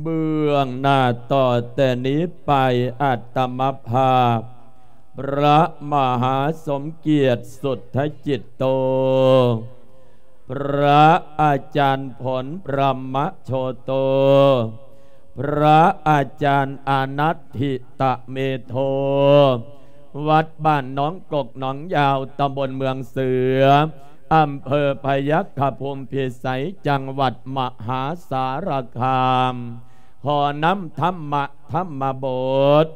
ເບື້ອງໜ້າຕໍ່ແຕ່ນີ້ໄປ ອາດຕະມະພາບ ພະມະຫາສົມກຽດ ສຸດທະຈິດໂຕ ພະອາຈານຜົນ ພະມະໂຊໂຕ ພະອາຈານອານັດທິຕະເມໂທ ວັດບ້ານໜອງກົກໜອງຍາວ ຕຳບົນເມືອງເສືອ ອຳເພີພະຍັກຂະພູມພິໄສ ຈັງຫວັດມະຫາສາລະຄາມ. ຂໍນຳທຳມະ ທຳມະບົດ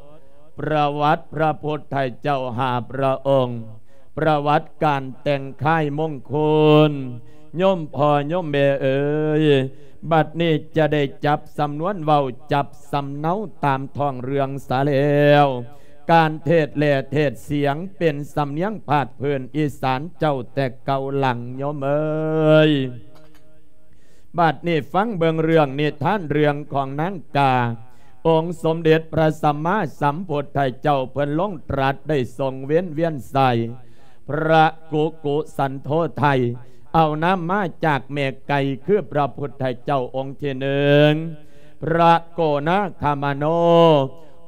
ປະຫວັດພະພຸດທະເຈົ້າຫ້າພະອົງ, ປະຫວັດການແຕ່ງຄ້າຍມົງຄຸນ. ໂຍມພໍ່ໂຍມແມ່ເອີຍ, ບັດນີ້ຈະໄດ້ຈັບສຳນວນເວົ້າ, ຈັບສຳເນົາຕາມທ້ອງເລື່ອງສາແລ້ວ. ການເທດແລະເທດສຽງເປັນສຳນຽງພາກພື້ນອີສານເຈົ້າແຕ່ເກົ່າຫຼັງໂຍມເອີຍ. ບັດນີ້ຟັງເບິ່ງເລື່ອງນິທານເລື່ອງຂອງນາງກາ. ອົງສົມເດັດພະສຳມາສຳພຸດທະເຈົ້າເພິ່ນລົງຕລັດໄດ້ຊົງເວັນວຽນໄຊ ພະກຸກຸສັນໂທໄທ ເອົານາມມາຈາກແມ່ໄກ່ ຄືພະພຸດທະເຈົ້າອົງທີໜຶ່ງ ພະໂກນາຄາມະໂນ,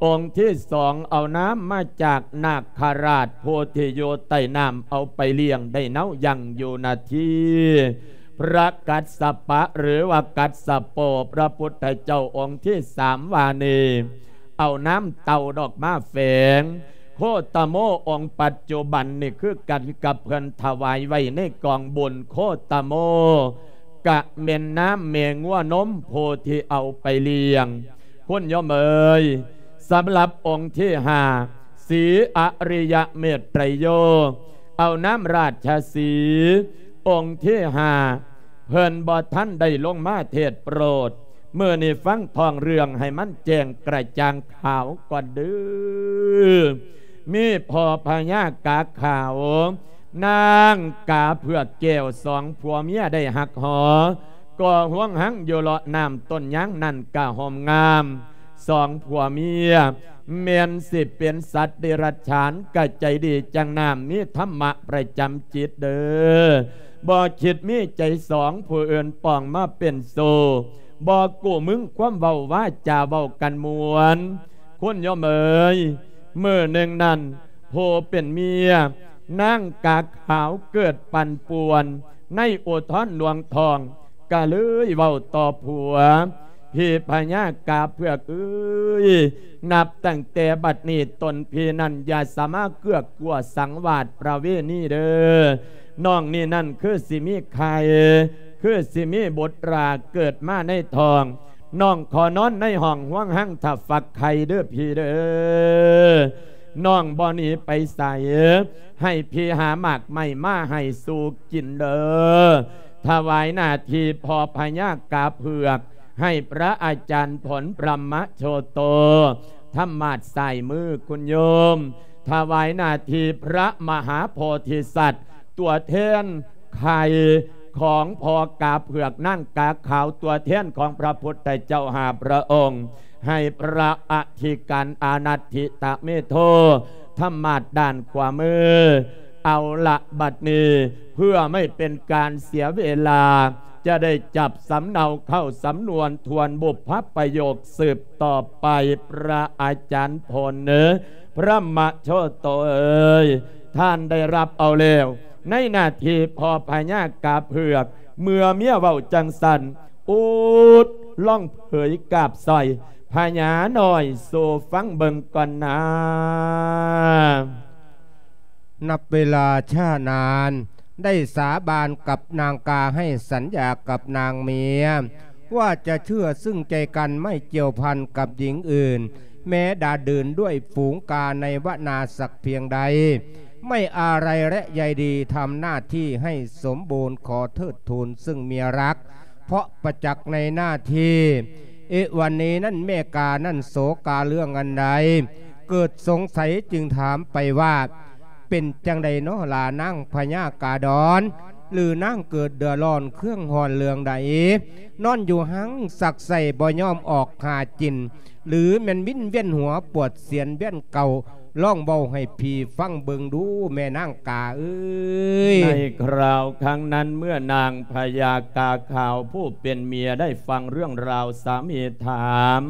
ອົງທີສອງເອົານາມມາຈາກນາກຄະລາດຜູ້ທີ່ຢູ່ໃຕ້ນ້ຳ ເອົາໄປລ້ຽງໄດ້ເນົາຢ່າງຢູ່ນາທີ ພະກັດສະປະ ຫຼືວ່າກັດສະໂປ, ພະພຸດທະເຈົ້າອົງທີສາມວ່ານີ້ ເອົານ້ຳເຕົ້າດອກມາແຝງ. ໂຄຕະໂມອົງປັດຈຸບັນນີ້ຄືກັນກັບເພິ່ນຖວາຍໄວ້ໃນກອງບຸນໂຄຕະໂມ ກະແມ່ນນ້ຳແມ່ງົວນົມຜູ້ທີ່ເອົາໄປລ້ຽງ ຄຸນໂຍມເອີຍ. ສຳລັບອົງທີຫ້າ ສີອະລິຍະເມດໄຕໂຍ ເອົານ້ຳລາດຊະສີ ອົງທີຫ້າ ເພິ່ນບໍ່ທັນໄດ້ລົງມາເທດໂປດ. ມື້ນີ້ຟັງທ້ອງເລື່ອງໃຫ້ມັນແຈ້ງກະຈ່າງຂາວກ່ອນເດີ. ມີພໍ່ພະຍາກາຂາວ ນາງກາເຜືອກແກ້ວ ສອງຜົວເມຍໄດ້ຮັກຫໍ ກໍ່ຮວງຮັງຢູ່ເລາະນ້ຳຕົ້ນຍາງນັ້ນກະໂຮມງາມ. ສອງຜົວເມຍແມ່ນຊິເປັນສັດເດລັດສານກະໃຈດີຈັ່ງນ້ຳ ມີທຳມະປະຈຳຈິດເດີ. ບໍ່ຄິດມີໃຈສອງຜູ້ອື່ນປອງມາເປັນໂຊ, ບໍ່ກູ້ມຶງຄວາມເວົ້າວາຈາເວົ້າກັນມ່ວນ. ຄຸນໂຍມເອີຍ, ມື້ໜຶ່ງນັ້ນ ຜູ້ເປັນເມຍ ນາງກາຂາວເກີດປັ່ນປ່ວນໃນອຸທອນລວງທ້ອງ ກະເລີຍເວົ້າຕໍ່ຜົວ, ພີ່ພະຍາກາເຜືອກເອີຍ, ນັບຕັ້ງແຕ່ບັດນີ້ຕົນພີ່ນັ້ນຢ່າສາມາເກືອກກົວສັງວາດປະເວນີເດີ. ນ້ອງນີ້ນັ້ນຄືຊິມີໄຂ່, ຄືຊິມີບຸດລາເກີດມາໃນທ້ອງ. ນ້ອງຂໍນອນໃນຫ້ອງຮວງຮັງຖ້າຟັກໄຂ່ເດີພີ່ເດີ. ນ້ອງບໍ່ໜີໄປໃສ, ໃຫ້ພີ່ຫາໝາກໄມ້ມາໃຫ້ສູ່ກິນເດີ. ຖວາຍໜ້າທີ່ພໍ່ພະຍາກາເຜືອກ ໃຫ້ພະອາຈານຜົນ ພະມະໂຊໂຕ ທຳມາດຊ້າຍມືຄຸນໂຍມ. ຖວາຍໜ້າທີ່ພະມະຫາໂພທິສັດ ຕົວແທນ ໄຂ່ຂອງພໍ່ກາເຜືອກ ນາງກາຂາວ ຕົວແທນຂອງພະພຸດທະເຈົ້າຫ້າພະອົງ, ໃຫ້ພະອະທິການອານັດທິຕະເມໂທ ທຳມາດດ້ານຂວາມື. ເອົາລະ ບັດນີ້ເພື່ອໄມ່ເປັນການເສຍເວລາ ຈະໄດ້ຈັບສຳເນົາເຂົ້າສຳນວນທວນບຸບພະປະໂຫຍກສືບຕໍ່ໄປ. ພະອາຈານຜົນ ພະມະໂຊໂຕເອີຍ, ທ່ານໄດ້ຮັບເອົາແລ້ວ ໃນໜ້າທີ່ພໍ່ພະຍາກາເຜືອກ. ເມື່ອເມຍເວົ້າຈັ່ງຊັ້ນ ອຸດ ລອງເຜີຍກາບສອຍພະຍານ້ອຍສູ່ຟັງເບິ່ງກ່ອນນາ. ນັບເວລາຊ້ານານ ໄດ້ສາບານກັບນາງກາ ໃຫ້ສັນຍາກັບນາງເມຍ ວ່າຈະເຊື່ອຊຶ້ງໃຈກັນ ໄມ່ກ່ຽວພັນກັບຍິງອື່ນ ແມ້ດາດືນດ້ວຍຝູງກາໃນວະນາສັກພຽງໃດ ໄມ່ອາໄລແລະໃຍດີ ທຳໜ້າທີ່ໃຫ້ສົມບູນ ຂໍເທີດທູນຊຶ້ງເມຍຮັກ ເພາະປະຈັກໃນໜ້າທີ່. ເອ ວັນນີ້ນັ້ນແມ່ການັ້ນໂສກາເລື່ອງອັນໃດ ເກີດສົງໄສຈຶ່ງຖາມໄປວ່າ ເປັນຈັ່ງໃດນໍລະນາງພະຍາກາດອນ ຫຼືນາງເກີດເດືອດຮ້ອນເຄື່ອງຮ້ອນເລື່ອງໃດ ນອນຢູ່ຮັງສັກໄສ້ບໍ່ຍອມອອກຫາກິນ ຫຼືແມ່ນວິນວຽນຫົວປວດສຽນວຽນເກົ່າ? ລອງເວົ້າໃຫ້ພີ່ຟັງເບິ່ງດູ ແມ່ນາງກາເອີຍ. ໃນຄາວຄັ້ງນັ້ນ ເມື່ອນາງພະຍາກາຂາວຜູ້ເປັນເມຍໄດ້ຟັງເລື່ອງລາວສາມີຖາມ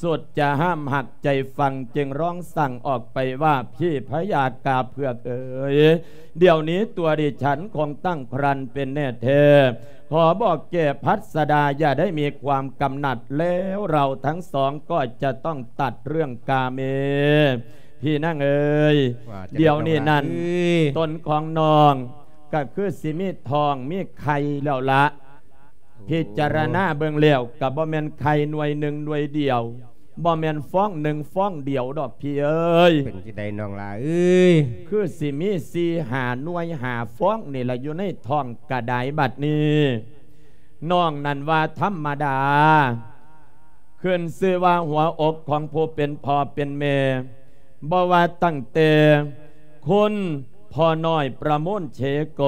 ສຸດຈະຫ້າມຫັກໃຈຟັງ ຈຶ່ງຮ້ອງສັ່ງອອກໄປວ່າ ພີ່ພະຍາກາເຜືອກເອີຍ ດຽວນີ້ຕົວດິສັນຄົງຕັ້ງຄຣນເປັນແນ່ແທ້ ຂໍບອກແກ່ພັດສະດາ ຢ່າໄດ້ມີຄວາມກຳໜັດ ແລ້ວເຮົາທັງສອງກໍຈະຕ້ອງຕັດເລື່ອງກາເມ. ພີ່ນາງເອີຍ ວ່າຈັ່ງໃດ ດຽວນີ້ນັ້ນ ນ້ອງຫຼ້າເອີຍ ຕົນຂອງນ້ອງກໍຄືຊິມີທ້ອງມີໄຂ່ແລ້ວລະ. ໂອ້ ພິຈາລະນາເບິ່ງແລ້ວ ກໍບໍ່ແມ່ນໄຂ່ໜ່ວຍໜຶ່ງໜ່ວຍດຽວ ບໍ່ແມ່ນຟອງໜຶ່ງຟອງດຽວດອກພີ່ເອີຍ. ເປັນຈັ່ງໃດນ້ອງຫຼ້າເອີຍ? ຄືຊິມີສີ່ຫ້າໜ່ວຍຫ້າຟອງນີ້ລະ ຢູ່ໃນທ້ອງກະດາຍ. ບັດນີ້ນ້ອງນັ້ນວ່າທຳມະດາ ຂຶ້ນຊື່ວ່າຫົວອົກຂອງຜູ້ເປັນພໍ່ເປັນແມ່ ບໍ່ວ່າຕັ້ງແຕ່ຄຸນພໍ່ນ້ອຍປະໂມນເຊໂກ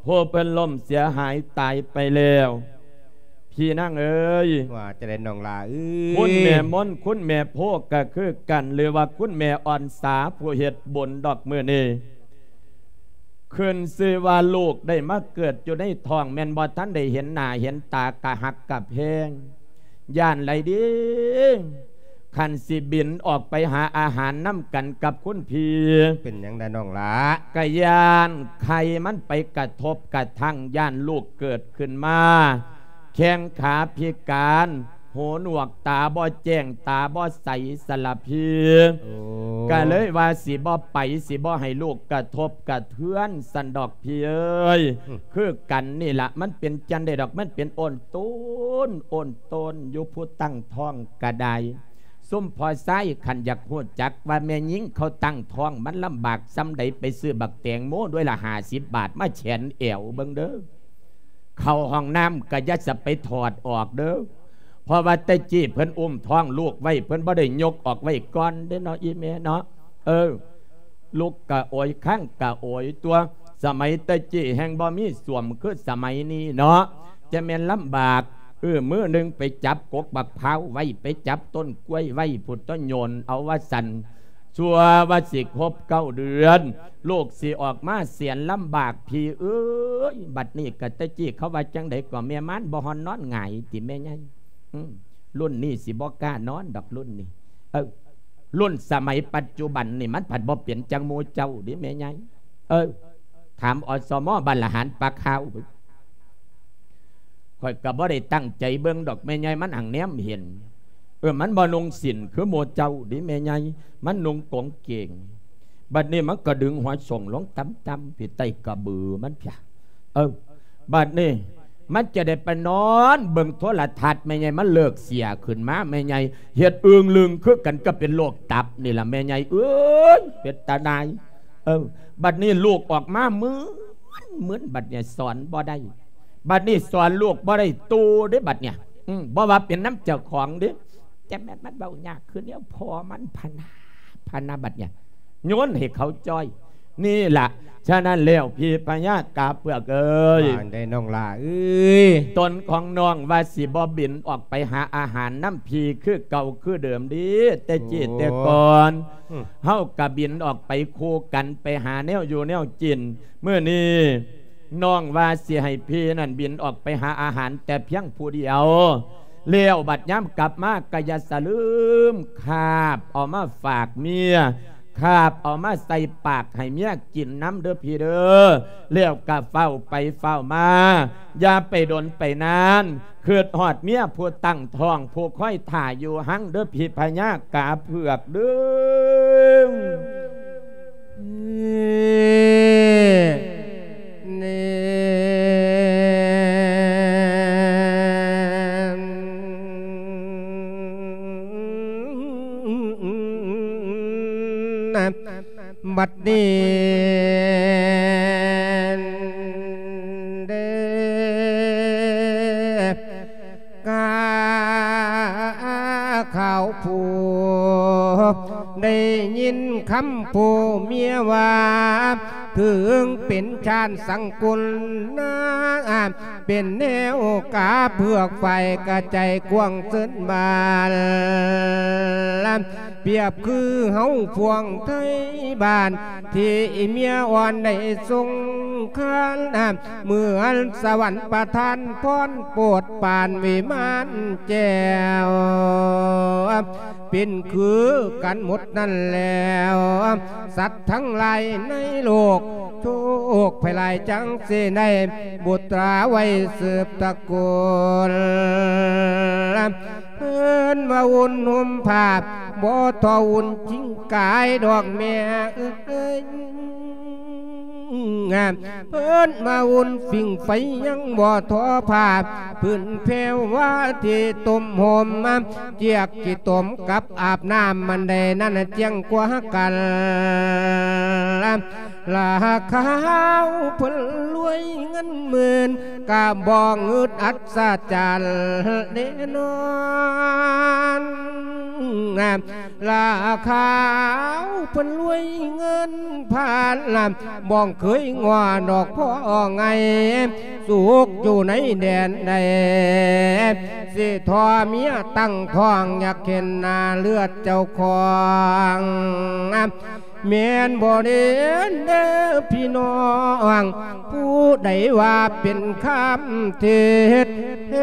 ຜູ້ເພິ່ນລົ້ມເສຍຫາຍຕາຍໄປແລ້ວ ພີ່ນາງເອີຍ. ວ່າຈັ່ງໃດນ້ອງຫຼ້າເອີຍ? ຄຸນແມ່ມົນ ຄຸນແມ່ໂພກະຄືກັນ ຫຼືວ່າຄຸນແມ່ອ່ອນສາ ຜູ້ເຮັດບຸນດອກມື້ນີ້ ຂຶ້ນຊື່ວ່າລູກໄດ້ມາເກີດຢູ່ໃນທ້ອງ ແມ່ນບໍ່ທັນໄດ້ເຫັນໜ້າເຫັນຕາ ກະຮັກກະແພງ ຢ້ານໄຫຼເດ້ ຄັນຊິບິນອອກໄປຫາອາຫານນຳກັນກັບຄຸນພີ່. ເປັນຫຍັງໃດນ້ອງຫຼ້າ? ກະຢ້ານໄຂ່ມັນໄປກະທົບກະທັ່ງ ຢ້ານລູກເກີດຂຶ້ນມາ ແຂ້ງຂາພິການ ຫູໜວກ ຕາບໍ່ແຈ້ງ ຕາບໍ່ໃສສະລະພີ. ໂອ້ ກະເລີຍວ່າຊິບໍ່ໄປ ຊິບໍ່ໃຫ້ລູກກະທົບກະເທືອນຊັ້ນດອກພີ່ເອີຍ. ອືມ ຄືກັນນີ້ລະ ມັນເປັນຈັ່ງໃດດອກ ມັນເປັນໂອນໂຕນ ໂອນໂຕນຢູ່ ຜູ້ຕັ້ງທ້ອງກະໄດ້. ຊຸມພໍ່ຊາຍ ຄັນຢາກຮູ້ຈັກວ່າແມ່ຍິງເຂົາຕັ້ງທ້ອງມັນລຳບາກສ່ຳໃດ ໄປຊື້ບັກແຕງໂມໜ່ວຍລະຫ້າສິບບາດມາແຂນແອວເບິ່ງເດີ້. ເຂົ້າຫ້ອງນ້ຳກໍຢ່າສະໄປຖອດອອກເດີ້ ເພາະວ່າແຕ່ກີ້ເພິ່ນອຸ້ມທ້ອງລູກໄວ້ ເພິ່ນບໍ່ໄດ້ຍົກອອກໄວ້ກ່ອນເດ້ເນາະ ອີ່ແມ່ເນາະ. ເອີ ລຸກກະໂອຍ ຄາງກະໂອຍຕົວະ ສະໄໝແຕ່ກີ້ແຮ່ງບໍ່ມີສ້ວມຄືສະໄໝນີ້ເນາະ ຈະແມ່ນລຳບາກ. ເອີ ມື້ໜຶ່ງໄປຈັບກົກບັກພ້າວໄວ້ ໄປຈັບຕົ້ນກ້ວຍໄວ້ພຸ້ນຕົວະ ໂຍນເອົາວ່າຊັ້ນ ຊົ່ວວ່າຊິຄົບເກົ້າເດືອນ ລູກຊິອອກມາແສນລຳບາກ ພີ່ເອີຍ. ບັດນີ້ກະແຕ່ກີ້ເຂົາວ່າຈັ່ງໃດກໍ ແມ່ມານບໍ່ຮອນນອນຫງາຍຕິແມ່ໃຫຍ່? ອືມ ລຸ້ນນີ້ຊິບໍ່ກ້ານອນດອກ ລຸ້ນນີ້. ເອີ ລຸ້ນສະໄໝປັດຈຸບັນນີ້ ມັນພັດບໍ່ເປັນຈັ່ງໝູ່ເຈົ້າເດ້ແມ່ໃຫຍ່. ເອີ ຖາມ ອສມ ບ້ານລະຫານປາຂາວ. ຂ້ອຍກໍບໍ່ໄດ້ຕັ້ງໃຈເບິ່ງດອກແມ່ໃຫຍ່ ມັນຫັ່ງແນມເຫັນ ເອີ ມັນບໍ່ນຸ່ງສິ້ນຄືໝູ່ເຈົ້າເດ້ແມ່ໃຫຍ່ ມັນນຸ່ງກົງເກງ. ບັດນີ້ມັນກໍດຶງຫົວໂສງລົງຕ່ຳໆ ພີ້ ໃຕ້ກະບືມັນພີ້. ເອີ ບັດນີ້ມັນຈະໄດ້ໄປນອນເບິ່ງໂທລະທັດ ແມ່ໃຫຍ່ ມັນເລີກເສຍຂຶ້ນມາ ແມ່ໃຫຍ່ ເຮັດອຶ່ງລຶ່ງຄືກັນກັບເປັນໂລກຕັບນີ້ລະແມ່ໃຫຍ່ເອີຍ ເປັນຕາໜ່າຍ. ເອີ ບັດນີ້ລູກອອກມາມຶນ ມຶນ ບັດນີ້ສອນບໍ່ໄດ້ ບັດນີ້ສອນລູກບໍ່ໄດ້ໂຕເດ້ບັດນີ້. ອືມ ບໍ່ວ່າເປັນນຳເຈົ້າຂອງເດ້ ແຕ່ແມ່ນມັນເວົ້າຍາກຄືແນວພໍ່ມັນພະນາ ພະນາ ບັດນີ້ໂຍນໃຫ້ເຂົາຈ່ອຍ. ນີ້ລະ ສະນັ້ນແລ້ວ ພີ່ພະຍາກາເຜືອກເອີຍ ວ່າຈັ່ງໃດນ້ອງຫຼ້າເອີຍ? ຕົນຂອງນ້ອງວ່າຊິບໍ່ບິນອອກໄປຫາອາຫານນຳພີ່ຄືເກົ່າຄືເດີມເດ້ ແຕ່ກີ້ແຕ່ກ່ອນ ອືມ ເຮົາກະບິນອອກໄປຄູ່ກັນ ໄປຫາແນວຢູ່ແນວກິນ. ມື້ນີ້ນ້ອງວ່າຊິໃຫ້ພີ່ນັ້ນບິນອອກໄປຫາອາຫານແຕ່ພຽງຜູ້ດຽວ ແລ້ວບັດຍາມກັບມາກໍຢ່າສະລືມຄາບເອົາມາຝາກເມຍ ຄາບເອົາມາໃສ່ປາກໃຫ້ເມຍກິນນຳເດີພີ່ເດີ. ແລ້ວກໍຟ້າວໄປຟ້າວມາ ຢ່າໄປດົນໄປນານ ຄິດຮອດເມຍຜູ້ຕັ້ງທ້ອງ ຜູ້ຄອຍຖ້າຢູ່ຮັ່ງເດີ ພີ່ພະຍາກາເຜືອກເດີ. ບັດນີ້ເດີ ກາຂາວຜູ້ ໄດ້ຍິນຄຳຜູ້ເມຍວ່າ ເຖິງເປັນຊານສັງກຸນນາ ເປັນແນວກາເຜືອກຝ້າຍກະໃຈກວ້າງເຊີນບານ ປຽບຄືເຮົາພວງໄທບ້ານ ທີ່ເມຍອ່ອນໄດ້ຊົງຄານ ເໝືອນສະຫວັນປະທານພອນໂປດປານວິມານແກ້ວ ເປັນຄືກັນໝົດນັ້ນແລ້ວ ສັດທັງຫຼາຍໃນໂລກ ໂຊກໄພຫຼາຍຈັ່ງຊິໄດ້ບຸດຕາໄວ້ສືບຕະໂກນ ເພິ່ນວ່າອຸ່ນຫຸ້ມຜ້າ ບໍ່ທໍ່ອຸ່ນຈິງກາຍດອກແມ່ເອີຍ. ເພິ່ນມາອຸ່ນຝີງໄຟຍັງບໍ່ທໍ້ພາ ພື້ນແພວວ່າທີ່ຕົ້ມຫົ່ມ ຈຽກຂີ້ຕົມກັບອາບນ້ຳ ມັນໄດ້ນັ້ນຈຽງກວ່າກັນ ລາຄາວເພິ່ນລວຍເງິນໝື່ນ ກະບໍ່ງຶດອັດສະຈັນແນ່ນອນ ລາຄາວເພິ່ນລວຍເງິນພັນ ບໍ່ເຄີຍງົວດອກພໍ່ໄງ ສຸກຢູ່ໃນແດນໃດ ຊິທໍ່ເມຍຕັ້ງທ້ອງ ຢາກເຫັນໜ້າເລືອດເຈົ້າຂອງ ແມ່ນບໍ່ເດ ເດີພີ່ນ້ອງ ຜູ້ໃດວ່າເປັນຄຳເທດ ເທ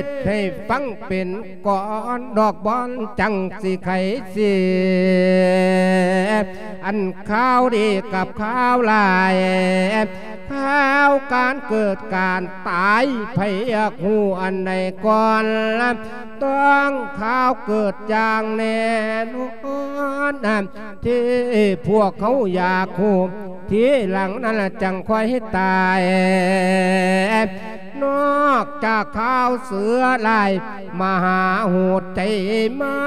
ດໃຫ້ຟັງເປັນກ່ອນ ດອກບອນຈັ່ງຊິໄຂເສຍ ອັນຂ່າວດີກັບຂ່າວຮ້າຍ ຂ່າວການເກີດການຕາຍ ໃຜຢາກຮູ້ອັນໃດກ່ອນ ຕ້ອງຂ່າວເກີດຢ່າງແນ່ນອນ ທີ່ພວກເຮົາຢາກຮູ້ ທີຫຼັງນັ້ນລະຈັ່ງຄ່ອຍຕາຍ ນອກຈາກຂ່າວເສືອລາຍ ມະຫາໂຫດໃຈມາ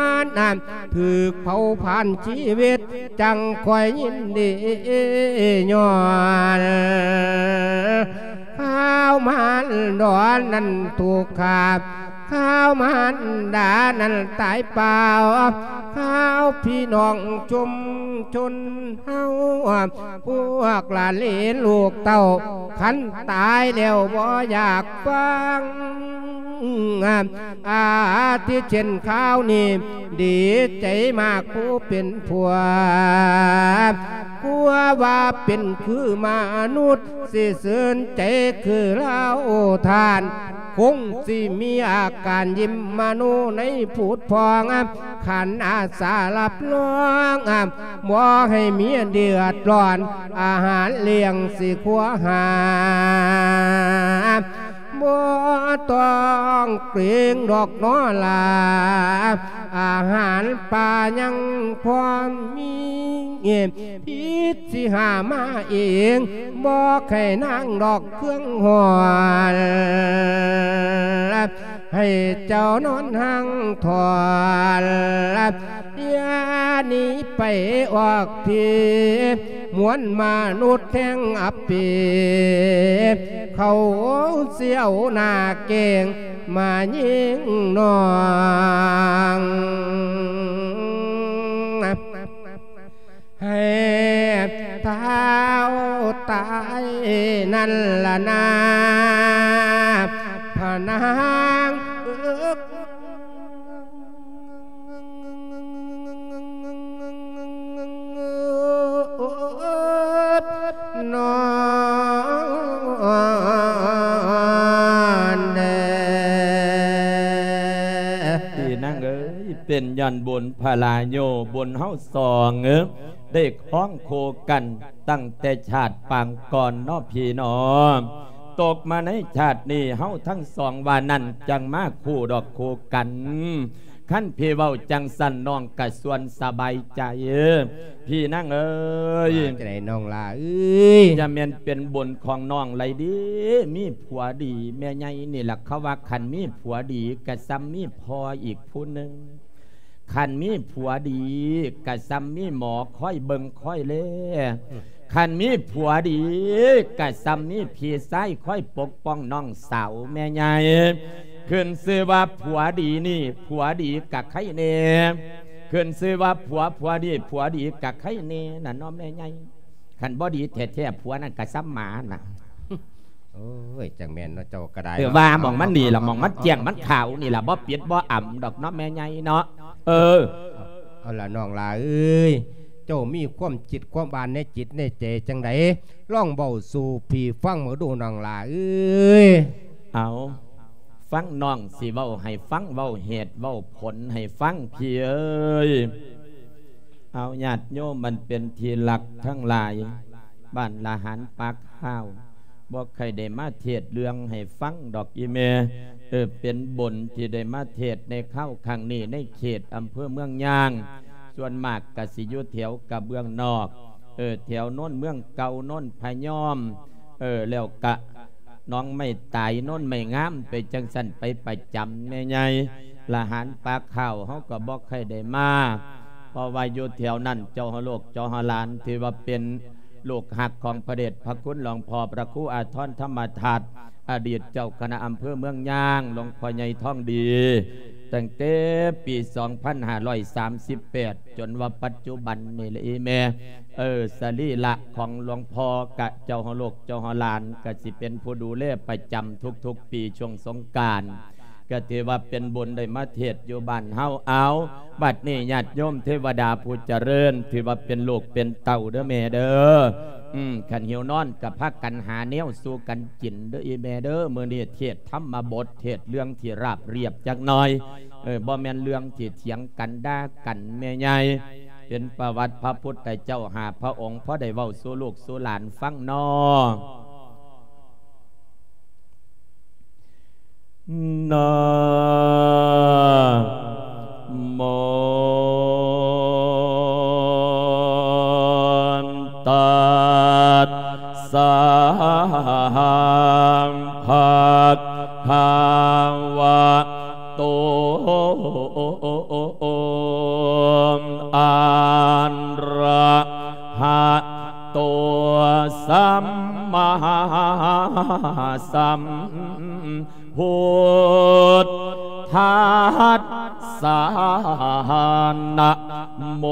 ນ ຖືກເຜົາຜານຊີວິດ ຈັ່ງຄ່ອຍຍິນດີຍ້ອນ ຂ່າວມານດອນນັ້ນຖືກຂ້າ ຂ່າວມານດານັ້ນຕາຍເປົ່າ ຂ່າວພີ່ນ້ອງຊຸມຊົນເຮົາ ພວກຫຼານເຫຼນລູກເຕົ້າ ຄັນຕາຍແລ້ວບໍ່ຢາກຟັງ ອາ ທີ່ເຊັ່ນຂ່າວນີ້ ດີໃຈມາກຜູ້ເປັນຜົວ ຜົວວ່າເປັນຄືມະນຸດ ຊິຊື່ນໃຈຄືລາວທ່ານ ຄົງຊິມີອາການຍິ້ມມະໂນໃນຜຸດຜ່ອງ ຂັນອາສາຮັບຮອງ ບໍ່ໃຫ້ເມຍເດືອດຮ້ອນ ອາຫານລ້ຽງຊິຄົວຫາ ບໍ່ຕ້ອງເກງດອກນໍລາ ອາຫານປ່າຍັງພໍມີ ພິດຊິຫາມາເອງ ບໍ່ໃຫ້ນາງດອກເຄື່ອງຮ້ອນ ໃຫ້ເຈົ້ານອນຮັ່ງຖອນ ຢ່າໜີໄປອອກທີ ມວນມະນຸດແຫ່ງອັບປີ ເຂົາຊິເອົາໜ້າເກງມາຍິງນ້ອງ ໃຫ້ທ້າວຕາຍນັ້ນລະນາ ພະນາງເອີຍ ນອນແດ່ ພີ່ນາງເອີຍ ເປັນຍ້ອນບຸນພະລາໂຍ ບຸນເຮົາສອງເອີຍ ໄດ້ຄອງຄູ່ກັນຕັ້ງແຕ່ຊາດປາງກ່ອນເນາະພີ່ນ້ອງ ຕົກມາໃນຊາດນີ້ ເຮົາທັງສອງວ່ານັ້ນ ຈັ່ງມາຄູ່ດອກຄູ່ກັນ ຄັນພີ່ເວົ້າຈັ່ງຊັ້ນ ນ້ອງກະຊວນສະບາຍໃຈ ພີ່ນາງເອີຍ ວ່າຈັ່ງໃດນ້ອງຫຼ້າເອີຍ ຢ່າແມ່ນເປັນບຸນຂອງນ້ອງໄລເດ ມີຜົວດີ ແມ່ໃຫຍ່ນີ້ລະ ເຂົາວ່າຄັນມີຜົວດີກະຊ່ຳມີພໍ່ອີກຜູ້ໜຶ່ງ ຄັນມີຜົວດີກະຊ່ຳມີໝໍຄອຍເບິ່ງຄອຍແລ ອືມ ຄັນມີຜົວດີກະຊ່ຳມີພີ່ຊາຍຄອຍປົກປ້ອງນ້ອງສາວແມ່ໃຫຍ່ ຂຶ້ນຊື່ວ່າຜົວດີນີ້ ຜົວດີກະໄຄແນ່ ຂຶ້ນຊື່ວ່າຜົວ ຜົວດີ ຜົວດີກະໄຄແນ່ນະເນາະແມ່ໃຫຍ່ ຄັນບໍ່ດີແທ້ໆ ຜົວນັ້ນກໍສ່ຳໝານະ. ໂອ້ຍ ຈັ່ງແມ່ນເນາະ ເຈົ້າກໍໄດ້ ເອີ ເນາະ ວ່າໝ່ອງມັນນີ້ລະ ເອົາ ໝ່ອງມັນແຈ້ງ ເອົາ ມັນຂາວນີ້ລະ ບໍ່ປິດບໍ່ອຳດອກເນາະ ແມ່ໃຫຍ່ເນາະ. ເອີ ເອົາລະ ນ້ອງຫຼ້າເອີຍ ເຈົ້າມີຄວາມຄິດຄວາມອ່ານໃນຈິດໃນໃຈຈັ່ງໃດ ລອງເວົ້າສູ່ພີ່ຟັງເບິ່ງດູ ນ້ອງຫຼ້າເອີຍ. ເອົາ ຟັງນ້ອງຊິເວົ້າໃຫ້ຟັງ ເວົ້າເຫດເວົ້າຜົນໃຫ້ຟັງ ພີ່ເອີຍ. ເອົາ ຍາດໂຍມອັນເປັນທີ່ຮັກທັງຫຼາຍ, ບ້ານລະຫານປາກຮາວ ບໍ່ຄ່ອຍໄດ້ມາເທດເລື່ອງໃຫ້ຟັງດອກອີ່ແມ່. ເອີ ເປັນບຸນທີ່ໄດ້ມາເທດໃນຄາວຄັ້ງນີ້ ໃນເຂດອຳເພີເມືອງຍາງ, ສ່ວນມາກກະຊິຢູ່ແຖວກະເບື້ອງນອກ, ເອີ ແຖວໂນນເມືອງເກົ່າ, ໂນນພະຍອມ, ເອີ ແລ້ວກະ ໜອງໄມ້ຕາຍ ໂນນໄມ້ງາມ ໄປຈັ່ງຊັ້ນໄປປະຈຳແມ່ໃຫຍ່. ລະຫານປາກຮາວເຮົາກໍບໍ່ຄ່ອຍໄດ້ມາ ເພາະວ່າຢູ່ແຖວນັ້ນ ເຈົ້າເຮົາລູກເຈົ້າເຮົາຫຼານ ຖືວ່າເປັນລູກຮັກຂອງພະເດດພະຄຸນຫຼວງພໍ່ພະຄູອາທອນທຳມະທັດ ອະດີດເຈົ້າຄະນະອຳເພີເມືອງຍາງ ຫຼວງພໍ່ໃຫຍ່ທອງດີ ຕັ້ງແຕ່ປີສອງພັນຫ້າຮ້ອຍສາມສິບແປດ ຈົນວ່າປັດຈຸບັນນີ້ລະອີ່ແມ່. ເອີ ສະລີລະຂອງຫຼວງພໍ່ກະເຈົ້າເຮົາລູກເຈົ້າເຮົາຫຼານ ກະຊິເປັນຜູ້ດູແລປະຈຳທຸກໆປີຊ່ວງສົງການ ກະຖືວ່າເປັນບຸນໄດ້ມາເທດຢູ່ບ້ານເຮົາ. ເອົາ ບັດນີ້ຍາດໂຍມເທວະດາຜູ້ຈະເລີນ ຖືວ່າເປັນລູກເປັນເຕົ້າເດີແມ່ເດີ. ອືມ ຄັນຫິວນອນກະພາກັນຫາແນວສູ່ກັນກິນເດີອີ່ແມ່ເດີ. ມື້ນີ້ເທດທຳມະບົດ ເທດເລື່ອງທີ່ລາບລຽບຈັກໜ່ອຍ ເອີ ບໍ່ແມ່ນເລື່ອງທີ່ຖຽງກັນດ່າກັນແມ່ໃຫຍ່. ເປັນປະຫວັດພະພຸດທະເຈົ້າຫ້າພະອົງ ພໍໄດ້ເວົ້າສູ່ລູກສູ່ຫຼານຟັງນໍ. ນະໂມ ຕັດສະ ພະຄະວະ ໂຕ ອະຣະຫະໂຕ ສຳມາສຳພຸດທັດສະ ນະໂມ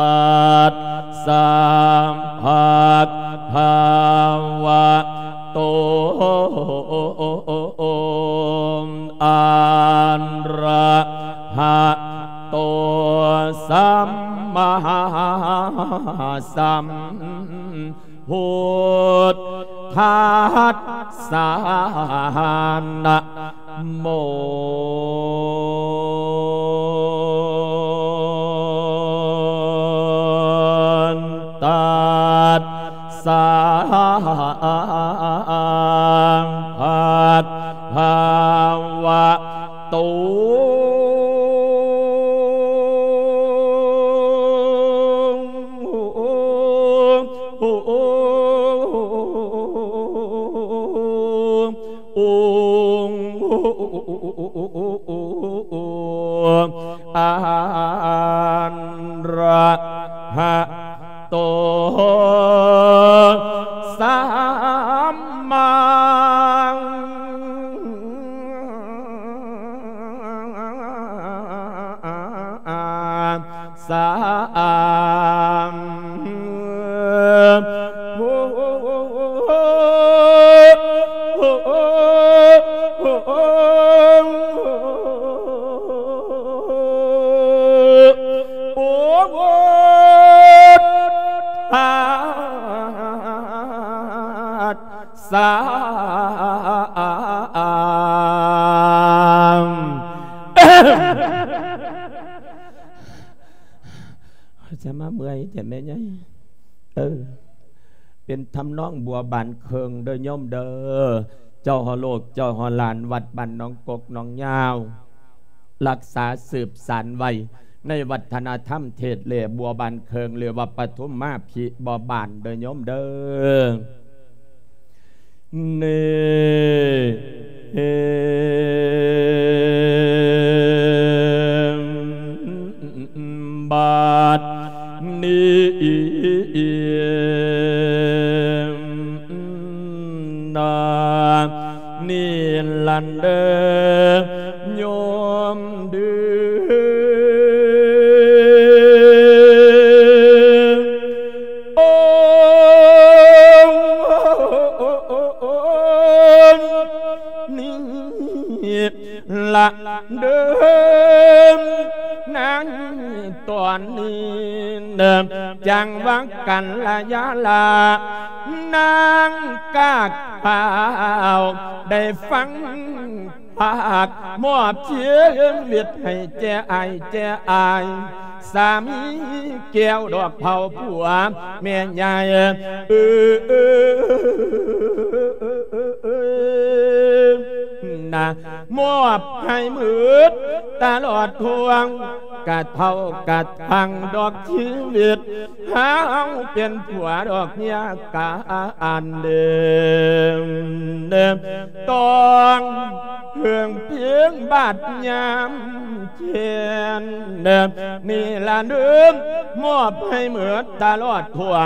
ຕັດສະ ພະຄະວະໂຕ ອະຣະຫະໂຕ ສຳມາສຳພຸດທັດສະ ນະໂມ ຕັດສະ ພະຄະວະໂຕ ອະຣະຫະໂຕ ສຳມາສຳພຸດທັດສະ ຈະມາເມື່ອຍແທ້ແມ່ໃຫຍ່. ເອີ ເປັນທຳນອງບົວບານເຄິ່ງເດີໂຍມເດີ. ເຈົ້າຮອດລູກເຈົ້າຮອດຫຼານ ວັດບ້ານໜອງກົກໜອງຍາວ ລັກສາສືບສານໄວ້ໃນວັດທະນະທຳເທດແລບົວບານເຄິ່ງ ຫຼືວ່າປະທຸມມາພິບົວບານເດີໂຍມເດີ. ນີ້ ບັດນີ້ນາ ນີ້ລະເດີໂຍມເດີ. ລະເດີມນາງຕອນນີ້ ຈັງວ່າກັນລະຍາລາ ນາງກາກພ້າວ ໄດ້ຟັງພາກມອບຊີວິດໃຫ້ແກ່ອ້າຍແກ່ອາຍ ສາມີແກ້ວດອກເຜົາຜົວແມ່ໃຫຍ່ ເອີ ນະ ມອບໃຫ້ໝົດຕະຫຼອດທົ່ວ ກະເທົ່າກະທັງດອກຊີວິດ ເຮົາເປັນຜົວດອກເມຍກັນເດີ ຕ້ອງເພິ່ງພິງບາດຍາມແຄ້ນ ນີ້ລະເດີ ມອບໃຫ້ໝົດຕະຫຼອດທົ່ວ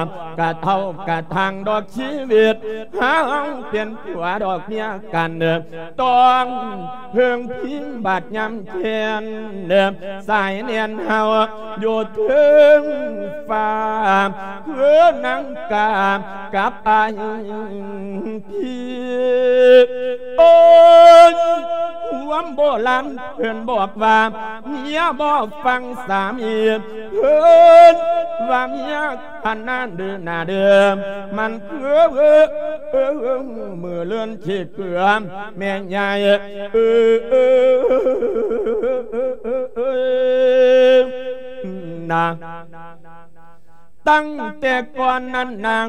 ກະເທົ່າກະທັງດອກຊີວິດ ເຮົາເປັນຜົວດອກເມຍກັນ ຕ້ອງເພິ່ງພິງບາດຍາມແຄ້ນ ສາຍແໜ້ນເຮົາຢູ່ເທິງຟ້າ ຄືນາງກາກັບອ້າຍ ພີ່ ໂອ້ຍ ຄວາມໂບລານເພິ່ນບອກວ່າ ເມຍບໍ່ຟັງສາມີ ເພິ່ນວ່າເມຍຂະໜາດດື້ໜ້າເດີ ມັນຄືມື້ເລື່ອນຂີ້ເກືອ ແມ່ໃຫຍ່ ເອີ ນະ ຕັ້ງແຕ່ກ່ອນນັ້ນນາງ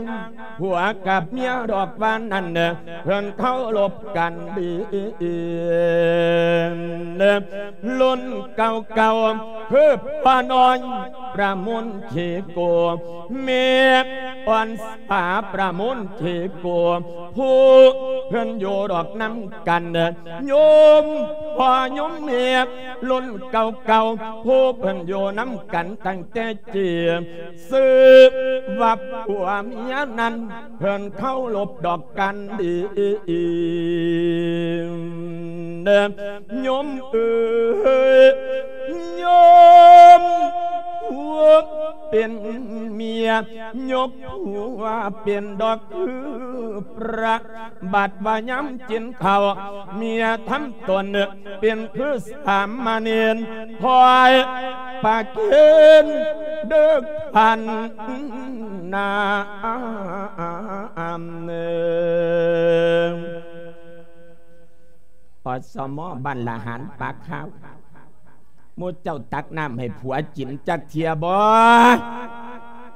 ຜົວກັບເມຍດອກວ່ານັ້ນ ເພິ່ນເຄົາລົບກັນດີ ລຸ້ນເກົ່າໆ ຄືພໍ່ນ້ອຍປະມູນຂີ້ໂກ ແມ່ອ່ອນສາປະມູນຂີ້ໂກ ຜູ້ເພິ່ນຢູ່ດອກນຳກັນ ໂຍມພໍ່ໂຍມແມ່ລຸ້ນເກົ່າໆ ຜູ້ເພິ່ນຢູ່ນຳກັນຕັ້ງແຕ່ ຈີ່ ຊື່ວ່າຜົວເມຍນັ້ນ ເພິ່ນເຄົາລົບດອກກັນດີ ໂຍມເອີຍ ໂຍມຜົວເປັນເມຍ ຍົກຜົວເປັນດອກຄືພະ ບັດວ່າຍາມກິນເຂົ້າ ເມຍທຳຕົນເປັນຄືສາມະເນນ ຄອຍປະເຄນເດີກພັນນາ ອສມ ບ້ານລະຫານປາກຂາວ ໝູ່ເຈົ້າຕັກນ້ຳໃຫ້ຜົວກິນຈັກເທື່ອບໍ່?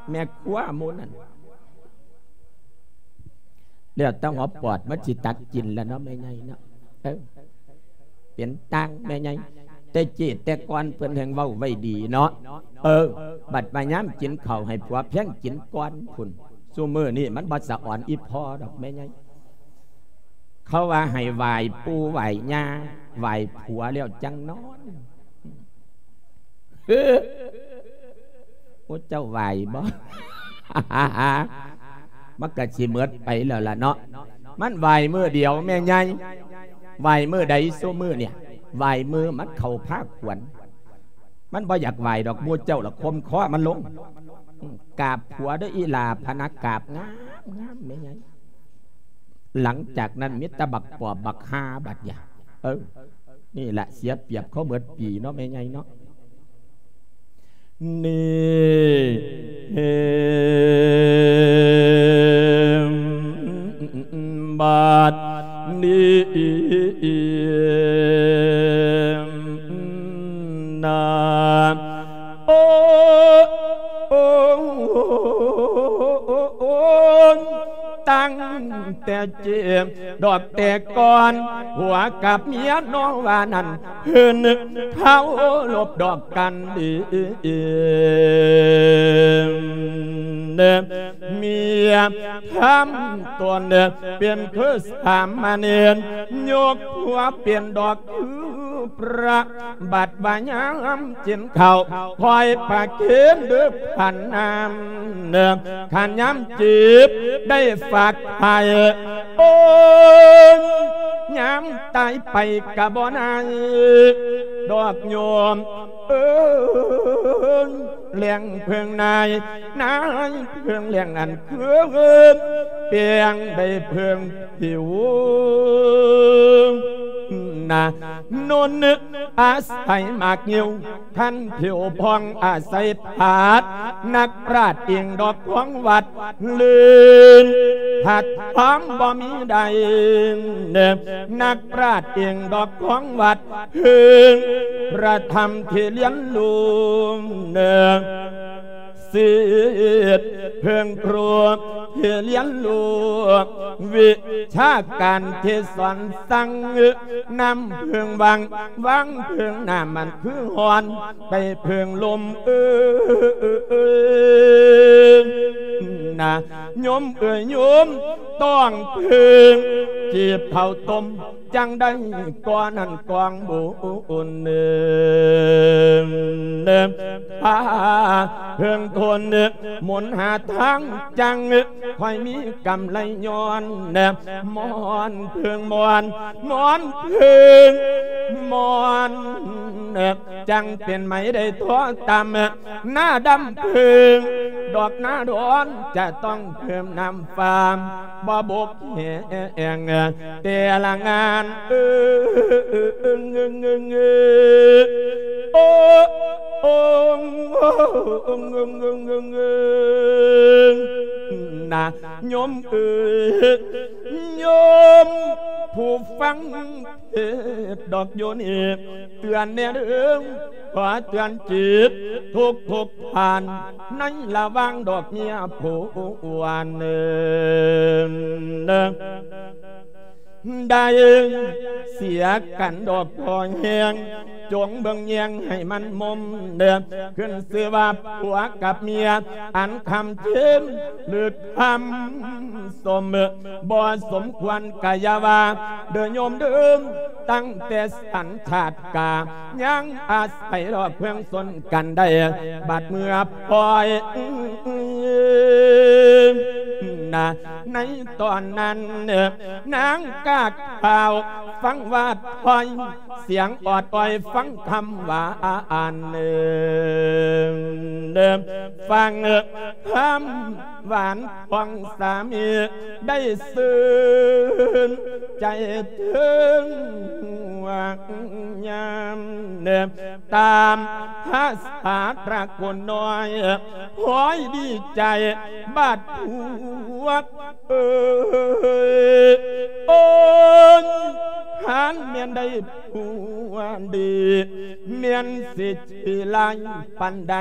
ແມ່ຄົວໝູ່ນັ້ນ ແລ້ວແຕ່ຫົວປອດມັນຊິຕັກກິນລະເນາະ ແມ່ໃຫຍ່ເນາະ ເອີ ເປັນຕ່າງແມ່ໃຫຍ່ ແຕ່ເກດແຕ່ກ່ອນເພິ່ນແຮ່ງເວົ້າໄວ້ດີເນາະ ເອີ ບັດມາຍາມກິນເຂົ້າໃຫ້ຜົວແພງກິນກ່ອນພຸ້ນ ຊຸມື້ນີ້ມັນບໍ່ສະອອນອີ່ພໍ່ດອກແມ່ໃຫຍ່ ເຂົາວ່າໃຫ້ໄຫວ້ປູ່ໄຫວ້ຍ່າ ໄຫວ້ຜົວແລ້ວຈັ່ງນອນ ໂອ້ ເຈົ້າໄຫວ້ບໍ່? ມັນກະຊິໝົດໄປແລ້ວລະເນາະ ມັນໄຫວ້ມື້ດຽວແມ່ໃຫຍ່ ໄຫວ້ມື້ໃດຊຸມື້ນີ້ ໄຫວ້ມື້ມັນເຂົ້າພາກຂວັນ ມັນບໍ່ຢາກໄຫວ້ດອກ ໝູ່ເຈົ້າລະຂົ່ມຄໍມັນລົງ ກາບຜົວເດີອີ່ຫຼ້າ ພະນະ ກາບງາມໆ ແມ່ໃຫຍ່ ຫຼັງຈາກນັ້ນມີແຕ່ບັກປອບບັກຫ່າບັດຢາ ເອີ ນີ້ລະເສຍປຽບເຂົາເໝິດປີເນາະແມ່ໃຫຍ່ເນາະ ນີ້ ບາດນີ້ນາ ໂອ້ ໂອ້ ໂອ້ ຕັ້ງແຕ່ເຈັບດອກແຕ່ກ່ອນ ຜົວກັບເມຍນ້ອງວ່ານັ້ນ ເພິ່ນເຄົາລົບດອກກັນດີ ເມຍທຳຕົນເປັນຄືສາມະເນນ ຍົກຜົວເປັນດອກຄືພະ ບັດວ່າຍາມກິນເຂົ້າ ຄອຍປະເຄນເດີກພັນນາ ຄັນຍາມຈີບໄດ້ຝາກໄວ້ ໂອ້ຍ ຍາມຕາຍໄປກະບໍ່ນາຍດອກໂຍມເອີຍ ແລ້ງເພິ່ງນາຍ ນາຍເພິ່ງແລ້ງອັນຄື ແປ້ງໄດ້ເພິ່ງຜິວ ນາ ນົນອາໄສໝາກງິ້ວ ຄັນຜິວຜ່ອງອາໄສຜາດ ນັກປາດອີງດອກຂອງວັດ ລື່ນຜັດຄວາມບໍ່ມີໃດ ນັກປາດອີງດອກຂອງວັດ ເພິ່ງພະທຳທີ່ລຽນຮູ້ ສິດເພິ່ງຄູທີ່ລຽນຮູ້ ວິຊາການທີ່ສອນສັ່ງ ນ້ຳເພິ່ງວັງ ວັງເພິ່ງນ້ຳມັນຄືຮ້ອນ ໄປເພິ່ງລົມເອີ ນາ ໂຍມເອີຍໂຍມ ຕ້ອງເພິ່ງຈີບເຂົ້າຕົ້ມ ຈັ່ງໄດ້ກ່ອນນັ້ນກອງບຸນ ພາເພິ່ງທົນ ມົນຫາທາງ ຈັ່ງຄ່ອຍມີກຳໄລຍ້ອນ ມອນເພິ່ງມອນ ມອນເພິ່ງມອນ ຈັ່ງເປັນໄໝໄດ້ທໍ່ຕ່ຳ ໜ້າດຳເພິ່ງ ດອກໜ້າດອນ ຈະຕ້ອງເພີ່ມນ້ຳຟາມ ບໍ່ບົກແຫ້ງແຕ່ລະງານ ເອີ ໂອ ໂອ ນາ ໂຍມເອີຍ ໂຍມຜູ້ຟັງ ເທດດອກຢູ່ນີ້ ເຕືອນແດ່ເດີ້ ຂໍເຕືອນຈິດທຸກໆທ່ານ ໃນລະຫວ່າງດອກເມຍຜູ້ອວນ ໄດ້ເສຍກັນດອກພໍແຮງ ຈົ່ງເບິ່ງແຍງໃຫ້ມັນມຸມເດີ້ ຂຶ້ນຊື່ວ່າຜົວກັບເມຍ ອັນຄຳເຈນ ຫຼືຄຳ ສົມ ບໍ່ສົມຄວນກະຢ່າວ່າເດີ້ໂຍມເດີ້ ຕັ້ງແຕ່ສັນຊາດກາ ຍັງອາໄສດອກເພິ່ງຊົນກັນໄດ້ ບັດເມື່ອປ່ອຍ ນາ ໃນຕອນນັ້ນ ນາງກາຂາວຟັງວ່າຖອຍ ສຽງອອດອ້ອຍຟັງຄຳຫວານ ຟັງຄຳຫວານຂອງສາມີ ໄດ້ຊື່ນໃຈເຖິງຫວ່າງຍາມ ຕາມພາສາຕະກຸນນ້ອຍ ພ້ອຍດີໃຈບາດຜົວ ເອີຍ ໂອ້ຍ ຫານແມ່ນໄດ້ຜົວດີ ແມ່ນຊິຂີ້ຮ້າຍປານໃດ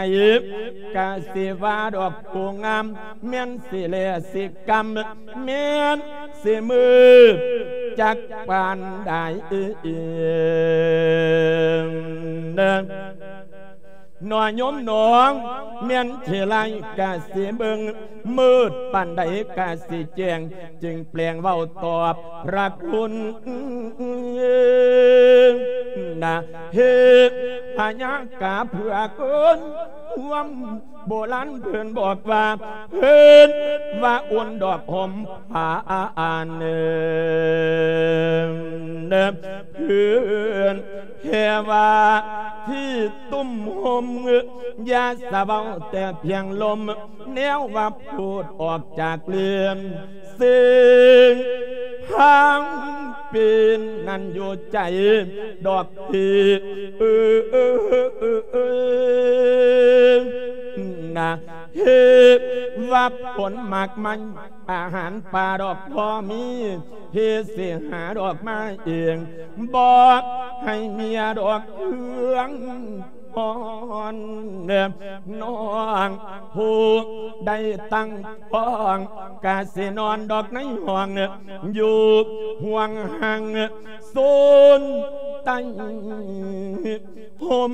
ກະຊິວ່າດອກຜູ້ງາມ ແມ່ນຊິແລຊິກຳ ແມ່ນຊິມືດຈັກປານໃດ ເນາະໂຍມນ້ອງ ແມ່ນຊິໄລ່ກະຊິເບິ່ງ ມືດປານໃດກະຊິແຈ້ງ ຈຶ່ງແປງເວົ້າຕອບພະຄຸນນະ ເຮັດພະຍາກາເພື່ອຄົນ ຄວາມໂບລານເພິ່ນບອກວ່າ ເພິ່ນວ່າອຸ່ນດອກຫົມຜ້າ ເພິ່ນ ແຕ່ວ່າທີ່ຕຸ້ມຫົມ ຢ່າສະເວົ້າແຕ່ພຽງລົມ ແນວວ່າພູດອອກຈາກເລື່ອນ ເຊິ່ງທາງເປັນນັ້ນຢູ່ໃຈດອກພີ ເອີ ນະ ເຮັດວ່າຜົນໝາກໄມ້ ອາຫານປ່າດອກພໍມີ ເຮັດຊິຫາດອກມາເອງ ບໍ່ໃຫ້ເມຍດອກເຄື່ອງ ນອນ ນ້ອງຜູ້ໃດຕັ້ງທ້ອງ ກະຊິນອນດອກໃນຫ້ອງ ຢູ່ຫ່ວງຫ່າງ ໂຊນໃຕ້ ຫົມ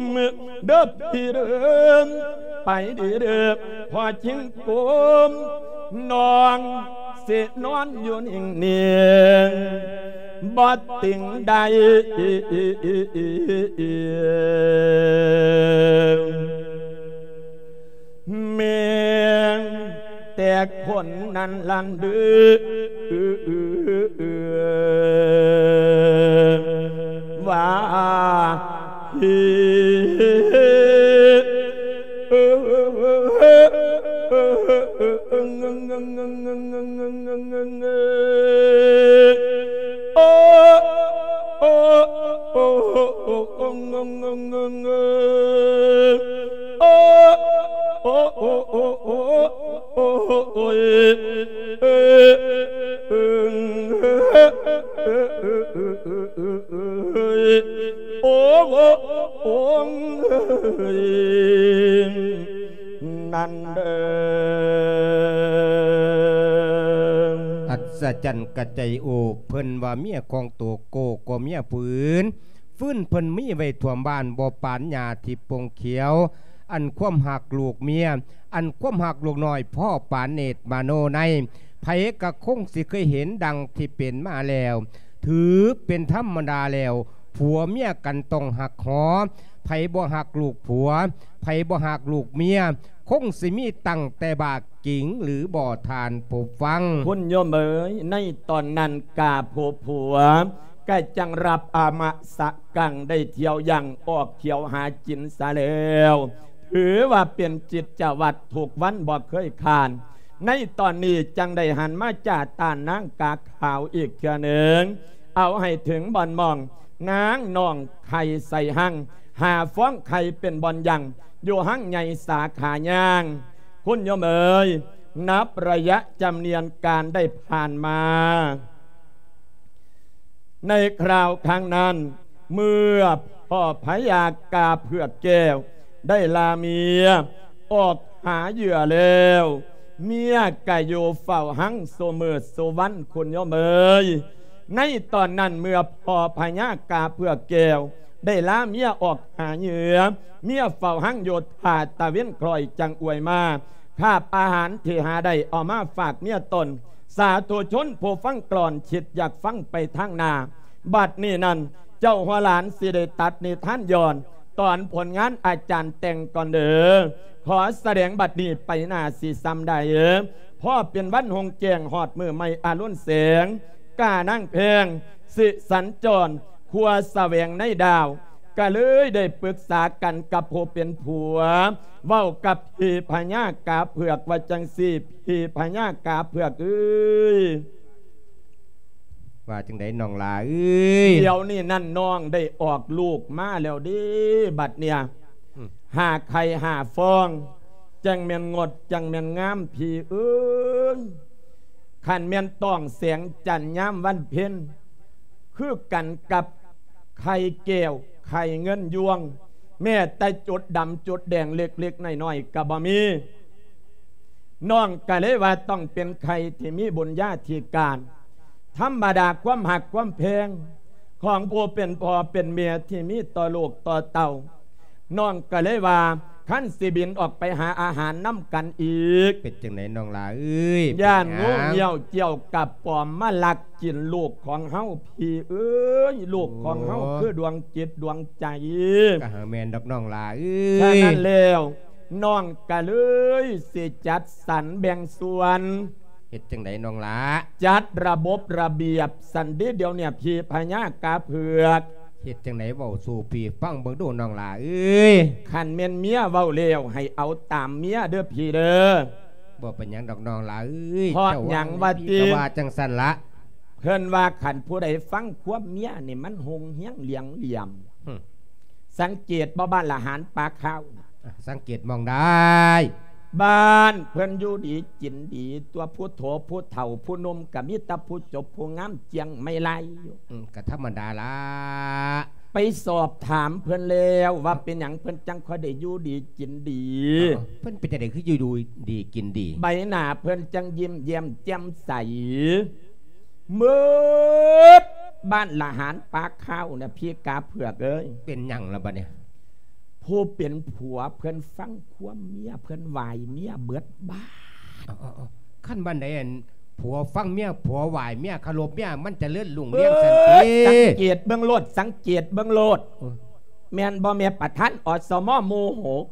ເດີພີ່ເດີ ໄປດີເດີ ພໍ່ຈິງກົມ ນ້ອງຊິນອນຢູ່ນິ່ງໆ ບໍ່ຕິງໃດ ແມ່ນແຕ່ຄົນນັ້ນຫັ້ນເດີ້ ວ່າ ໂອ້ ໂອ້ ນັ້ນເດີ ອັດສະຈັນກະໄຈໂອບ ເພິ່ນວ່າເມຍຂອງໂຕໂກກໍເມຍຜູ້ອື່ນ ຟືນເພິ່ນມີໄວ້ທົ່ວມບ້ານ ບໍ່ປານຫຍ້າທີ່ປົ່ງຂຽວ ອັນຄວາມຮັກລູກເມຍ ອັນຄວາມຮັກລູກນ້ອຍພໍປານເນດມະໂນໃນ ໃຜກໍຄົງຊິເຄີຍເຫັນດັ່ງທີ່ເປັນມາແລ້ວ ຖືເປັນທຳມະດາແລ້ວ ຜົວເມຍກັນຕ້ອງຮັກຫໍ ໃຜບໍ່ຮັກລູກຜົວ ໃຜບໍ່ຮັກລູກເມຍ ຄົງຊິມີຕັ້ງແຕ່ບາກຈິງຫຼືບໍ່ ທ່ານຜູ້ຟັງ. ຄຸນໂຍມເອີຍ ໃນຕອນນັ້ນກາຜູ້ຜົວກໍຈັ່ງຮັບອາມະສະກັງ ໄດ້ທ່ຽວຍ່າງອອກທ່ຽວຫາກິນສາແລ້ວ ຖືວ່າເປັນກິດຈະວັດທຸກວັນບໍ່ເຄີຍຂາດ. ໃນຕອນນີ້ຈັ່ງໄດ້ຫັນມາຈາຕານນາງກາຂາວອີກເທື່ອໜຶ່ງ ເອົາໃຫ້ເຖິງບ່ອນໝ່ອງ ນາງນ້ອງໄຂ່ໃສ່ຮັ່ງ ຫາຟອງໄຂ່ເປັນບ່ອນຢັ້ງ ຢູ່ຮັ່ງໃຫຍ່ສາຂາຍ່າງ. ຄຸນໂຍມເອີຍ ນັບໄລຍະຈຳນວນການໄດ້ຜ່ານມາ ໃນຄາວຄັ້ງນັ້ນ ເມື່ອພໍ່ພະຍາກາເຜືອກແກ້ວໄດ້ລາເມຍອອກຫາເຫຍື່ອແລ້ວ ເມຍກະຢູ່ເຝົ້າຮັ່ງຊຸມື້ຊຸວັນ ຄຸນໂຍມເອີຍ. ໃນຕອນນັ້ນເມື່ອພໍ່ພະຍາກາເຜືອກແກ້ວໄດ້ລາເມຍອອກຫາເຫຍື່ອ ເມຍເຝົ້າຮັ່ງຢູ່ຖ້າຕາເວັນຄ່ອຍຈັ່ງອວຍມາ ຄາບອາຫານທີ່ຫາໄດ້ເອົາມາຝາກເມຍຕົນ. ສາທຸຊົນຜູ້ຟັງກລອນ ຄິດຢາກຟັງໄປທາງໜ້າ ບັດນີ້ນັ້ນ ເຈົ້າຫົວຫຼານຊິໄດ້ຕັດນິທານຍ້ອນຕອນຜົນງານອາຈານແຕ່ງກ່ອນເດີ. ຂໍສະແດງບັດນີ້ໄປໜ້າຊິສ່ຳໃດ ພໍເປັນວັນຮຸ່ງແຈ້ງຮອດມື້ໃໝ່ອາລຸນແສງ ການາງແພງ ສິສັນຈອນ ຄົວສະແຫວງໃນດາວ ກະເລີຍໄດ້ປຶກສາກັນກັບຜູ້ເປັນຜົວ ເວົ້າກັບພີ່ພະຍາກາເຜືອກວ່າຈັ່ງຊີ້ ພີ່ພະຍາກາເຜືອກເອີຍ. ວ່າຈັ່ງໃດນ້ອງຫຼ້າເອີຍ? ດຽວນີ້ນັ້ນນ້ອງໄດ້ອອກລູກມາແລ້ວເດ້ ບັດເນີ້ຍ ອືມ ຫ້າໄຂ່ຫ້າຟອງ ຈັ່ງແມ່ນງົດ ຈັ່ງແມ່ນງາມ ພີ່ເອີຍ. ຄັນແມ່ນຕ້ອງແສງຈັນຍາມວັນເພັນ ຄືກັນກັບໄຂ່ແກ້ວ ໄຂ່ເງິນຍວງ ແມ້ແຕ່ຈຸດດຳຈຸດແດງເລັກໆນ້ອຍໆກໍບໍ່ມີ. ນ້ອງກໍເລີຍວ່າຕ້ອງເປັນໄຂ່ທີ່ມີບຸນຍາທິການ. ທຳມະດາຄວາມຮັກຄວາມແພງຂອງຜູ້ເປັນພໍ່ເປັນແມ່ທີ່ມີຕໍ່ລູກຕໍ່ເຕົ້າ ນ້ອງກໍເລີຍວ່າ ຄັນຊິບິນອອກໄປຫາອາຫານນຳກັນອີກ ເປັນຈັ່ງໃດນ້ອງຫຼ້າເອີຍ? ຢ້ານງູງຽວຈ້ຽວກະປອມມາລັກກິນລູກຂອງເຮົາ ພີ່ເອີຍ ລູກຂອງເຮົາ ໂອ້ ຄືດວງຈິດດວງໃຈ. ກໍຫາແມ່ນດອກນ້ອງຫຼ້າເອີຍ. ສະນັ້ນແລ້ວ ນ້ອງກະເລີຍຊິຈັດສັນແບ່ງສ່ວນ. ເຮັດຈັ່ງໃດນ້ອງຫຼ້າ? ຈັດລະບົບລະບຽບສັນເດ ດຽວນີ້ພີ່ພະຍາກາເຜືອກ. ເຮັດຈັ່ງໃດເວົ້າສູ່ພີ່ຟັງເບິ່ງດູນ້ອງຫຼ້າເອີຍ. ຄັນແມ່ນເມຍເວົ້າແລ້ວ ໃຫ້ເອົາຕາມເມຍເດີພີ່ເດີ. ບໍ່ເປັນຫຍັງດອກນ້ອງຫຼ້າເອີຍ. ເພາະຫຍັງວ່າຕິ? ກໍວ່າຈັ່ງຊັ້ນລະ. ເພິ່ນວ່າຄັນຜູ້ໃດຟັງຄວາມເມຍນີ້ ມັນຮຸ່ງຮຽງຫຼຽງຫຼຽມ. ຫຶ. ສັງເກດບໍ່ ບ້ານລະຫານປາຂາວ? ສັງເກດໝ່ອງໃດ? ບ້ານເພິ່ນຢູ່ດີກິນດີ ຕົວະຜູ້ໂຖຜູ້ເຖົ້າຜູ້ໜຸ່ມກໍມີແຕ່ຜູ້ຈົບຜູ້ງາມຈຽງໄມ້ລາຍຢູ່. ອືມ ກໍທຳມະດາລະ. ໄປສອບຖາມເພິ່ນແລ້ວວ່າເປັນຫຍັງເພິ່ນຈັ່ງຄ່ອຍໄດ້ຢູ່ດີກິນດີ. ເອີ ເພິ່ນເປັນຈັ່ງໃດຄືຢູ່ ຢູ່ດີກິນດີ? ໃບໜ້າເພິ່ນຈັ່ງຍິ້ມແຍ້ມແຈ່ມໃສ. ໝົດບ້ານລະຫານປາຂາວນະ ພີ່ກາເຜືອກເອີຍ. ເປັນຫຍັງລະບັດນີ້? ຜູ້ເປັນຜົວເພິ່ນຟັງຄວາມເມຍ ເພິ່ນຫວາຍເມຍເບິດບ້ານ. ເອົາໆໆ ຄັນບ້ານໃດ ອັນ ຜົວຟັງເມຍ ຜົວຫວາຍເມຍ ເຄົາລົບເມຍ ມັນຈະເລີນຮຸ່ງເຮືອງຊັ້ນຕິ. ເອີ ສັງເກດເບິ່ງໂລດ ສັງເກດເບິ່ງໂລດ. ໂອ້ຍ ແມ່ນບໍ່ແມ່ປະທານ ອສມ ໝູ່ຫົກ?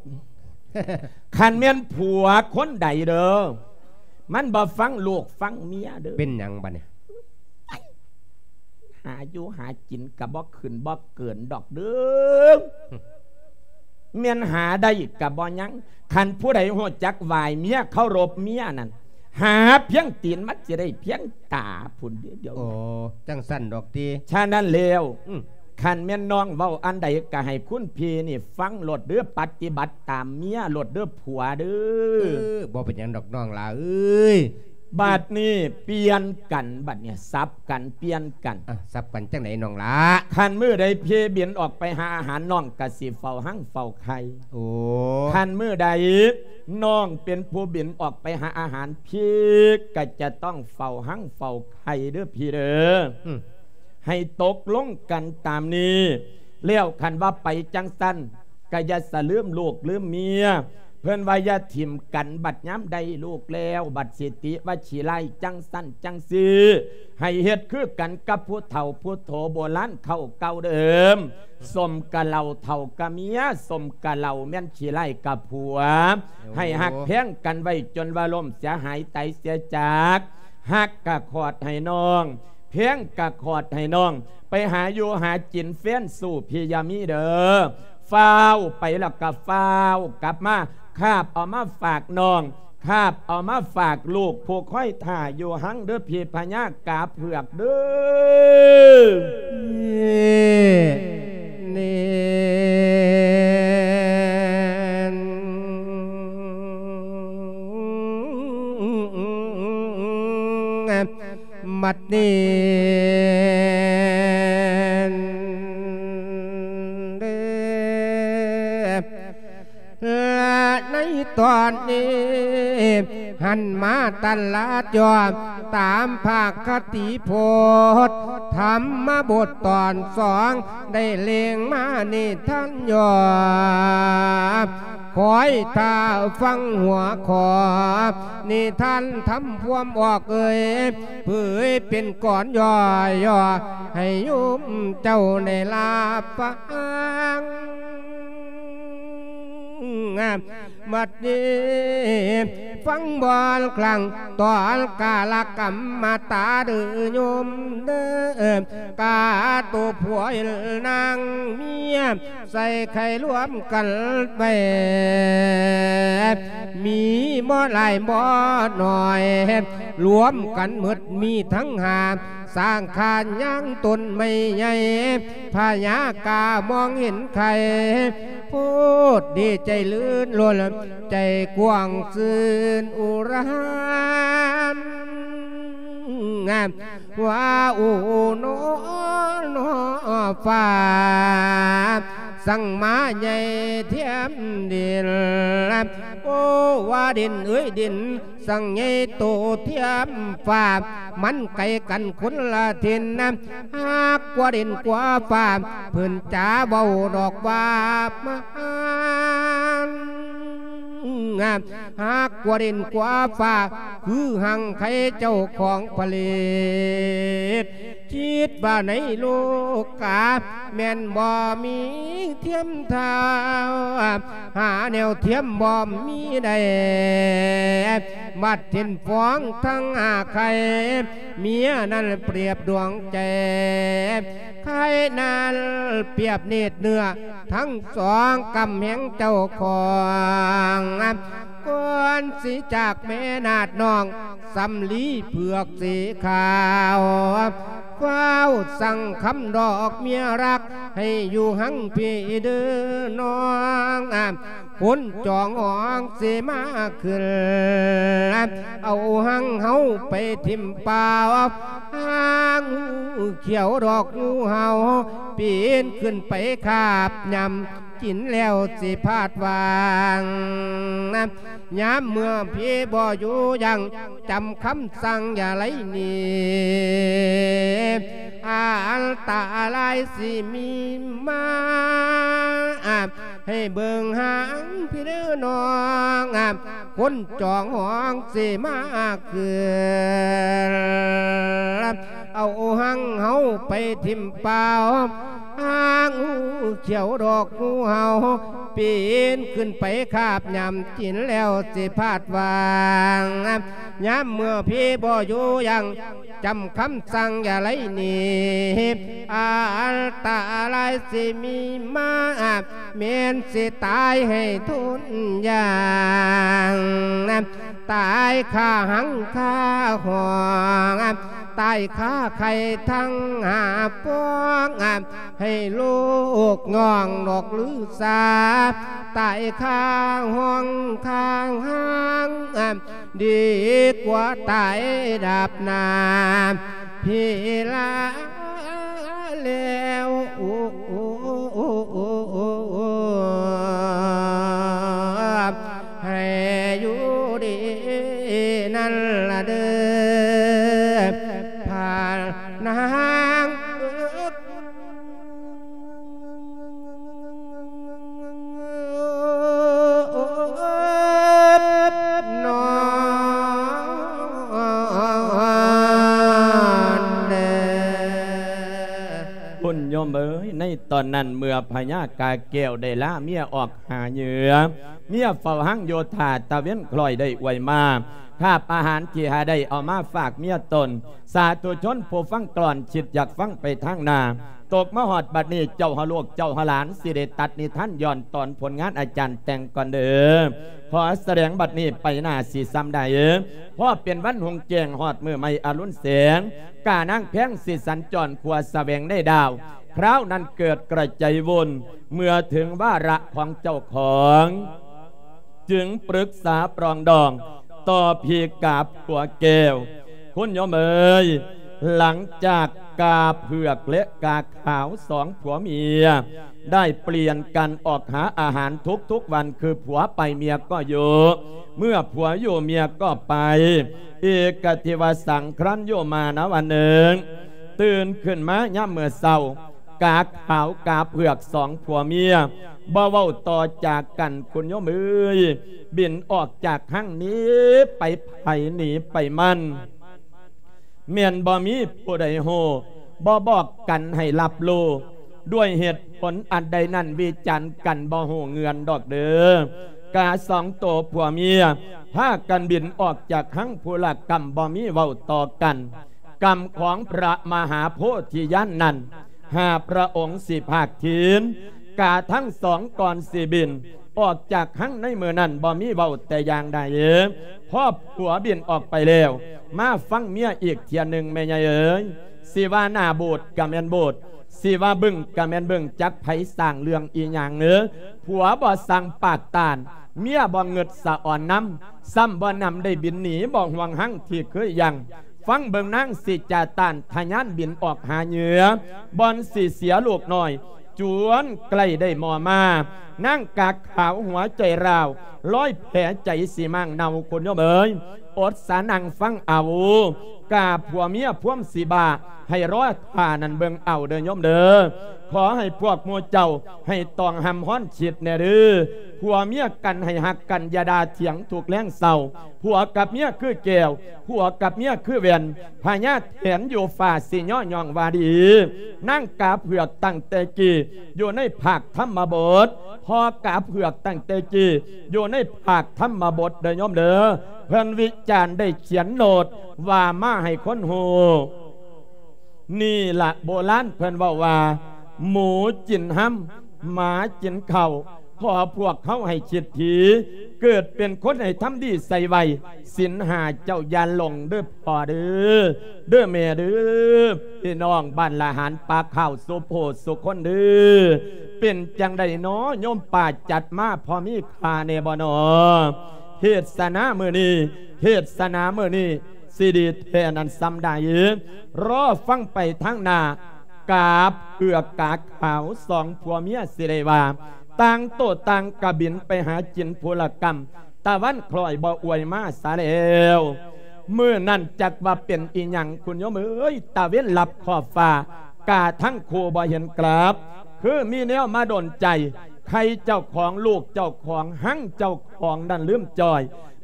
ຄັນແມ່ນຜົວຄົນໃດເດີ ມັນບໍ່ຟັງລູກຟັງເມຍເດີ. ເປັນຫຍັງບັດນີ້? ຫາຢູ່ຫາກິນກະບໍ່ຂຶ້ນບໍ່ເກີນດອກເດີ ແມ່ນຫາໄດ້ກະບໍ່ຍັງ. ຄັນຜູ້ໃດຮູ້ຈັກຫວາຍເມຍ ເຄົາລົບເມຍນັ້ນ ຫາພຽງຕີນມັນຊິໄດ້ພຽງຕາພຸ້ນເດ ດຽວ. ໂອ້ ຈັ່ງຊັ້ນດອກຕິ. ສະນັ້ນແລ້ວ ອືມ ຄັນແມ່ນນ້ອງເວົ້າອັນໃດກໍໃຫ້ຄຸນພີ່ນີ້ຟັງໂລດເດີ້ ປະຕິບັດຕາມເມຍໂລດເດີ້ຜົວເດີ້. ເອີ ບໍ່ເປັນຫຍັງດອກນ້ອງຫຼ້າເອີຍ. ບາດນີ້ປ່ຽນກັນ ບາດນີ້ສັບກັນ ປ່ຽນກັນ. ອ່ະ ສັບກັນຈັ່ງໃດນ້ອງຫຼ້າ? ຄັນມື້ໃດພີ່ບິນອອກໄປຫາອາຫານ ນ້ອງກໍຊິເຝົ້າຮັງເຝົ້າໄຂ່. ໂອ້ ຄັນມື້ໃດນ້ອງເປັນຜູ້ບິນອອກໄປຫາອາຫານ ພີ່ກໍຈະຕ້ອງເຝົ້າຮັງເຝົ້າໄຂ່ເດີ້ພີ່ເດີ້. ອືມ ໃຫ້ຕົກລົງກັນຕາມນີ້ ແລ້ວຄັນວ່າໄປຈັ່ງຊັ້ນ ກໍຢ່າສະລືມລູກລືມເມຍ. ເພິ່ນວ່າຢ່າຖິ້ມກັນ ບັດຍາມໄດ້ລູກແລ້ວ ບັດຊິຕິວ່າຂີ້ຮ້າຍຈັ່ງຊັ້ນຈັ່ງຊີ້. ໃຫ້ເຮັດຄືກັນກັບຜູ້ເຖົ້າຜູ້ໂຖໂບລານເຂົາເກົ່າເດີ. ສົມກັບເຫຼົ້າເຖົ້າກັບເມຍ ສົມກັບເຫຼົ້າແມ່ນຂີ້ຮ້າຍກັບຜົວ. ໂອ້ ໃຫ້ຮັກແພງກັນໄວ້ຈົນວ່າລົ້ມເສຍຫາຍຕາຍເສຍຈາກ. ຮັກກະຂອດໃຫ້ນ້ອງ ແພງກະຂອດໃຫ້ນ້ອງ ໄປຫາຢູ່ຫາກິນແຟນສູ້ພີ່ຢ່າມີເດີ. ຟ້າວໄປແລ້ວກະຟ້າວກັບມາ ຄາບເອົາມາຝາກນ້ອງ ຄາບເອົາມາຝາກລູກ ຜູ້ຄອຍຖ້າຢູ່ຮັງເດີ ພີ່ພະຍາກາເຜືອກເດີ. ເນນ ບັດນີ້ເດີ ໃນຕອນນີ້ ຫັນມາຕັນລະຈອມ ຕາມພາກຄະຕິໂພດ ທຳມະບົດຕອນສອງ ໄດ້ເລັງມານິທານຫຍໍ້ ຄອຍຖ້າຟັງຫົວຂໍ້ ນິທານທຳພວມອອກເອີຍ ເຜີຍເປັນກອນຫຍໍ້ໆ ໃຫ້ໂຍມເຈົ້າໄດ້ລາບຟັງ. ບັດນີ້ຟັງບ່ອນຄັ້ງ ຕອນກາລະກຳມາຕາເດີໂຍມເດີ ກາໂຕຜົວນາງເມຍ ໃສ່ໄຂ່ລວມກັນໄວ້ ມີບໍ່ຫຼາຍບໍ່ໜ້ອຍ ລວມກັນໝົດມີທັງຫ້າ ສ້າງຄານຍ່າງຕົ້ນໄມ້ໃຫຍ່ ພະຍາກາມອງເຫັນໄຂ່ ໂພດດີໃຈລື່ນລົນ ໃຈກວ້າງຊື່ນອຸຣານ ວ່າ ໂອ້ ນອ ນອ ຟ້າ ສັງມາໃຫຍ່ທຽມດິນ ໂອ້ ວ່າດິນເອີຍດິນ ສັງໃຫຍ່ໂຕທຽມຟ້າ ມັນໄກກັນຄົນລະຖິ່ນນະ ຫາກກວ່າດິນກວ່າຟ້າ ເພິ່ນຈາເວົ້າດອກວ່າມາ ຫາກກວ່າດິນກວ່າຟ້າ ຄືຮັ່ງໄຄເຈົ້າຂອງຜະລິດ ຄິດວ່າໃນໂລກາ ແມ່ນບໍ່ມີທຽມເທົ່າ ຫາແນວທຽມບໍ່ມີໄດ້ ບັດເຫັນຟອງທັງຫ້າໄຂ່ ເມຍນັ້ນປຽບດວງໃຈ ໄຂ່ນັ້ນປຽບເນດເນື້ອ ທັງສອງກຳແຮງເຈົ້າຂອງ ກ່ອນຊິຈາກແມ່ນາດນ້ອງ ສຳລີເຜືອກສີຂາວ ຟ້າວສັ່ງຄຳດອກເມຍຮັກ ໃຫ້ຢູ່ຮັ່ງພີ້ເດີນ້ອງ ຄົນຈອງຫອງຊິມາຂຶ້ນ ເອົາຮັ່ງເຮົາໄປຖິ້ມປ່າ ຫາງຂຽວດອກງູເຫົ່າ ປີນຂຶ້ນໄປຄາບຫຍ້ຳ ກິນແລ້ວຊິພາດຫວ່າງ ຍາມເມື່ອພີ້ບໍ່ຢູ່ຢັ້ງ ຈຳຄຳສັ່ງຢ່າໄຫຼໜີ ອັນຕະລາຍຊິມີມາ ໃຫ້ເບິ່ງຫາງພີ້ເດີນ້ອງ ຄົນຈອງຫອງຊິມາຄືນ ເອົາຮັ່ງເຮົາໄປຖິ້ມປ່າ ຫາງຂຽວດອກງູເຫົ່າ ປີນຂຶ້ນໄປຄາບຫຍ້ຳ ກິນແລ້ວຊິພາດຫວ່າງ ຍາມເມື່ອພີ້ບໍ່ຢູ່ຢັ້ງ ຈຳຄຳສັ່ງຢ່າໄຫຼໜີ ອັນຕະລາຍຊິມີມາ ແມ່ນຊິຕາຍໃຫ້ທົນຢ່າງ ຕາຍຄາຮັ່ງຄາຫ້ອງ ຕາຍຄາໄຂ່ທັງຫ້າປອງ ໃຫ້ລູກນ້ອງນອກລືສາ ຕາຍຄາຫ້ອງຄາຫ້າງ ດີກວ່າຕາຍດາບໜ້າພີລາແລ້ວ ໃຫ້ຢູ່ດີນັ້ນລະເດີ ພານາງເອີຍ ນອນເດີ ຄຸນໂຍມເອີຍ ໃນຕອນນັ້ນເມື່ອພະຍາກາແກ້ວໄດ້ລາເມຍອອກຫາເຫຍື່ອ ເມຍເຝົ້າຮັງຢູ່ຖ້າຕາເວັນຄລ້ອຍໄດ້ອວຍມາ ຄາບອາຫານທີ່ຫາໄດ້ເອົາມາຝາກເມຍຕົນ ສາທຸຊົນຜູ້ຟັງກ່ອນ ຄິດຢາກຟັງໄປທາງໜ້າ ຕົກມາຮອດບັດນີ້ ເຈົ້າເຮົາລູກເຈົ້າເຮົາຫຼານ ຊິໄດ້ຕັດນິທານຍ້ອນຕອນຜົນງານອາຈານແຕ່ງກ່ອນເດີ ຂໍສະແດງບັດນີ້ໄປໜ້າຊິສ່ຳໃດ ພໍເປັນວັນຮຸ່ງແຈ້ງຮອດມື້ໃໝ່ອະລຸນແສງ ການາງແພງຊິສັນຈອນຂົວສະແຫວງໃນດາວ ຄາວນັ້ນເກີດກະໄຈວຸ່ນ ເມື່ອເຖິງວາລະຂອງເຈົ້າຂອງ ຈຶ່ງປຶກສາປລອງດອງ ຕໍ່ພີກາຜົວແກ້ວ ຄຸນໂຍມເອີຍ ຫຼັງຈາກກາເຜືອກ ແລະ ກາຂາວ ສອງຜົວເມຍ ໄດ້ປ່ຽນກັນອອກຫາອາຫານທຸກໆວັນ ຄືຜົວໄປເມຍກໍຢູ່ ເມື່ອຜົວຢູ່ເມຍກໍໄປ ເອກະເທວະສັງຄະລັນໂຍມານະວັນໜຶ່ງ ຕື່ນຂຶ້ນມາຍາມມື້ເຊົ້າ ກາຂາວກາເຜືອກສອງຜົວເມຍ ບໍ່ເວົ້າຕໍ່ຈາກັນ ຄຸນໂຍມເອີຍ ບິນອອກຈາກຮັງໜີໄປໃຜໜີໄປມັນ ແມ່ນບໍ່ມີຜູ້ໃດຮູ້ ບໍ່ບອກກັນໃຫ້ຮັບຮູ້ ດ້ວຍເຫດຜົນອັນໃດນັ້ນ ວິຈານກັນບໍ່ຮູ້ເງື່ອນດອກເດີ ກາສອງໂຕຜົວເມຍ ພາກັນບິນອອກຈາກຮັງ ຜູ້ລະກຳບໍ່ມີເວົ້າຕໍ່ກັນ ກຳຂອງພະມະຫາໂພທິຍານນັ້ນ ຫ້າພະອົງຊິພາກທີນ ກາທັງສອງກ່ອນຊິບິນ ອອກຈາກຮັງໃນມື້ນັ້ນບໍ່ມີເວົ້າແຕ່ຢ່າງໃດ ພໍຜົວບິນອອກໄປແລ້ວ ມາຟັງເມຍອີກເທື່ອໜຶ່ງແມ່ໃຫຍ່ເອີຍ ຊິວ່າໜ້າບູດກະແມ່ນບູດ ຊິວ່າບຶ້ງກະແມ່ນບຶ້ງ ຈັກໃຜສ້າງເລື່ອງອີ່ຫຍັງເອີ ຜົວບໍ່ສັ່ງປາກຕ້ານ ເມຍບໍ່ງຶດສະອອນນຳ ຊ້ຳບໍ່ນຳໄດ້ບິນໜີ ບໍ່ຫ່ວງຮັງທີ່ເຄີຍຢັ້ງ ຟັງເບິ່ງນາງຊິຈາຕ້ານ ທະຍານບິນອອກຫາເຫຍື່ອ ບ່ອນຊິເສຍລູກນ້ອຍ ຈວນໃກ້ໄດ້ມໍ່ມາ ນາງກາຂາວຫົວໃຈຮ້າວ ລອຍແຜໃຈຊິມ້າງເນົ່າ ຄຸນໂຍມເອີຍ ອົດສານັ່ງຟັງເອົາ ກາຜົວເມຍພວມຊິບ້າ ໃຫ້ລໍຖ້ານັ້ນເບິ່ງເອົາເດີໂຍມເດີ ຂໍໃຫ້ພວກໝູ່ເຈົ້າ ໃຫ້ຕ້ອງຫ້ຳຮ້ອນຄິດແດ່ເດີ ຜົວເມຍກັນໃຫ້ຮັກກັນ ຢ່າດ່າຖຽງທຸກແລງເຊົ້າ ຜົວກັບເມຍຄືແກ້ວ ຜົວກັບເມຍຄືແວ່ນ ພະຍາແຖນຢູ່ຟ້າຊິຍໍຍ້ອງວ່າດີ ນາງກາເຜືອກຕັ້ງແຕ່ກີ້ ຢູ່ໃນພາກທຳມະບົດ ພໍ່ກາເຜືອກຕັ້ງແຕ່ກີ້ ຢູ່ໃນພາກທຳມະບົດເດີໂຍມເດີ ເພິ່ນວິຈານໄດ້ຂຽນໂນ້ດວ່າມາໃຫ້ຄົນຮູ້ ນີ້ລະໂບລານເພິ່ນເວົ້າວ່າ ໝູກິນຮຳ ໝາກິນເຂົ້າ ຂໍພວກເຮົາໃຫ້ຄິດຖີ ເກີດເປັນຄົນໃຫ້ທຳດີໃສ່ໄວ້ ສິນຫ້າເຈົ້າຢ່າຫຼົງເດີພໍ່ເດີ ເດີແມ່ເດີ ພີ່ນ້ອງບ້ານລະຫານປາກຂາວສຸໂພສຸຄົນເດີ ເປັນຈັ່ງໃດນໍໂຍມປ້າ ຈັດມາພໍມີຄ່າແດ່ບໍ່ນໍ ເທດສະໜາມື້ນີ້ ເທດສະໜາມື້ນີ້ ຊິດີແທ້ນັ້ນສ່ຳໃດ ລໍຟັງໄປທາງໜ້າ ກາເຜືອກກາຂາວສອງຜົວເມຍຊິໄດ້ວ່າ ຕ່າງໂຕຕ່າງກະບິນໄປຫາກິນຜູ້ລະກຳ ຕາວັນຄລ້ອຍບໍ່ອວຍມາສາແລ້ວ ມື້ນັ້ນຈັກວ່າເປັນອີ່ຫຍັງ ຄຸນໂຍມເອີຍ ຕາເວັນລັບຂອບຟ້າ ກາທັງຄູ່ບໍ່ເຫັນກັບ ຄືມີແນວມາດົນໃຈ ໄຂ່ເຈົ້າຂອງ ລູກເຈົ້າຂອງ ຮັງເຈົ້າຂອງນັ້ນລືມຈ່ອຍ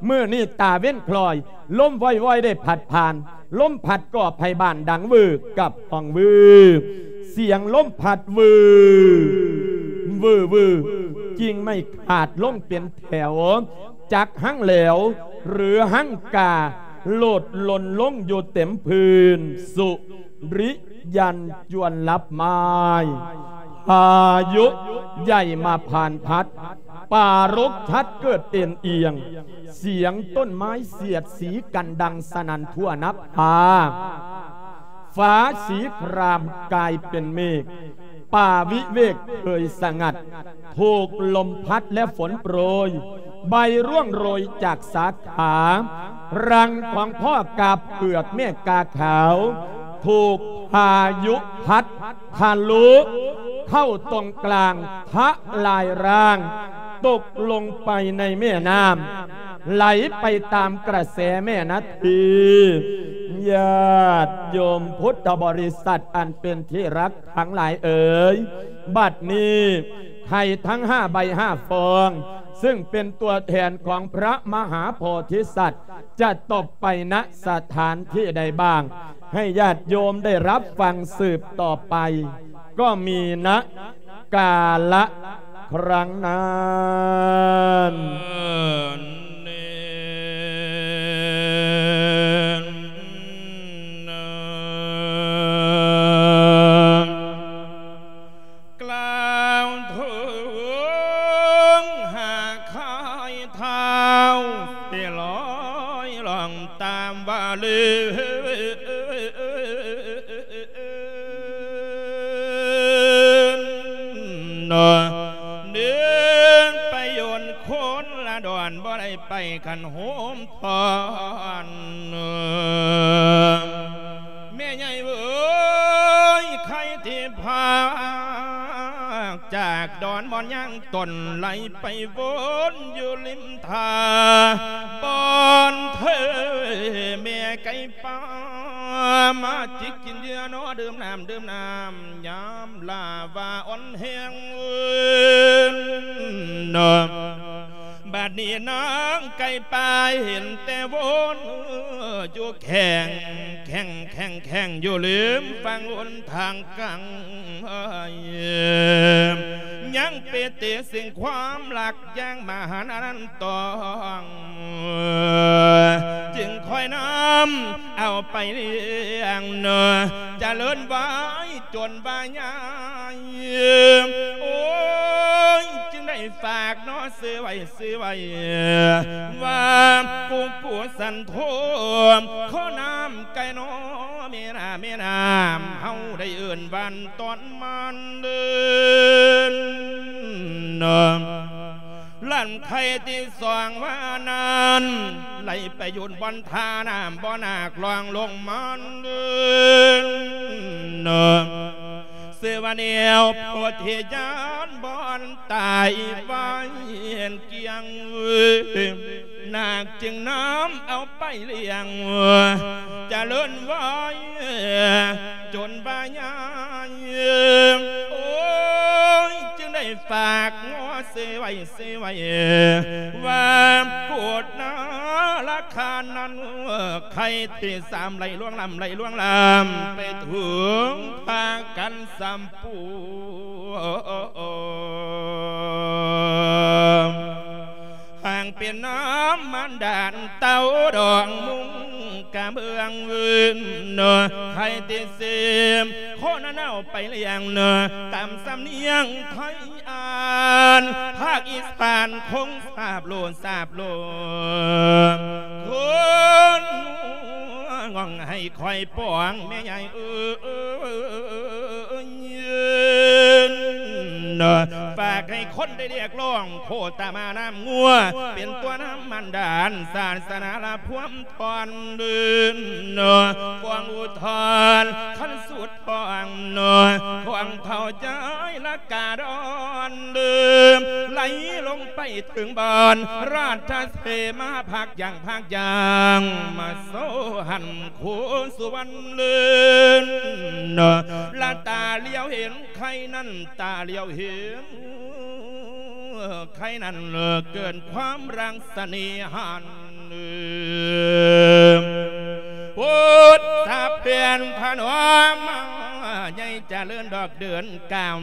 ມື້ນີ້ຕາເວັນຄລ້ອຍ ລົມວອຍໆໄດ້ພັດຜ່ານ ລົມພັດກໍໃຜບ້ານດັງວືກັບຫ້ອງວື ສຽງລົມພັດວື ວື ວື ກິ່ງໄມ້ຂາດລົງເປັນແຖວ ຈັກຮັງແຫຼວ ຫຼື ຮັງກາ ໂລດຫຼົ່ນລົງຢູ່ເຕັມພື້ນ ສຸ ລິຢັນຈວນລັບໄມ້ ພາຍຸໃຫຍ່ມາຜ່ານພັດ ປ່າລົກທັດເກີດເອັນອຽງ ສຽງຕົ້ນໄມ້ສຽດສີກັນດັງສະໜັ່ນທົ່ວນະພາ ฟ้าสีครามกลายเป็นเมฆ ป่าวิเวกเคยสงัด ถูกลมพัดและฝนโปรย ใบร่วงโรยจากสาขา รังของพ่อกาเผือกแม่กาขาว ถูกพายุพัดทะลุเข้าตรงกลาง ทลายร่าง ตกลงไปในแม่น้ำ ไหลไปตามกระแสแม่นาที ญาติโยมพุทธบริษัทอันเป็นที่รักทั้งหลายเอ๋ย บัดนี้ไข่ทั้งห้าใบห้าฟอง ซึ่งเป็นตัวแทนของพระมหาโพธิสัตว์ จะตกไป ณ สถานที่ใดบ้าง ให้ญาติโยมได้รับฟังสืบต่อไป ก็มี ณ กาละครั้งนั้น กล่าวเถิงหาคายเท้า สิลอยล่องตามว่าเลิน เนาะ เดินไปโยนคนละดอน บ่ได้ไปคันโฮม พร แม่ใหญ่เอ๋ย ใครที่พากจากดอนบ่อนย่างตน ไหลไปวนอยู่ริมท่า บ่อนเธอแม่ไก่ป่า มาจิกกินเหยื่อเนาะ ดื่มน้ำ ดื่มน้ำ ยามลาว่าอ่อนแฮง เนาะ บัดนี้นางไก่ป่าเห็นแต่วนอยู่แข่ง แข่ง แข่ง แข่งอยู่ริมฝั่งหนทางกลาง ยังไปเตะสิ่งความรักอย่างมหันต์อันนั้นต้อง จึงค่อยนำเอาไปเลี้ยงเนาะ เจริญไว้จนว่าใหญ่ โอ้ย จึงได้ฝากเนาะ ซื้อไว้ ซื้อไว้ ว่าผู้ผู้สันโทม ขอน้ำไก่น้อ แม่น้ำ แม่น้ำ เฮาได้เอิ้นวันตอนมันเดิน น้ำ ลั่นไข่ที่สองว่านั้น ไหลไปหยุดบ่อนท่าน้ำ บ่อนากลองลงมันเดิน น้ำ เสวาแนวโพธิญาณบ่อนตายไว้เกียง นาคจึงนำเอาไปเลี้ยง เจริญไว้จนว่าใหญ่ โอ้ย จึงได้ฝากงัวเสไว้ เสไว้ ว่าโปรดนาราคานั้น ไข่ที่สามไหลล่วงล้ำ ไหลล่วงล้ำ ไปถึงพากันสามปู หางเป็นน้ำมันดานเต้าดองมุงกะเมืองวืน ไข่ที่สิบ คนเอาไปเลี้ยง ตามสำเนียงไทยอ่าน ภาคอีสานคงสาบโลดสาบโลด คนง่องให้คอยปองแม่ใหญ่เอ้ย ฝากให้คนได้เรียกร้อง โคตมาน้ำงัว เป็นตัวน้ำมันดาน ศาสนาละพวมทอนเดิน ฟองอุทธรณ์ คันสุดทอง ของเฒ่าใจละกาดอนเดิม ไหลลงไปถึงบ่อน ราชเสมาพักอย่างพักอย่าง มาโซหัน โคสุวรรณเลิน ละตาเหลียวเห็นไข่นั้น ตาเหลียวเห็นไข่นั้น เกินความรังเสน่หัน พุทธเพียรพนม ใหญ่เจริญดอกเดือนกาม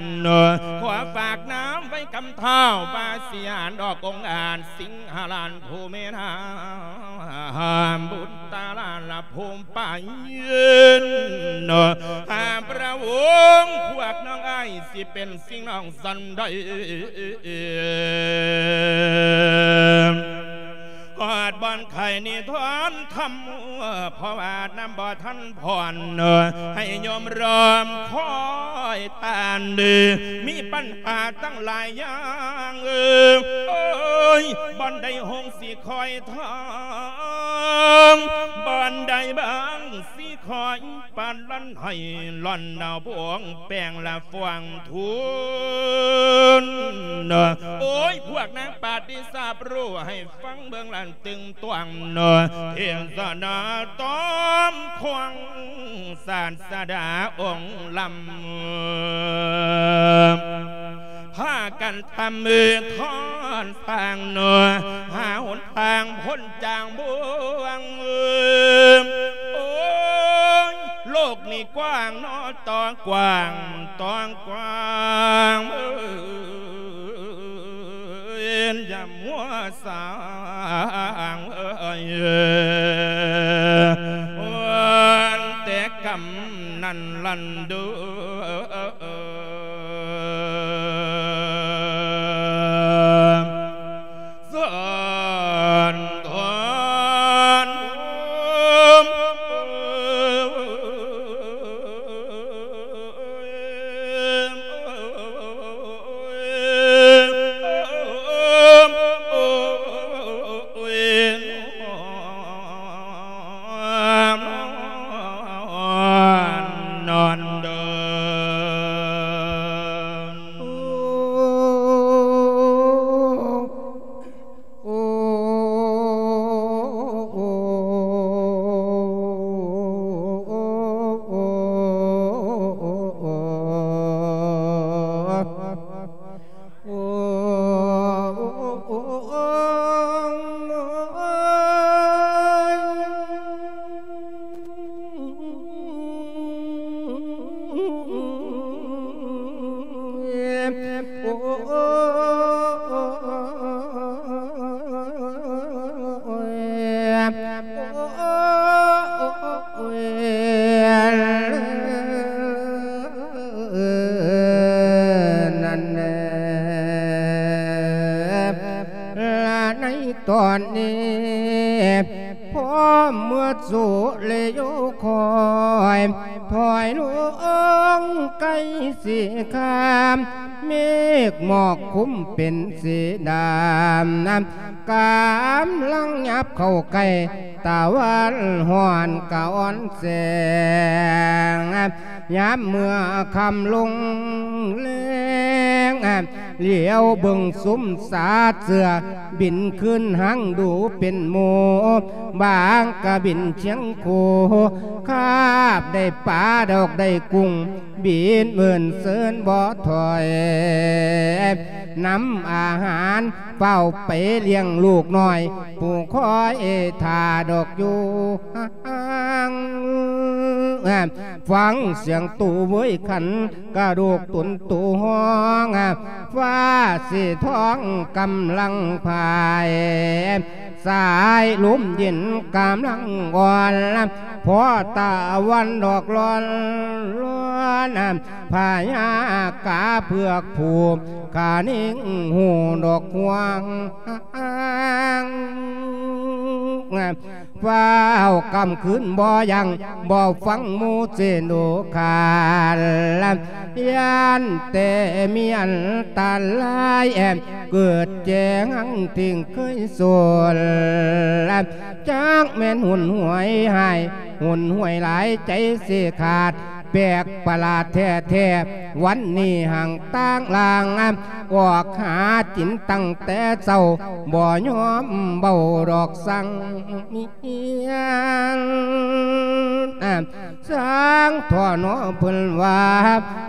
ขอฝากน้ำไว้กำเท้า บาสิหารดอกองอาจ สิงหราชผู้แม่นางบุตรตาลาละภูมิไปยืน หาพระองค์พวกน้องอ้ายสิเป็นสิ่งน้องสันใด ฮอดบ่อนไข่นิทานธรรม เพราะว่าน้ำบ่ ທັນຜ່ອນ ໃຫ້ໂຍມລອມຄອຍຕານເດີ ມີບັນຫາຕັ້ງຫຼາຍຢ່າງ ເອີ ໂອ້ຍ ບ່ອນໃດຫົງຊິຄອຍທອງ ບ່ອນໃດບາງຊິຄອຍປານລັນ ໃຫ້ລ່ອນດາວພວງແປງລະຟວງທຸນ ໂອ້ຍ ພວກນາງປາດນີ້ຊາບຮູ້ໃຫ້ ຟັງເບິ່ງລະຕຶງຕວງເນາະ ເທດສະນາຕ້ອມຂອງສາດສະດາອົງລຳ ພາກັນຕຳມືທອນສາງເນາະ ຫາຫົນທາງພົ້ນຈາກບ່ວງ ໂອ້ຍ ໂລກນີ້ກວ້າງເນາະ ຕ້ອງກວ້າງ ຕ້ອງກວ້າງ ເອີຍ ຢ່າມົວສ້າງເອີຍ ແຕ່ກຳນັ້ນລັນດູ ສອນທອນ ນອນເດີນ ນັ້ນແຫຼະ ລະໃນຕອນນີ້ ພ້ອມເມື່ອສູ່ແລຢູ່ຄອຍ ຖອຍລົງໃກ້ສີຄາມ ເມກໝອກຄຸມເປັນສີດຳ ກຳລັງຫຍັບເຂົ້າໃກ້ ຕາວັນຮ້ອນກະອ່ອນແສງ ຍາມເມື່ອຄ່ຳລົງແລງ ຫຼຽວເບິ່ງຊຸມສາດເສືອ ບິນຄືນຫາງດູເປັນໝູ່ ບາງກະບິນຄຽງຄູ່ ຄາບໄດ້ປາດອກໄດ້ກຸ້ງ ບິນເມີນເຊີນບໍ່ຖອຍ ນຳອາຫານ ຟ້າວໄປລ້ຽງລູກນ້ອຍ ຜູ້ຄອຍຖ້າດອກຢູ່ຫ່າງ ຟັງສຽງຕູ້ເວີຍຂັນ ກະດູກຕຸນຕູ້ຮ້ອງ ຟ້າສີທອງກຳລັງພາຍ ສາຍລົມເຢັນກຳລັງອ່ອນ ພໍຕາວັນດອກລອນ ລອນ ພະຍາກາເຜືອກຜູກ ຂານິງຫູດອກຮວງ ຟ້າວກຳຄືນບໍ່ຢັ້ງ ບໍ່ຟັງໝູ່ເຈໂນຄານ ຢ້ານແຕ່ມີອັນຕະລາຍ ເກີດແຈງຫັງທີ່ເຄີຍສົນ ຈັກແມ່ນຫຸນຫວຍຮ້າຍ ຫຸນຫວຍຫຼາຍໃຈຊິຂາດ ແປກປະຫຼາດແທ້ໆ ວັນນີ້ຮັ່ງຕ່າງລ່າງ ອອກຫາກິນຕັ້ງແຕ່ເຊົ້າ ບໍ່ຍອມເວົ້າດອກສັງ ສັງທໍ້ໜໍ ເພິ່ນວ່າ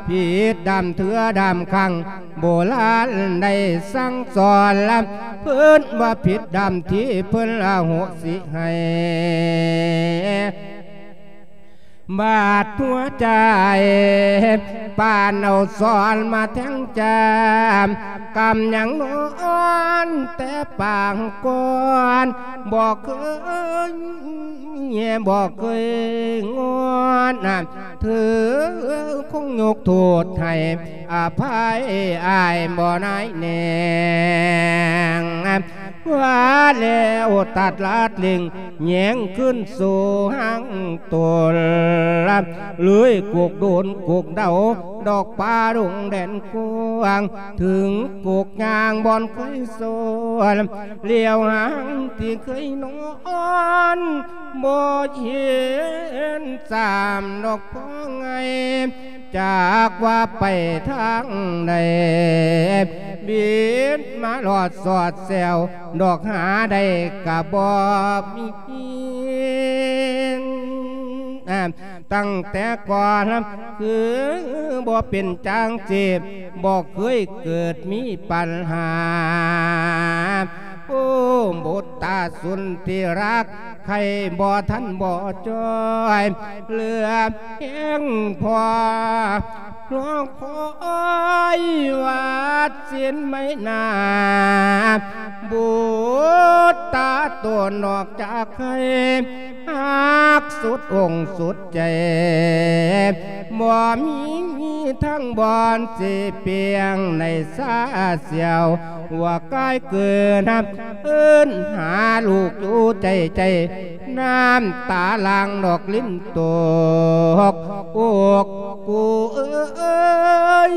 ຜິດດຳເທື່ອດຳຄັ້ງ ໂບລານໄດ້ສັ່ງສອນ ເພິ່ນວ່າຜິດດຳທີ່ເພິ່ນອະໂຫສິໃຫ້ ບາດຫົວໃຈ ປານເອົາສອນມາແທງຈາມ ກຳຍັງນອນແຕ່ປາງກ່ອນ ບໍ່ເຄີຍ ບໍ່ເຄີຍງອນ ເທີຄົງຍົກໂທດໃຫ້ ອະໄພອ້າຍບໍ່ນາຍແນງ ວ່າແລ້ວຕັດລາດເລັງແຍງຄືນສູ່ຫາງຕົນ ເລີຍກົກໂດນກົກເດົາ ດອກປ່າດົງແດນກວ້າງ ເຖິງກົກຍ່າງບ່ອນເຄີຍສວນ ຫຼຽວຫາງທີ່ເຄີຍນອນ ບໍ່ເຫັນຊ້ຳດອກພໍ່ໃຫຍ່ ຈັກວ່າໄປທາງໃດ ບິນມາລອດສອດແຊວ ດອກຫາໄດ້ກະບໍ່ມີ ຕັ້ງແຕ່ກ່ອນຄືບໍ່ເປັນຈັ່ງຊີ້ ບໍ່ເຄີຍເກີດມີປັນຫາ ໂອ້ ບຸດຕາສຸນທີ່ຮັກ ໃຄບໍ່ທັນບໍ່ຈ່ອຍ ເຫຼືອແຮງພໍ ລໍຄອຍວາດສິນໄມ້ໜ້າ ບຸດຕາຕົນອອກຈາກໃຄ ຮັກສຸດອົງສຸດໃຈ ບໍ່ມີທາງບ່ອນຊິປ່ຽງໃນຊາສຽວ ວ່າກາຍເກີນ ເອີ້ນຫາລູກຢູ່ໃຈໃຈ ນ້ຳຕາຫຼັ່ງນອກລິນຕົກ ໂອກກູເອີຍ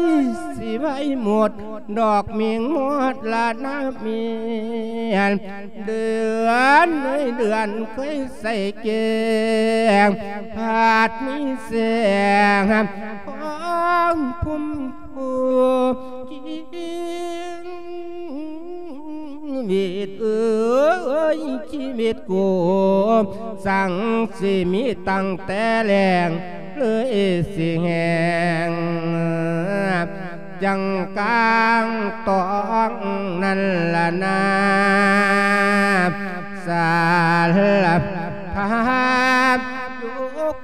ຊິໄວໝົດ ດອກມິງໝົດລະນະເມນ ເດືອນເອີຍເດືອນເຄີຍໃສ່ແກ້ງ ພາດມີແສງ ຂອງພຸມຜູ້ຈິງ ຊີວິດເອີຍ ຊີວິດກູ ສັງຊິມີຕັ້ງແຕ່ແລງ ເລີຍຊິແຮງ ຈັ່ງກາງຕອງນັ້ນລະນາ ສາລະພາບຍົກ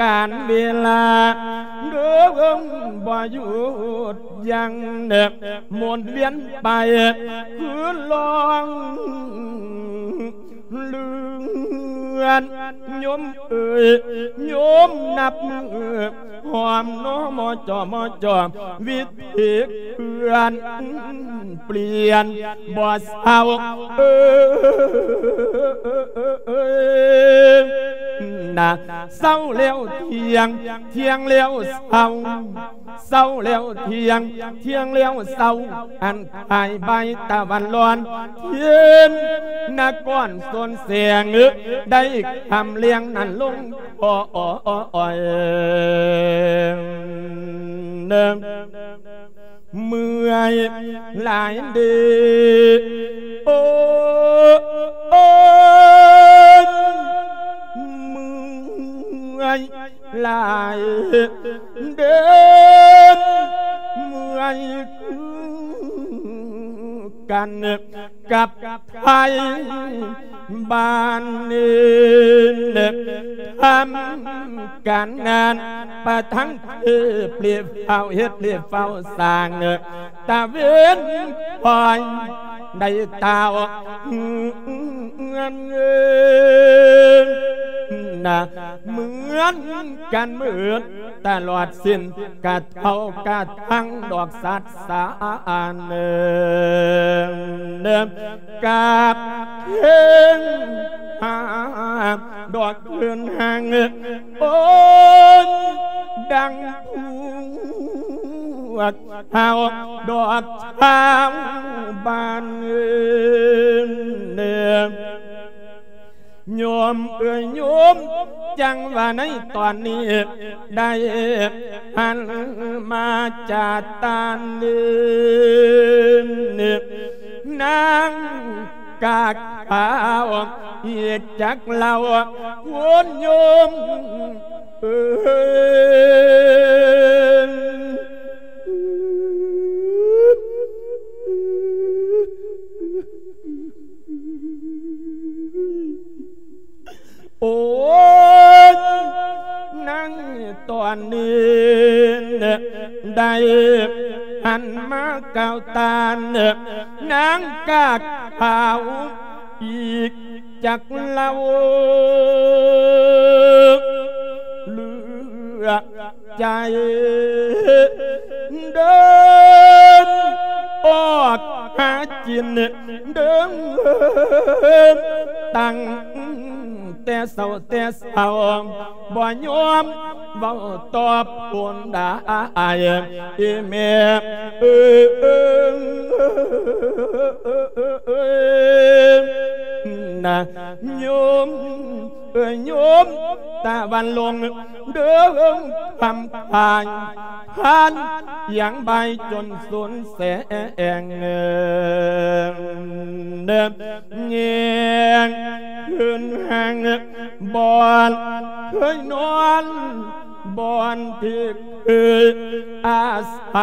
ການເວລາເດີ່ງບໍ່ຢຸດຢັ້ງ ໝູນວຽນໄປຄືລ່ອງເລື່ອນ ໂຍມເອີຍ ໂຍມນັບມື້ ຫອມໜໍ່ມໍຈ່ອມໍ່ ວິທີເຄື່ອນປ່ຽນບໍ່ເຊົາ ເອີຍນະ ເຊົາແລ້ວທ່ຽງ ທ່ຽງແລ້ວເຊົາ ເຊົາແລ້ວທ່ຽງ ທ່ຽງແລ້ວເຊົາ ອັນ ອາຍໃບຕາວັນລອນ ເຫັນນະກອນສົນແສງ ໄດ້ຄຳລຽງນັ້ນລົງ ໂອຍ ເມື່ອຍຫຼາຍເດ ໂອ ໂອຍ ເມື່ອຍ ຫຼາຍເດີ ເມື່ອຍຄືກັນກັບໄທ ບ້ານນີ້ ທຳການງານປະທັງເທບ ເລບຟ້າວເຮັດ ເລບຟ້າວສ້າງ ຕາເວັນຄອຍໄດ້ຕາວເຮືອນ ນະ ເໝືອນກັນເໝິດຕະຫຼອດສິ້ນ ກະເທົ່າກະທັງດອກສັດສານ ກາບເຄິ່ງຫາດອກເດີນທາງ ໂອ້ຍ ດັ່ງພວກເຮົາດອກຊາວບ້ານ ໂຍມເອີຍໂຍມ ຈັ່ງວ່າໃນຕອນນີ້ ໄດ້ຫັນມາຈາກຕານນີ້ ນາງກາຂາວ ເຮັດຈັກເລົ່າ ໂອ້ຍໂຍມເອີຍ ໂອ້ຍ ໃນຕອນນີ້ ໄດ້ຫັນມາກ່າວຕານ ນາງກາຂາວອີກຈັກເລົ່າ ເຫຼືອ ໃຈ ເດີນອອກຫາກິນ ເດີນຕັ້ງແຕ່ເຊົ້າແຕ່ເຊົ້າ ບໍ່ຍອມເວົ້າຕອບຄົນໃດ ອີແມ່ເອີຍ ນະໂຍມ ເອີຍໂຍມ ຕາວັນລົງເດີງຄຳພາຍ ຜ່ານຢາງບ່າຍຈົນສຸນແສງ ແຍງຂຶ້ນຫາງບ່ອນເຄີຍນອນ ບ່ອນທີ່ເຄີຍອາໄສ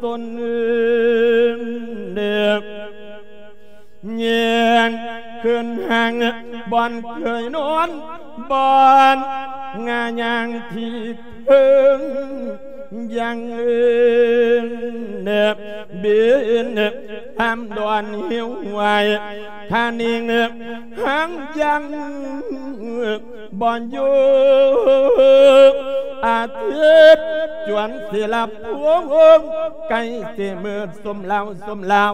ຕົນ ແຍງຂຶ້ນຫາງບ່ອນເຄີຍນອນ ບ່ອນງາຍາງທີ່ເຄີຍຍັງແນບບິນ ທຳດອນຫິວໄຫວ ຄານິງຫາງຍັງ ບ່ອນຢູ່ອາທິດຈວນສິລະພວງ ໃກ້ຊິມືດສົມລາວສົມລາວ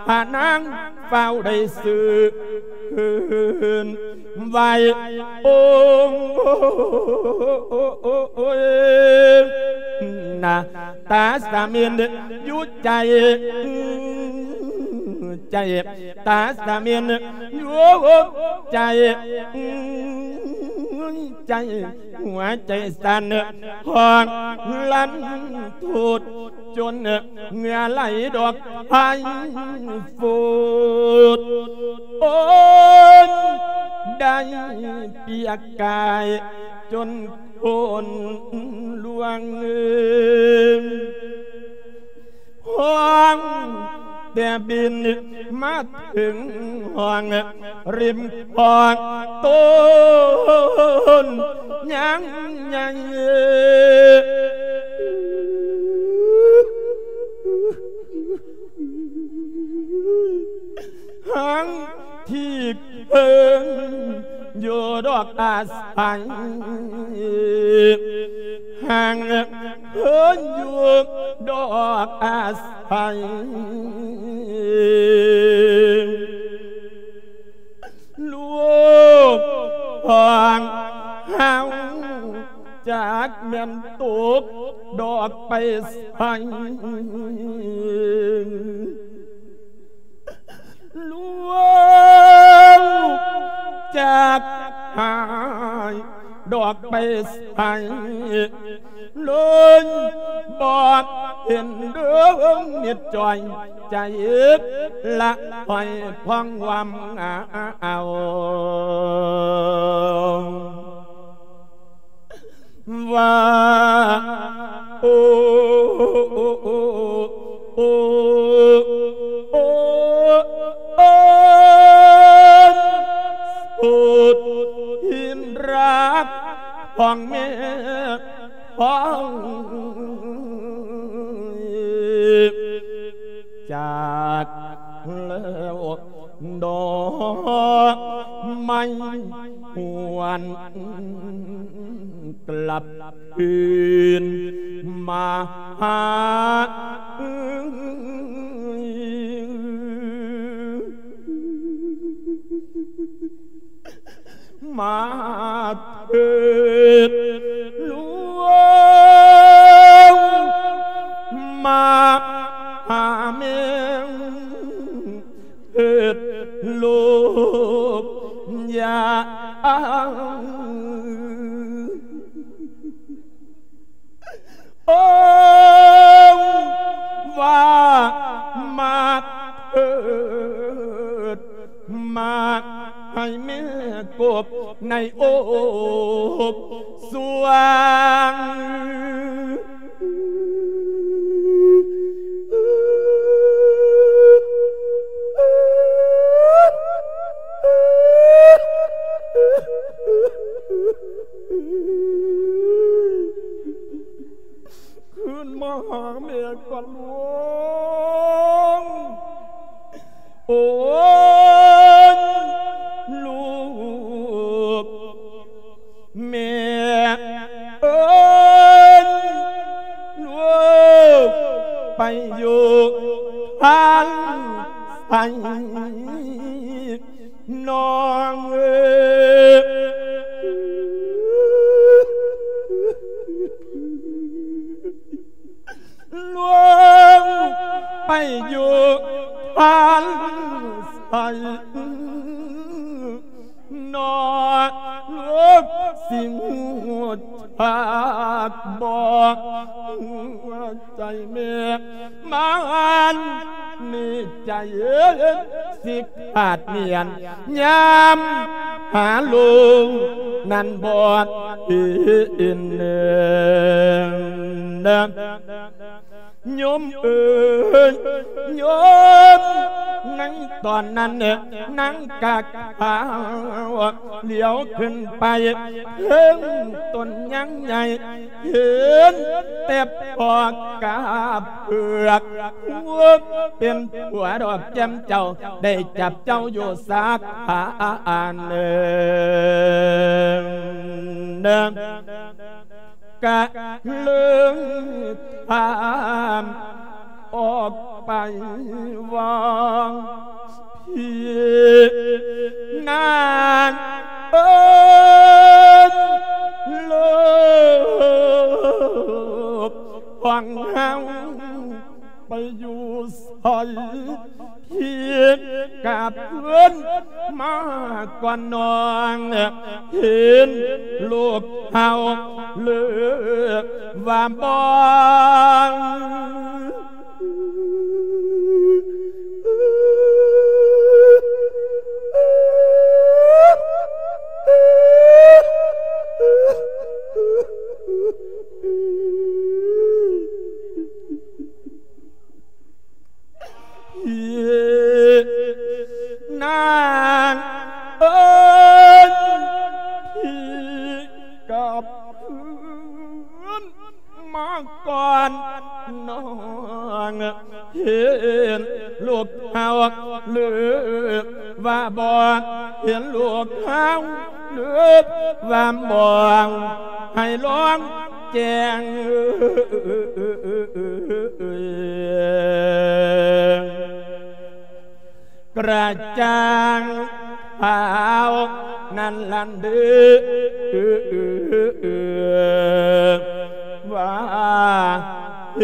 ພານາງຟ້າວໄດ້ຊື້ຄືນໄວ້ ໂອ້ຍ ນະ ຕາສະເໝັນຢູ່ໃຈ ໃຈ ຕາສະເໝັນຢູ່ໃຈ ໃຈ ຫົວໃຈສັ່ນ ຮ້ອງລັນທຸດ ຈົນເຫື່ອໄຫຼດອກໄພຟູດ ໂອ້ຍ ໄດ້ປຽກກາຍຈົນ ໂພນຫຼວງ ຫ້ອງແຕ່ບິນມາເຖິງຫ້ອງ ລິມຂອງຕົ້ນຍາງໃຫຍ່ ຫາງທີ່ ເພິ່ນຢູ່ດອກອາໄສ ຫາງເພິ່ນຢູ່ດອກອາໄສ ລູກຂອງເຮົາຈັກແມ່ນຕົກດອກໄປໃສ ລວງຈາກຫາຍດອກໄປໃສ ເລີຍບໍ່ເຫັນເດີງນິດຈ່ອຍໃຈລະຫ້ອຍພອງຫວາມເອົາ. ວ່າ ໂອ ໂອ ໂອ ໂອ ໂອ ຂອງແມ່ຂອງ ຈາກແລ້ວດອກໄມ້ຫວນ ກັບຄືນມາຫາ ມາເທີດຫຼວງ ມາຫາແມ່ ເທີດລູກຢາ ໂອ້ ວ່າມາເທີດ ມາໃຫ້ແມ່ກົບໃນອົບສວງ. ຄືນມາຫາແມ່ກ່ອນລວງ ໂອ້ຍ ລູກ ແມ່ເອີຍ ລູກໄປຢູ່ທາງໃສ ນ້ອງເອີຍ ລົງໄປຢູ່ທາງໃສ ນ້ອງເອີຍ ຊິຮູ້ຈັກບໍ່ ໃຈແມ່ມັນມີໃຈ ຊິຂາດມ້ຽນຍາມຫາລູກນັ້ນບໍ່ເຫັນ ໂຍມເອີຍ ໂຍມ ໃນຕອນນັ້ນນາງກະຂາວ ຫຼຽວຂຶ້ນໄປເທິງຕົ້ນຍາງໃຫຍ່ ເຫັນແຕ່ພໍ່ກາບເຜືອກ ເປັນຜົວດອກແກ້ມເຈົ້າ ໄດ້ຈັບເຈົ້າຢູ່ສາຂາອັນໜຶ່ງ ກະເລີຍຖາມອອກໄປວ່າ ພີ່ນາງເອີຍ ລູກຂອງເຮົາໄປຢູ່ໃສ? ພີ່ກັບເພິ່ນມາກ່ອນນ້ອງ ເຫັນລູກເຮົາເລີຍວ່າບໍ່? ພີ່ນາງເອີຍ ພີ່ກັບເພິ່ນມາກ່ອນນ້ອງ ເຫັນລູກເຮົາເລີຍວ່າບໍ່? ເຫັນລູກເຮົາເລີຍວ່າບໍ່? ໃຫ້ລອງ ແຈ້ງກະຈ່າງຂ່າວນັ້ນລະເດີ ວ່າເ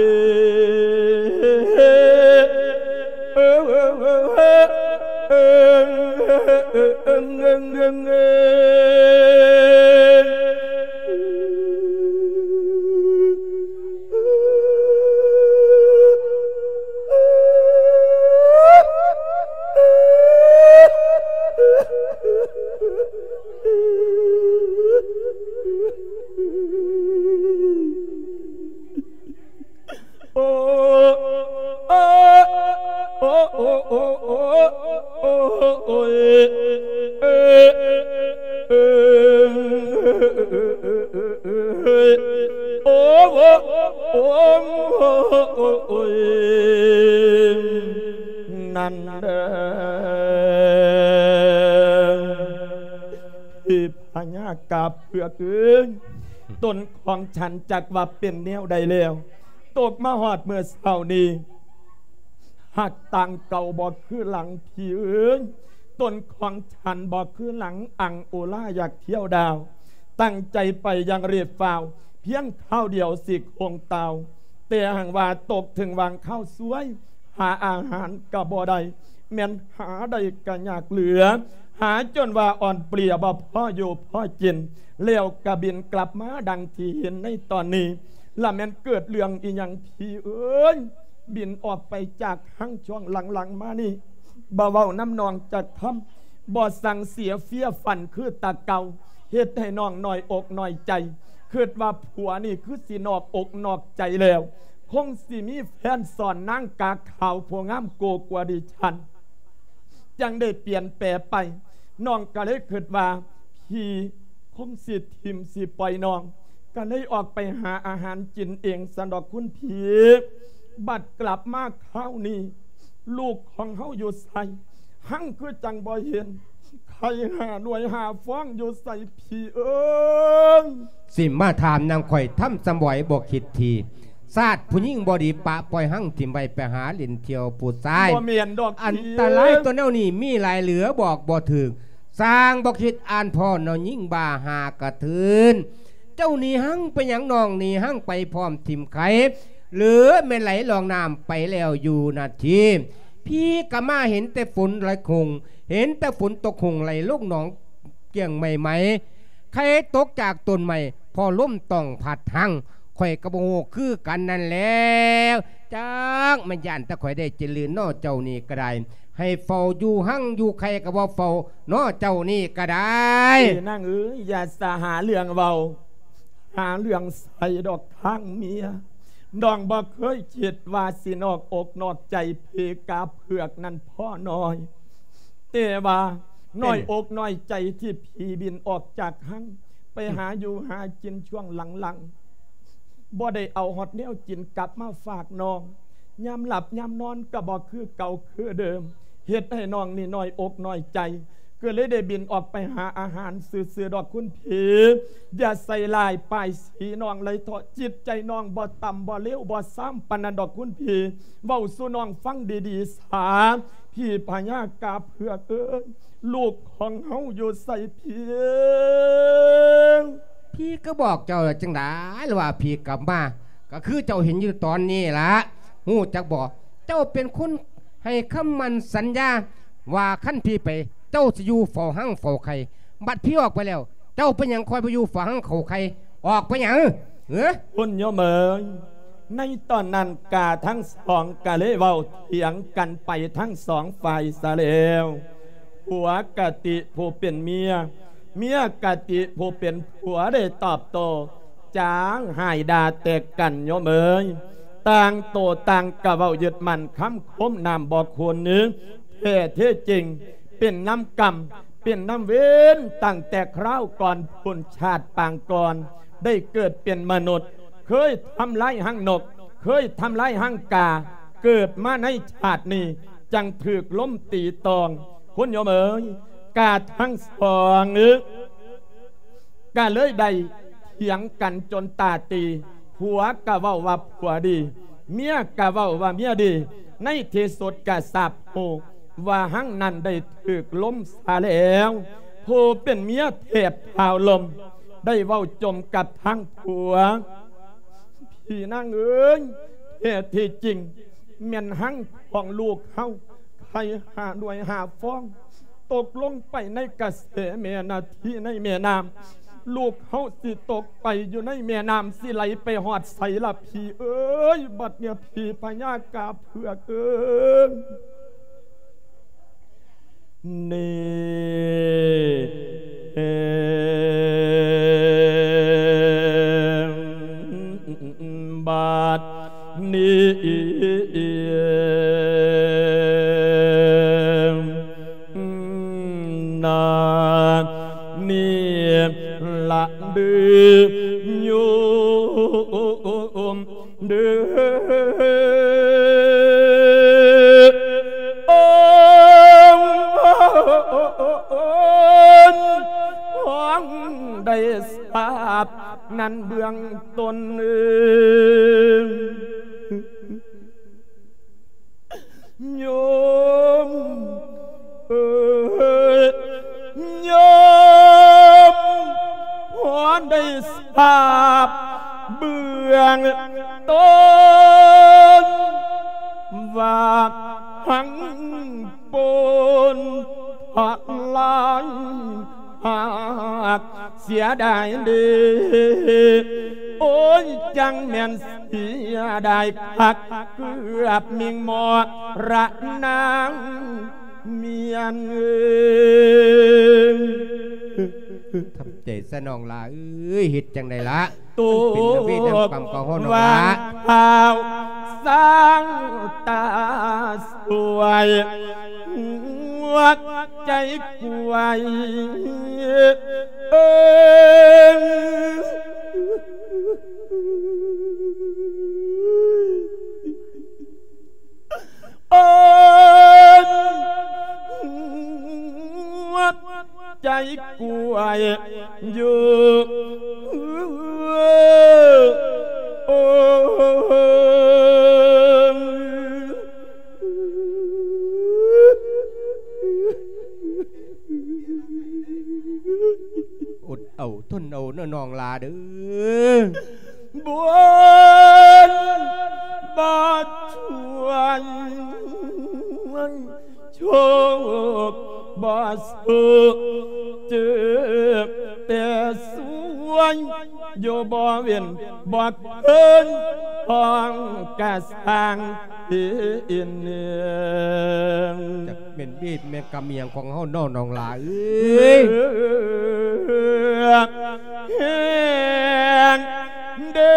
ໂອ້ ໂອ້ ໂອ້ຍ ນັ້ນເດີ ອີພະຍາກາບເຜືອກເອີຍ ຕົນຂອງສັນຈັກວ່າເປັນແນວໃດແລ້ວ ຕົກມາຮອດມື້ເຊົ້ານີ້ ຮັກຕ່າງເກົ່າບໍ່ຄືຫຼັງ ພີ່ເອີຍ ຕົນຂອງສັນບໍ່ຄືຫຼັງ ອັງໂອລາຢາກທ່ຽວດາວ ຕັ້ງໃຈໄປຢ່າງຣີບຟ້າວ ພຽງຄາວດຽວຊິຄົງຕາວ ແຕ່ຫາກວ່າຕົກເຖິງຫວ່າງຄາວຊວຍ ຫາອາຫານກະບໍ່ໄດ້ ແມ່ນຫາໄດ້ກະຍາກເຫຼືອ ຫາຈົນວ່າອ່ອນເປຍບໍ່ພໍຢູ່ພໍກິນ ແລ້ວກະບິນກັບມາດັ່ງທີ່ເຫັນໃນຕອນນີ້ ລະແມ່ນເກີດເລື່ອງອີ່ຫຍັງ ພີ່ເອີຍ ບິນອອກໄປຈາກຮັງຊ່ວງຫຼັງໆມານີ້ ບໍ່ເວົ້ານຳນ້ອງຈັກຄຳ ບໍ່ສັ່ງເສຍເຟຍຟັນຄືແຕ່ເກົ່າ ເຮັດໃຫ້ນ້ອງນ້ອຍອົກນ້ອຍໃຈ ຄິດວ່າຜົວນີ້ຄືຊິນອກອົກນອກໃຈແລ້ວ ຄົງຊິມີແຟນຊ້ອນນາງກາຂາວຜູ້ງາມໂກກວ່າດິສັນ ຈັ່ງໄດ້ປ່ຽນແປໄປ ນ້ອງກະເລີຍຄິດວ່າ ພີ່ຄົງຊິຖິ້ມຊິປ່ອຍນ້ອງ ກະເລີຍອອກໄປຫາອາຫານກິນເອງຊັ້ນດອກຄຸນພີ່ ບັດກັບມາຄາວນີ້ ລູກຂອງເຮົາຢູ່ໃສ ຮັ່ງຄືຈັ່ງບໍ່ເຫັນ ໄຂ່ຫ້າໜ່ວຍຫ້າຟອງຢູ່ໃສ ພີ່ເອີຍ. ຊິມາຖາມນຳຂ້ອຍ ທຳສຳບວຍບໍ່ຄິດທີ ຊາດຜູ້ຍິງບໍ່ດີ ປະປ່ອຍຮັ່ງຖິ້ມໄວ້ ໄປຫາຫຼິ້ນທ່ຽວຜູ້ຊາຍ ບໍ່ແມ່ນດອກ ອັນຕະລາຍຕົວແນວນີ້ມີຫຼາຍເຫຼືອບອກບໍ່ຖືກ ຊ່າງບໍ່ຄິດອ່ານພໍ້ ນ້ອງຍິງບ້າຫາກະເທີນ ເຈົ້າໜີຮັ່ງໄປຫຍັງ ນ້ອງໜີຮັ່ງໄປພ້ອມຖິ້ມໄຂ່ ຫຼືແມ່ນໄຫຼລ່ອງນ້ຳໄປແລ້ວຢູ່ນາທີ ພີ່ກະມາເຫັນແຕ່ຝົນໄຫຼຄົງ ເຫັນແຕ່ຝົນຕົກຄົງໄຫຼລົງໜອງ ກ້ຽງໃໝ່ໆ ໄຂ່ຕົກຈາກຕົ້ນໄມ້ ເພາະລົມຕ້ອງພັດຮັ່ງ ຂ້ອຍກະບໍ່ຮູ້ຄືກັນນັ້ນແຫຼ້ວ ຈັກແມ່ນຢ້ານແຕ່ຂ້ອຍໄດ້ຈິນຫຼື ນ້ອເຈົ້ານີ້ກະໄດ້ ໃຫ້ເຝົ້າຢູ່ຮັ່ງຢູ່ໄຂ່ກະບໍ່ເຝົ້າ ນ້ອເຈົ້ານີ້ກະໄດ້. ເອີ ນາງເອີຍ ຢ່າສະຫາເລື່ອງເວົ້າ ຫາເລື່ອງໃສ່ດອກທາງເມຍ ນ້ອງບໍ່ເຄີຍຄິດວ່າຊິນອກອົກນອກໃຈເພກາເຜືອກນັ້ນພໍນ້ອຍ ແຕ່ວ່ານ້ອຍອົກນ້ອຍໃຈທີ່ພີ່ບິນອອກຈາກຮັ່ງ ໄປຫາຢູ່ຫາກິນຊ່ວງຫຼັງໆ ບໍ່ໄດ້ເອົາຮອດແນວກິນກັບມາຝາກນ້ອງ ຍາມຫຼັບຍາມນອນກະບໍ່ຄືເກົ່າຄືເດີມ ເຮັດໃຫ້ນ້ອງນີ້ນ້ອຍອົກນ້ອຍໃຈ ກະເລີຍໄດ້ບິນອອກໄປຫາອາຫານຊື່ໆດອກຄຸນພີ່ ຢ່າໃສ່ຮ້າຍປ້າຍສີນ້ອງເລີຍເທາະ ຈິດໃຈນ້ອງບໍ່ຕ່ຳບໍ່ເລວບໍ່ຊາມປານນັ້ນດອກຄຸນພີ່ ເວົ້າສູ່ນ້ອງຟັງດີໆສາ ພີ່ພະຍາກາເຜືອກເອີຍ ລູກຂອງເຮົາຢູ່ໃສພີ່? ພີ່ກະບອກເຈົ້າແລ້ວຈັ່ງໃດ ຫຼືວ່າພີ່ກັບມາ ກະຄືເຈົ້າເຫັນຢູ່ຕອນນີ້ລະ ຮູ້ຈັກບໍ່? ເຈົ້າເປັນຄົນໃຫ້ຄຳໝັ້ນສັນຍາ ວ່າຄັນພີ່ໄປ ເຈົ້າຊິຢູ່ເຝົ້າຮັ່ງເຝົ້າໄຂ່ ບັດພີ່ອອກໄປແລ້ວ ເຈົ້າເປັນຫຍັງຄ່ອຍບໍ່ຢູ່ເຝົ້າຮັ່ງເຝົ້າໄຂ່ ອອກໄປຫຍັງ? ເອີ ຄຸນໂຍມເອີຍ ໃນຕອນນັ້ນກະທັງສອງກະເລີຍເວົ້າຖຽງກັນໄປທັງສອງຝ່າຍຊະແລ້ວ ຜົວກະຕິຜູ້ເປັນເມຍ ເມຍກະຕິຜູ້ເປັນຜົວໄດ້ຕອບໂຕ້ ຈ້າງຮ້າຍດ່າແຕກກັນໂຍມເອີຍ ຕ່າງໂຕຕ່າງກະເວົ້າຍຶດໝັ້ນຄຳຄົມນ້ຳບໍ່ຂຸ່ນ ແທ້ເທັດຈິງ ເປັນນຳກຳ ເປັນນຳເວນ ຕັ້ງແຕ່ຄາວກ່ອນພຸ້ນ ຊາດປາງກ່ອນ ໄດ້ເກີດເປັນມະນຸດ ເຄີຍທຳລາຍຮັງນົກ ເຄີຍທຳລາຍຮັງກາ ເກີດມາໃນຊາດນີ້ ຈັ່ງຖືກລົມຕີຕອງ ຄຸນໂຍມເອີຍ ກະທັງສອງ ກະເລີຍໄດ້ຖຽງກັນຈົນຕາຕີ ຜົວກະເວົ້າວ່າຜົວດີ ເມຍກະເວົ້າວ່າເມຍດີ ໃນທີ່ສຸດກະຊາບຮູ້ວ່າຮັງນັ້ນໄດ້ຖືກລົມຊະແລ້ວ ຜູ້ເປັນເມຍແທບທ້າວລົ້ມ ໄດ້ເວົ້າຈົ່ມກັບທາງຜົວ ພີ່ນາງເອີຍ ແທ້ທີ່ຈິງ ແມ່ນຮັງຂອງລູກເຮົາ ໄຂ່ຫ້າໜ່ວຍຫ້າຟອງ ຕົກລົງໄປໃນກະແສແມ່ນາທີໃນແມ່ນ້ຳ ລູກເຮົາຊິຕົກໄປຢູ່ໃນແມ່ນ້ຳ ຊິໄຫຼໄປຮອດໃສລະພີ່ເອີຍ ບັດເນີ້ຍ ພີ່ພະຍາກາເຜືອກເອີຍ ນີ້ ບັດນີ້ ນາ ນີ້ ລະເດີໂຍມເດີ ໂອນ ຂອງໄດ້ຊາບນັ້ນເບື້ອງຕົ້ນ ໂຍມເອີຍ ໂຍມ ພໍໄດ້ຊາບເບື້ອງຕົ້ນ ວ່າທັງປົນທະລາຍ ຫາກເສຍດາຍເດ ໂອ້ຍ ຈັ່ງແມ່ນເສຍດາຍຄັກ ເກືອບມິ່ງມໍລະນາງ ເມຍເອີຍ ທຳໃຈຊະນ້ອງຫຼ້າເອີຍ ເຮັດຈັ່ງໃດລະ? ໂຕ ມັນເປັນລະເວດນຳກຳຂອງເຮົານ້ອງຫຼ້າ ວ່າງເອົາສາງຕາສວຍ ຫົວໃຈກວາຍເອີຍ ໂອ້ຍ ໃຈກວາຍຢູ່ ໂອ້ຍ ອົດເອົາທົນເອົາເດີນ້ອງຫຼ້າເດີ. ບຸນບໍ່ຊ່ວຍ ໂຊກບໍ່ສູ້ ເຈີແຕ່ສວຍ ຢູ່ບໍ່ເວັ້ນບໍ່ເຄີຍ ຂອງກະສັງ ທີ່ອິນເນງ ຈັກແມ່ນເວດແມ່ນກຳອີ່ຫຍັງຂອງເຮົາເນາະ ນ້ອງຫຼ້າເອີຍ ແຮງເດີ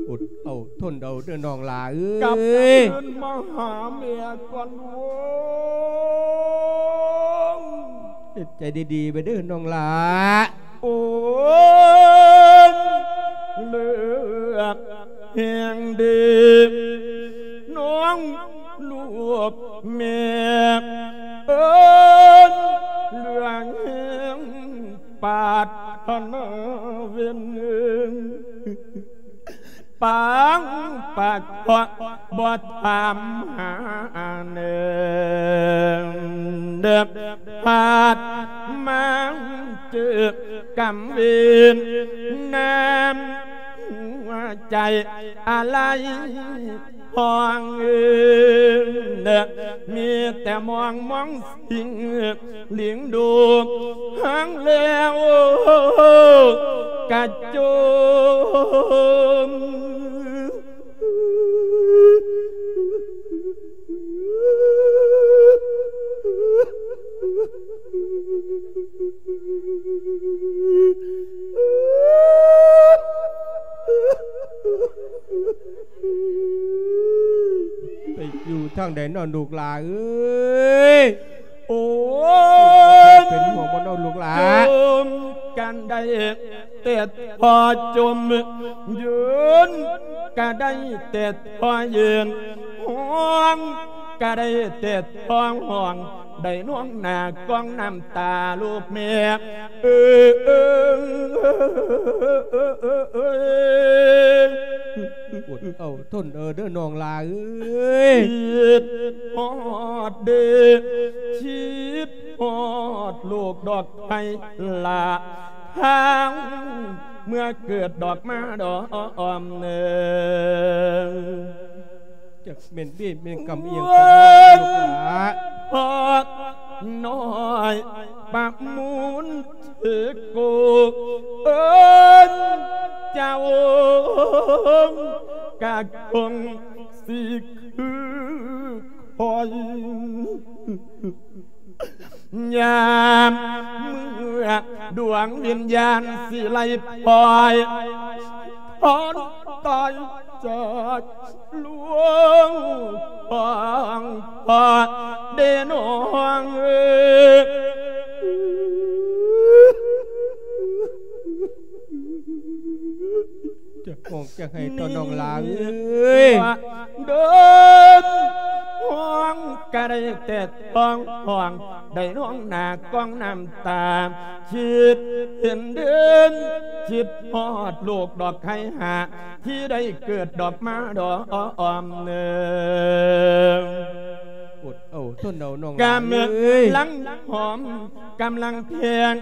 ອົດເອົາທົນເອົາເດີນ້ອງຫຼ້າເອີຍ ກັບຄືນມາຫາແມ່ກ່ອນໂວ້ຍ ເຮັດໃຈດີໆໄວ້ເດີນ້ອງຫຼ້າ ໂອ້ຍ ເລືອກແຮງເດີ ນ້ອງລູກແມ່ເອີຍ ເຫຼືອແຮງ ປາດຖະໜາເວັນ ປາງປາກເຄາະບໍ່ຖາມຫາແນງ ເດີບພາດມາເຈີກຳເວນ ນ້ຳຫົວໃຈອາໄລ ຫ້ອງເອີ ມີແຕ່ມອງມອງສິງລິງດູ ຫາງແລ້ວກະຈົ່ມ ໄປຢູ່ທາງໃດເນາະ ລູກຫຼ້າເອີຍ? ໂອ້ຍ ເປັນຫ່ວງບໍ່ເນາະ ລູກຫຼ້າ? ຈົ່ມກັນໄດ້ແຕ່ທໍ່ຈົ່ມ ຢືນກະໄດ້ແຕ່ທໍ່ຢືນ ຮ້ອງກະໄດ້ແຕ່ ຮ້ອງຮ້ອງໄດ້ນອງໜ້າກອງນ້ຳຕາລູກແມ່ເອີຍ ອົດເອົາທົນເອົາເດີນ້ອງຫຼ້າເອີຍ ຄິດຮອດເດີ ຄິດຮອດລູກດອກໄມ້ຫຼ້າ ທາງເມື່ອເກີດດອກມາດອມເນີ ຈັກແມ່ນເວນແມ່ນກຳອີ່ຫຍັງຂອງເຮົາ ພອກນ້ອຍປະມູນເທໂກ ເອີ້ນເຈົ້າກະຄົງຊິຄືຂ້ອຍ ຍາມເມື່ອດວງວິນຍານຊິໄລ່ປ່ອຍ ຖອນຕາຍຈາກ ຫຼວງພໍ່ ພໍ່ເດ້ນ້ອງເອີຍ ຈະຮ້ອງຈະໄຫ້ຕໍ່ນ້ອງຫຼ້າເອີຍ ເດີນຮ້ອງກະໄດ້ແຕ່ຮ້ອງ ຮ້ອງໄດ້ນ້ອງໜ້າກອງນ້ຳຕາ ຄິດເຫັນເດີນ ຄິດຮອດລູກດອກໄຄຫາ ທີ່ໄດ້ເກີດດອກມາດອມເນີງ ອົດເອົາທົນເອົານ້ອງຫຼ້າເອີຍ ກຳລັງຫອມ ກຳລັງແພງ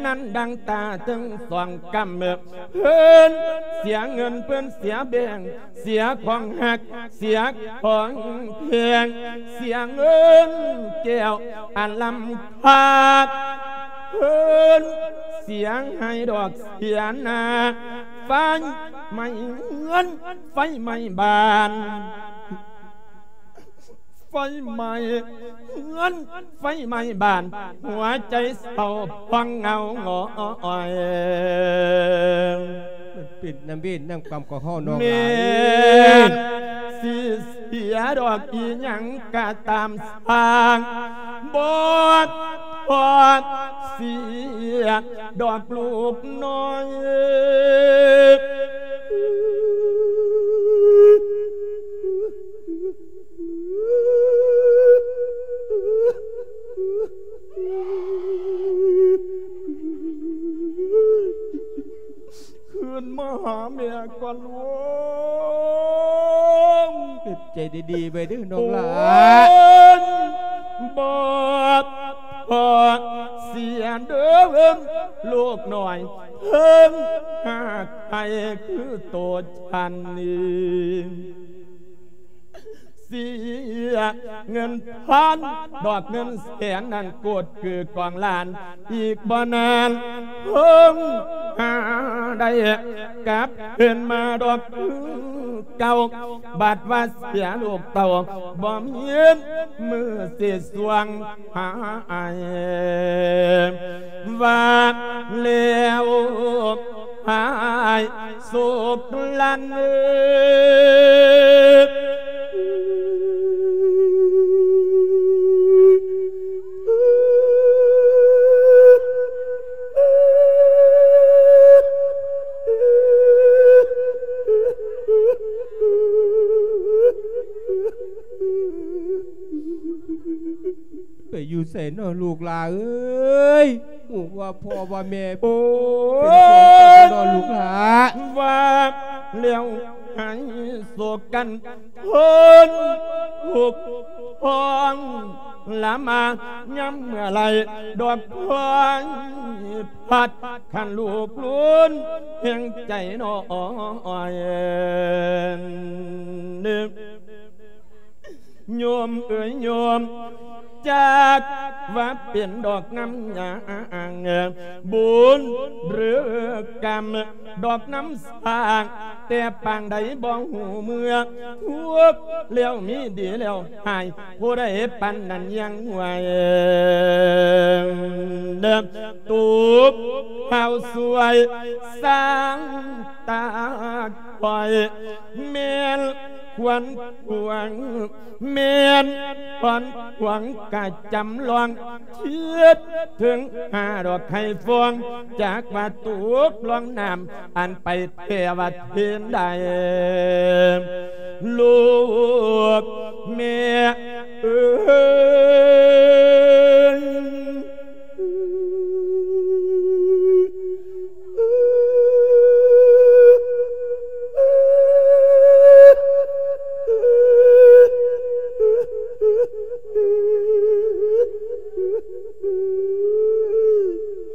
ນັ້ນດັ່ງຕາເຖິງສອງກຳ ເພິ່ນເສຍເງິນ ເພິ່ນເສຍແບງ ເສຍຂອງຮັກ ເສຍຂອງແພງ ເສຍເງິນແກ້ວອັນລ້ຳຄ່າ ເພິ່ນເສຍໃຫ້ດອກເສຍນາ ໄຟໄໝ້ເຮືອນ ໄຟໄໝ້ບ້ານ ໄຟໄໝ້ເຮືອນ ໄຟໄໝ້ບ້ານ ຫົວໃຈເສົ້າພອງເຫງົາຫງອຍ ມັນເປັນນຳເວນນຳກຳຂອງເຮົານ້ອງຫຼ້າເອີຍ ແມ່ນຊິເສຍດອກອີ່ຫຍັງກະຕາມຊ່າງ ບໍ່ທອດເສຍດອກລູກນ້ອຍ ຄືນມາຫາແມ່ກ່ອນລູກ ເຮັດໃຈດີໆໄວ້ເດີນ້ອງຫຼ້າ ໂອ້ຍ ບໍ່ພໍເສຍເດີລູກນ້ອຍ ເພິ່ນຫາກໃຫ້ຄືໂຕ ອັນນີ້ເສຍເງິນພັນ ດອກເງິນແສນນັ້ນໂກດຄືກອງລ້ານ ອີກບໍ່ນານເພິ່ນຫາໄດ້ກັບຄືນມາດອກຄືເກົ່າ ບັດວ່າເສຍລູກເຕົ້າ ບໍ່ມີມື້ຊິສວງ ຫາອ້າຍວ່າແລ້ວ ອ້າຍສຸກລັນເອີຍ ໄປຢູ່ໃສເນາະລູກຫຼ້າເອີຍ ຮູ້ວ່າພໍ່ວ່າແມ່ ໂອ້ຍ ເປັນຫ່ວງເຈົ້າເນາະລູກຫຼ້າ ວ່າແລ້ວໃຫ້ໂສກກັນ ເພິ່ນທຸກພອງລະມາ ຍາມເມື່ອໄລດອກພອຍພັດ ຄັນລູກລຸນແຫ່ງໃຈນ້ອຍ ໂຍມເອີຍໂຍມ ຈັກວ່າເປັນດອກນ້ຳຫຍັງ ບຸນຫຼືກຳ ດອກນ້ຳສ້າງ ແຕ່ປາງໃດບໍ່ຮູ້ເມື່ອ ທຸກແລ້ວມີດີແລ້ວຫາຍ ຜູ້ໃດປານນັ້ນຍັງໄຫວ ເດີ ຕູບເຮົາຊ່ວຍສ້າງຕາຄອຍ ແມ່ນຄວນຂວາງ ແມ່ນຄວນຂວາງກະຈຳລອງ ຄິດເຖິງຫາດອກໄຂ່ຟອງ ຈັກວ່າຕົກລອງນ້ຳ ອັນໄປແທ້ວ່າເທນໃດ ລູກແມ່ເອີຍ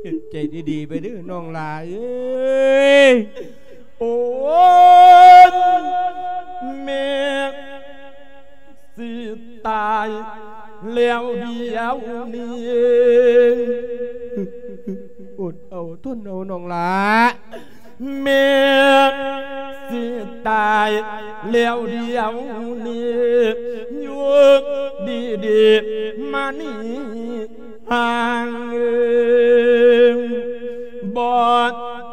ເຮັດໃຈດີໆໄວ້ເດີນ້ອງຫຼ້າເອີຍ ໂອ້ຍ ແມ່ຊິຕາຍແລ້ວດຽວນີ້ ອົດເອົາທົນເອົານ້ອງຫຼ້າ ແມ່ຊິຕາຍແລ້ວດຽວນີ້ ຢູ່ດີໆມານີ້ ຫ່າງເອີງ ບໍ່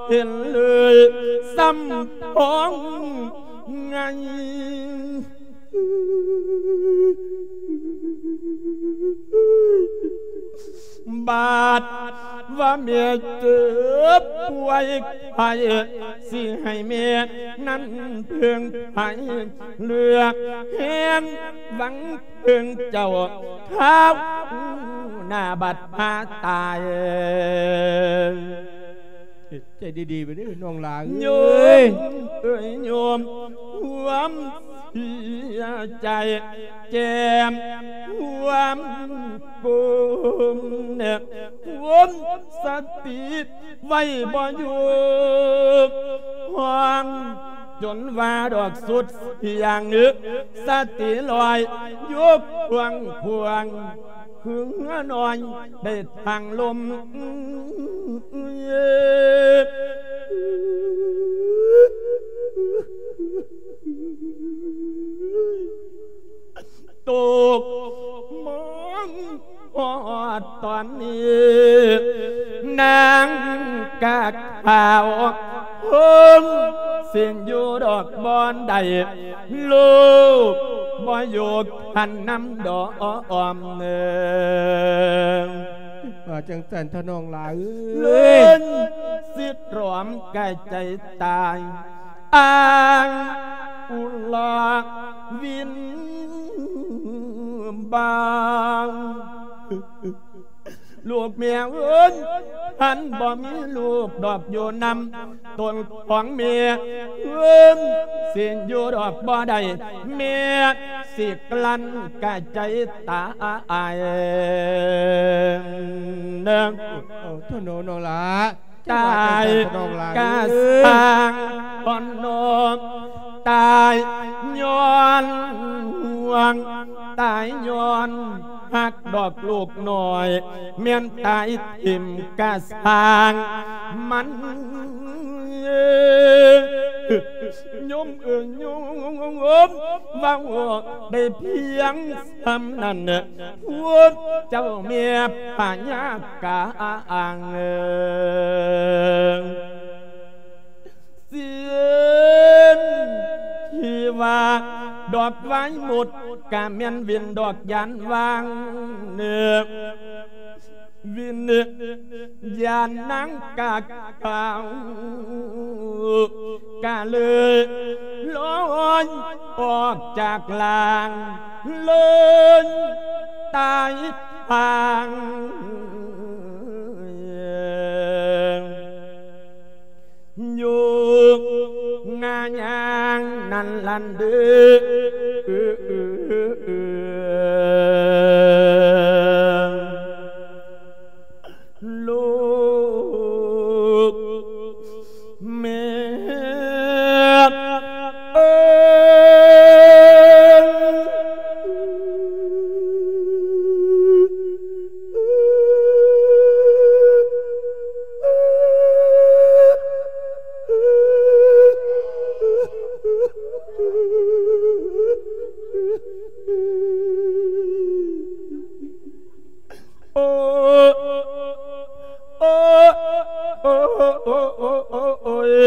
ເຫັນເລີຍຊ້ຳພ້ອງໄງ ບາດວ່າແມ່ເຈັບປ່ວຍໄຂ້ ຊິໃຫ້ແມ່ນັ້ນເພິ່ງໄພ ເລືອກແຮງຫວັງເພິ່ງເຈົ້າ ຄາວໜ້າບັດພາຕາຍ. ເຮັດໃຈດີໆໄວ້ເດີນ້ອງຫຼ້າເອີຍ ໂຍມເອີຍໂຍມ ຄວາມເສຍໃຈ ແຈ່ມຄວາມກົມ ຄຸມສະຕິໄວ້ບໍ່ຢູ່ ຮ້ອງຈົນວ່າດອກສຸດສຽງ ສະຕິລອຍຢູ່ຂວາງຂວາງ ຄືເຮືອນ້ອຍໄດ້ທາງລົມ ຕົກມອງຮອດຕອນນີ້ ນາງກາຂາວ ຄົງເສັ້ນຢູ່ດອກບໍ່ໄດ້ ລູກບໍ່ຢູ່ຄັນນຳດອກເອີງ ວ່າຈັ່ງຊັ້ນເຖາະນ້ອງຫຼ້າເອີຍ ເລີນຊິຕຣອມກາຍໃຈຕາຍ ອ້າງອຸລາວິນບາງ ລູກແມ່ເອີຍ ຄັນບໍ່ມີລູກດອກຢູ່ນຳ ຕົນຂອງແມ່ເອີຍ ຊິຢູ່ດອກບໍ່ໄດ້ ແມ່ຊິກລັ້ນກາຍໃຈຕາຍເດີ ເອົາເຖາະນ້ອງຫຼ້າ ຕາຍກະສ້າງ ເອີຍ ພອນນ້ອງ ຕາຍຍ້ອນຫ່ວງ ຕາຍຍ້ອນຮັກດອກລູກນ້ອຍ ແມ່ນຕາຍຖິ້ມກະສ້າງມັນ ໂຍມເອີຍໂຍມ ເວົ້າໄດ້ພຽງສ່ຳນັ້ນ ພວກເຈົ້າແມ່ພະຍາກາງ ເອີຍ ເຊັ່ນທີ່ວ່າດອກໄວໝົດ ກະແມ່ນເວັ້ນດອກຢານວ່າງເນີ ວິນຍານນາງກາຂາວ ກະເລີຍລອຍອອກຈາກລ່າງ ເລີຍຕາຍທາງ ຢູ່ງາຍາງນັ້ນລັນເດີ ລູກແມ່ເອີຍ ໂອ້ ໂອ້ ໂອ້ ໂອ້ ໂອ້ ໂອ້ ໂອ້ ໂອ້ ໂ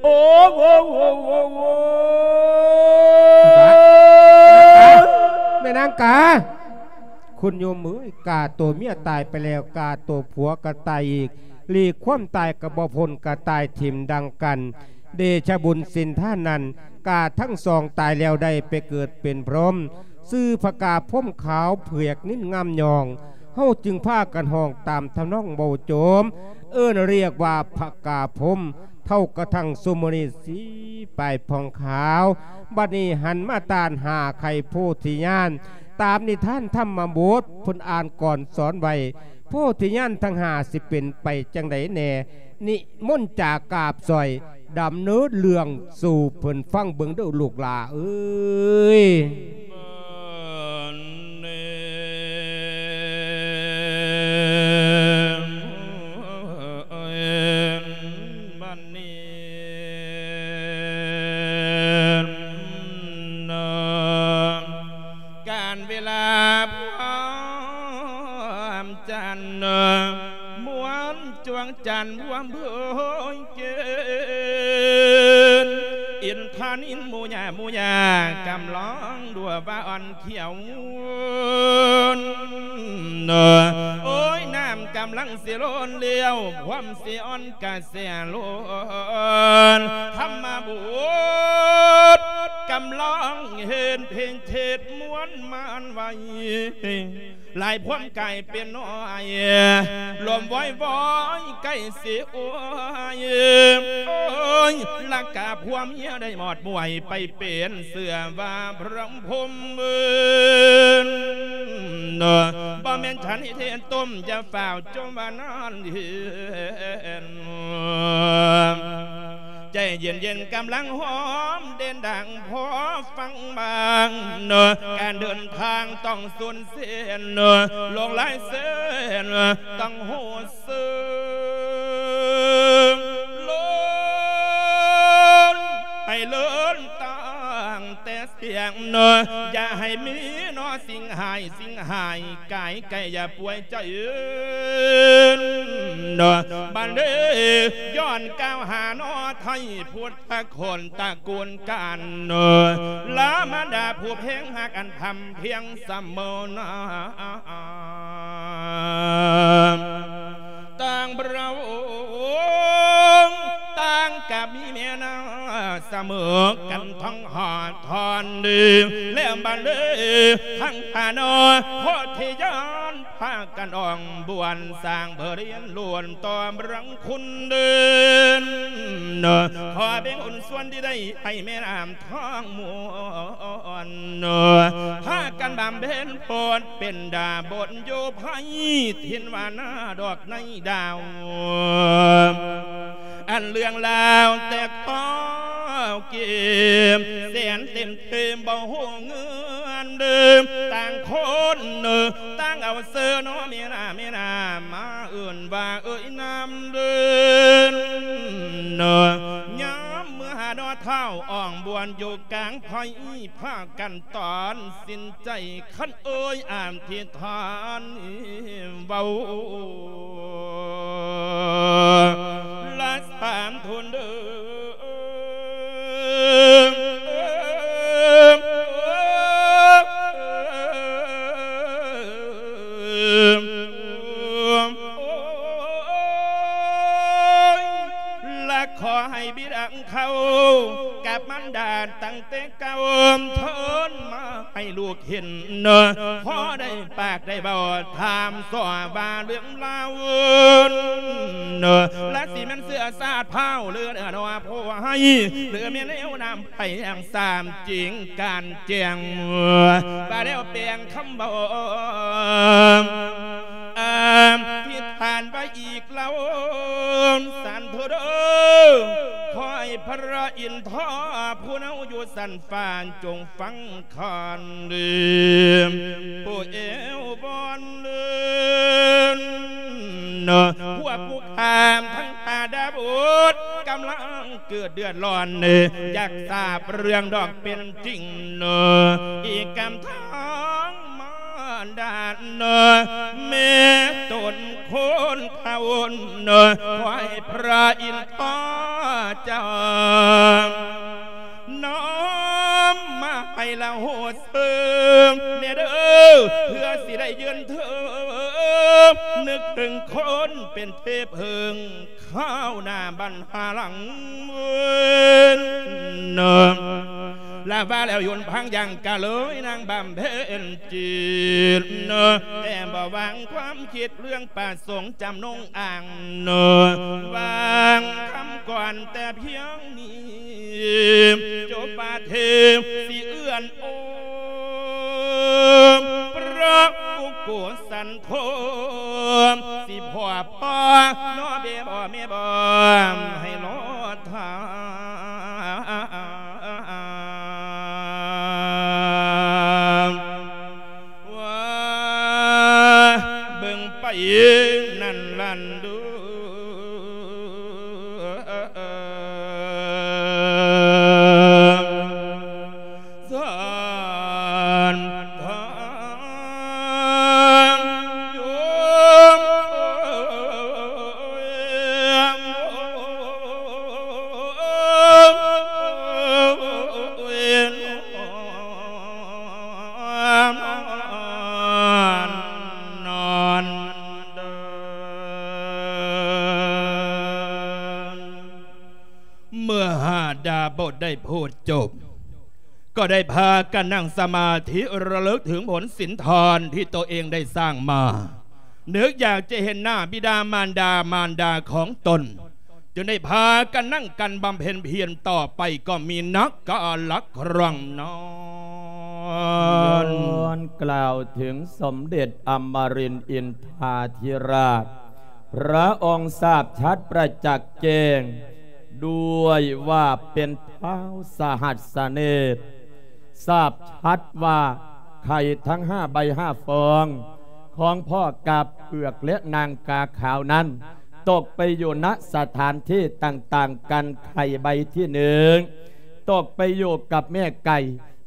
ອ້ ໂອ້ ໂອ້ ໂອ້ ໂອ້ ແມ່ນາງກາ ຄຸນໂຍມເອີຍ ກາໂຕເມຍຕາຍໄປແລ້ວ ກາໂຕຜົວກໍຕາຍອີກ ຫຼີກຄວາມຕາຍກໍບໍ່ພົ້ນ ກໍຕາຍຖິ້ມດັ່ງກັນ ເດຊະບຸນສິນທານນັ້ນ ກາທັງສອງຕາຍແລ້ວໄດ້ໄປເກີດເປັນພົມ ຊື່ພະກາພົມຂາວເຜືອກນິນງາມຍອງ ເຮົາຈຶ່ງພາກັນຮ້ອງຕາມທຳນອງເວົ້າໂຈມ ເອີ້ນຮຽກວ່າພະກາພົມ ເທົ່າກະທັ່ງຊຸມື້ນີ້ສີປາຍຜ່ອງຂາວ ບັດນີ້ຫັນມາຕ້ານຫາໄຂ່ໂພທິຍານ ຕາມນິທານທຳມະບົດເພິ່ນອ່ານກ່ອນສອນໄວ້ ໂພທິຍານທັງຫ້າຊິເປັນໄປຈັ່ງໃດແດ່ ນິມົນຈາກາບສອຍ ດຳເນີນເລື່ອງສູ່ເພິ່ນຟັງເບິ່ງເດີ້ລູກຫຼ້າເອີຍ. ຈັນພວມເພີຍເກນ ອິນທານິນໝູຍາໝູຍາ ກຳລອງດັວວ່າອ່ອນຂຽວ ໂອ້ຍ ນ້ຳກຳລັງຊິລົ້ນແລ້ວ ພວມຊິອ່ອນກະແສລົ້ນ ທຳມະບຸດ ກຳລັງເຮັດເພງເທດມ່ວນມານໄວ ຫຼາຍພວມກາຍເປັນນ້ອຍ ລົມວອຍວອຍໃກ້ຊິອວຍ ໂອ້ຍ ລະກະພວມເມຍໄດ້ໝອດໝວຍ ໄປເປັນເຊື່ອວ່າພຣະພົມເອີນ ບໍ່ແມ່ນສັນນິເທດຕົ້ມ ຢ່າຟ້າວຈົ່ມວ່ານານເຫັນ ໃຈເຢັນໆ ກຳລັງຫອມເດັ່ນດັງພໍຟັງບາງ ການເດີນທາງຕ້ອງສູນເສັ້ນ ລົງຫຼາຍເສັ້ນຕ້ອງຮູ້ເຊິ່ງ ລົງໃຫ້ເລີນຕັ້ງແຕ່ ສຽງເນາະ ຢ່າໃຫ້ມີເນາະ ສິ່ງຮ້າຍ ສິ່ງຮ້າຍກາຍໄກ ຢ່າປ່ວຍໃຈເນາະ ບັດນີ້ຍ້ອນກ່າວຫາເນາະ ໄທພຸດທະຄົນຕະກູນການເນາະ ລາມານດາຜູ້ເພງຮັກ ອັນພຳພຽງສະເໝີນາ ຕ່າງພຣະອົງ ຕ່າງກະມີແມ່ນາສະເໝີກັນທັງຫ້າທ່ານເດ ແລ້ວບັດນີ້ທັງຫ້ານ້ອຍ ໂພທິຍານພາກັນອ່ອງບວນ ສ້າງເພີລຽນລ້ວນຕໍ່ພະລັງຄຸນເດີນ ຂໍເບັງບຸນສ່ວນທີ່ໄດ້ໃຫ້ແມ່ນ້ຳ ທອງມ່ວນ ພາກັນບຳເພັນໂພດເປັນດາບົນຢູ່ໄພ ຖິ່ນວ່ານາດອກໃນດາວ ອັນເລື່ອງລາວແຕ່ຂໍເກັບ ແສນເຕັມເຕັມບໍ່ຮູ້ເງິນເດີ ຕ່າງຄົນເນີ ຕ່າງເອົາເຊີເນາະ ແມ່ນ້ຳ ແມ່ນ້ຳ ມາເອີ້ນວ່າເອີຍນາມເດີ ຍາມເມື່ອຫາເນາະ ທ້າວອ່ອງບວນຢູ່ກາງໄພ ພາກັນຕັດສິນໃຈ ຄັນເອີຍອະທິຖານເວົ້າ ລະສາມທຸນເດີ ລະຂໍໃຫ້ບິດາ ເຂົ້າກັບມັນດາຕັ້ງແຕ່ເກົ່າ ເທີນມາໃຫ້ລູກເຫັນ ພໍໄດ້ປາກໄດ້ເວົ້າ ຖາມສອບວ່າເລື່ອງລາວ ລະຊິແມ່ນເຊື້ອຊາດພ້າວ ຫຼືເນື້ອໜໍ່ຜູ້ໃຫ້ ຫຼືແມ່ນແນວນຳໄປຢ່າງສາມຈິງການແຈ້ງ ວ່າແລ້ວແປງຄຳເວົ້າ ອະທິຖານໄວ້ອີກ ລາວສັນໂທເດີ ຂໍໃຫ້ພະອິນທອຜູ້ເນົາຢູ່ຊັ້ນຟ້າຈົ່ງຟັງຄັນດີ ຜູ້ເອວວອນເດີນ ພວກຜູ້ຂ້າມທັງຫ້າດາບຸດ ກຳລັງເກີດເດືອດຮ້ອນ ຢາກຊາບເລື່ອງດອກເປັນຈິງ ອີກກຳທາງມາ ດານເນີ ແມ່ຕົນຄົນເຂົາເນີ ຂໍໃຫ້ພະອິນທອເຈົ້າ ນ້ອມມາໃຫ້ລະໂຫດເສີງແດ່ເດີ ເພື່ອຊິໄດ້ຢືນເທີງ ນຶກເຖິງຄົນເປັນເທບເຫິງ ຄາວໜ້າບັນຫາຫຼັງເວີນ ລະວ່າແລ້ວຍົນພັງຍັງກະເລີຍນາງບຳເພັນຈິດ ແຕ່ບໍ່ວາງຄວາມຄິດເລື່ອງປະສົງຈຳນົງອ່າງ ວາງຄຳກ່ອນແຕ່ພຽງນີ້ ຈົບປະເທດຊິເອື້ອນໂອ ພະກຸໂກສັນ ໂຄມ ຊິພໍ່ພໍ່ ນ້ອເບບໍ່ແມ່ບໍ່ ໃຫ້ລໍຖ້າ ວ່າເບິ່ງໄປນັ້ນລັນດູ บทได้พูดจบ ก็ได้พากันนั่งสมาธิระลึกถึงผลศีลทานที่ตัวเองได้สร้างมา นึกอยากจะเห็นหน้าบิดามารดา มารดาของตน จึงได้พากันนั่งกันบำเพ็ญเพียรต่อไป ก็มีนักกาละครั้งนั้น ย้อนกล่าวถึงสมเด็จอมรินทร์อินทาธิราช พระองค์ทราบชัดประจักษ์แจ้ง ด้วยว่าเป็นท้าวสหัสสเนตร ทราบชัดว่าไข่ทั้งห้าใบห้าฟอง ของพ่อกาเผือกและนางกาขาวนั้น ตกไปอยู่ ณ สถานที่ต่างๆ กัน ไข่ใบที่หนึ่ง ตกไปอยู่กับแม่ไก่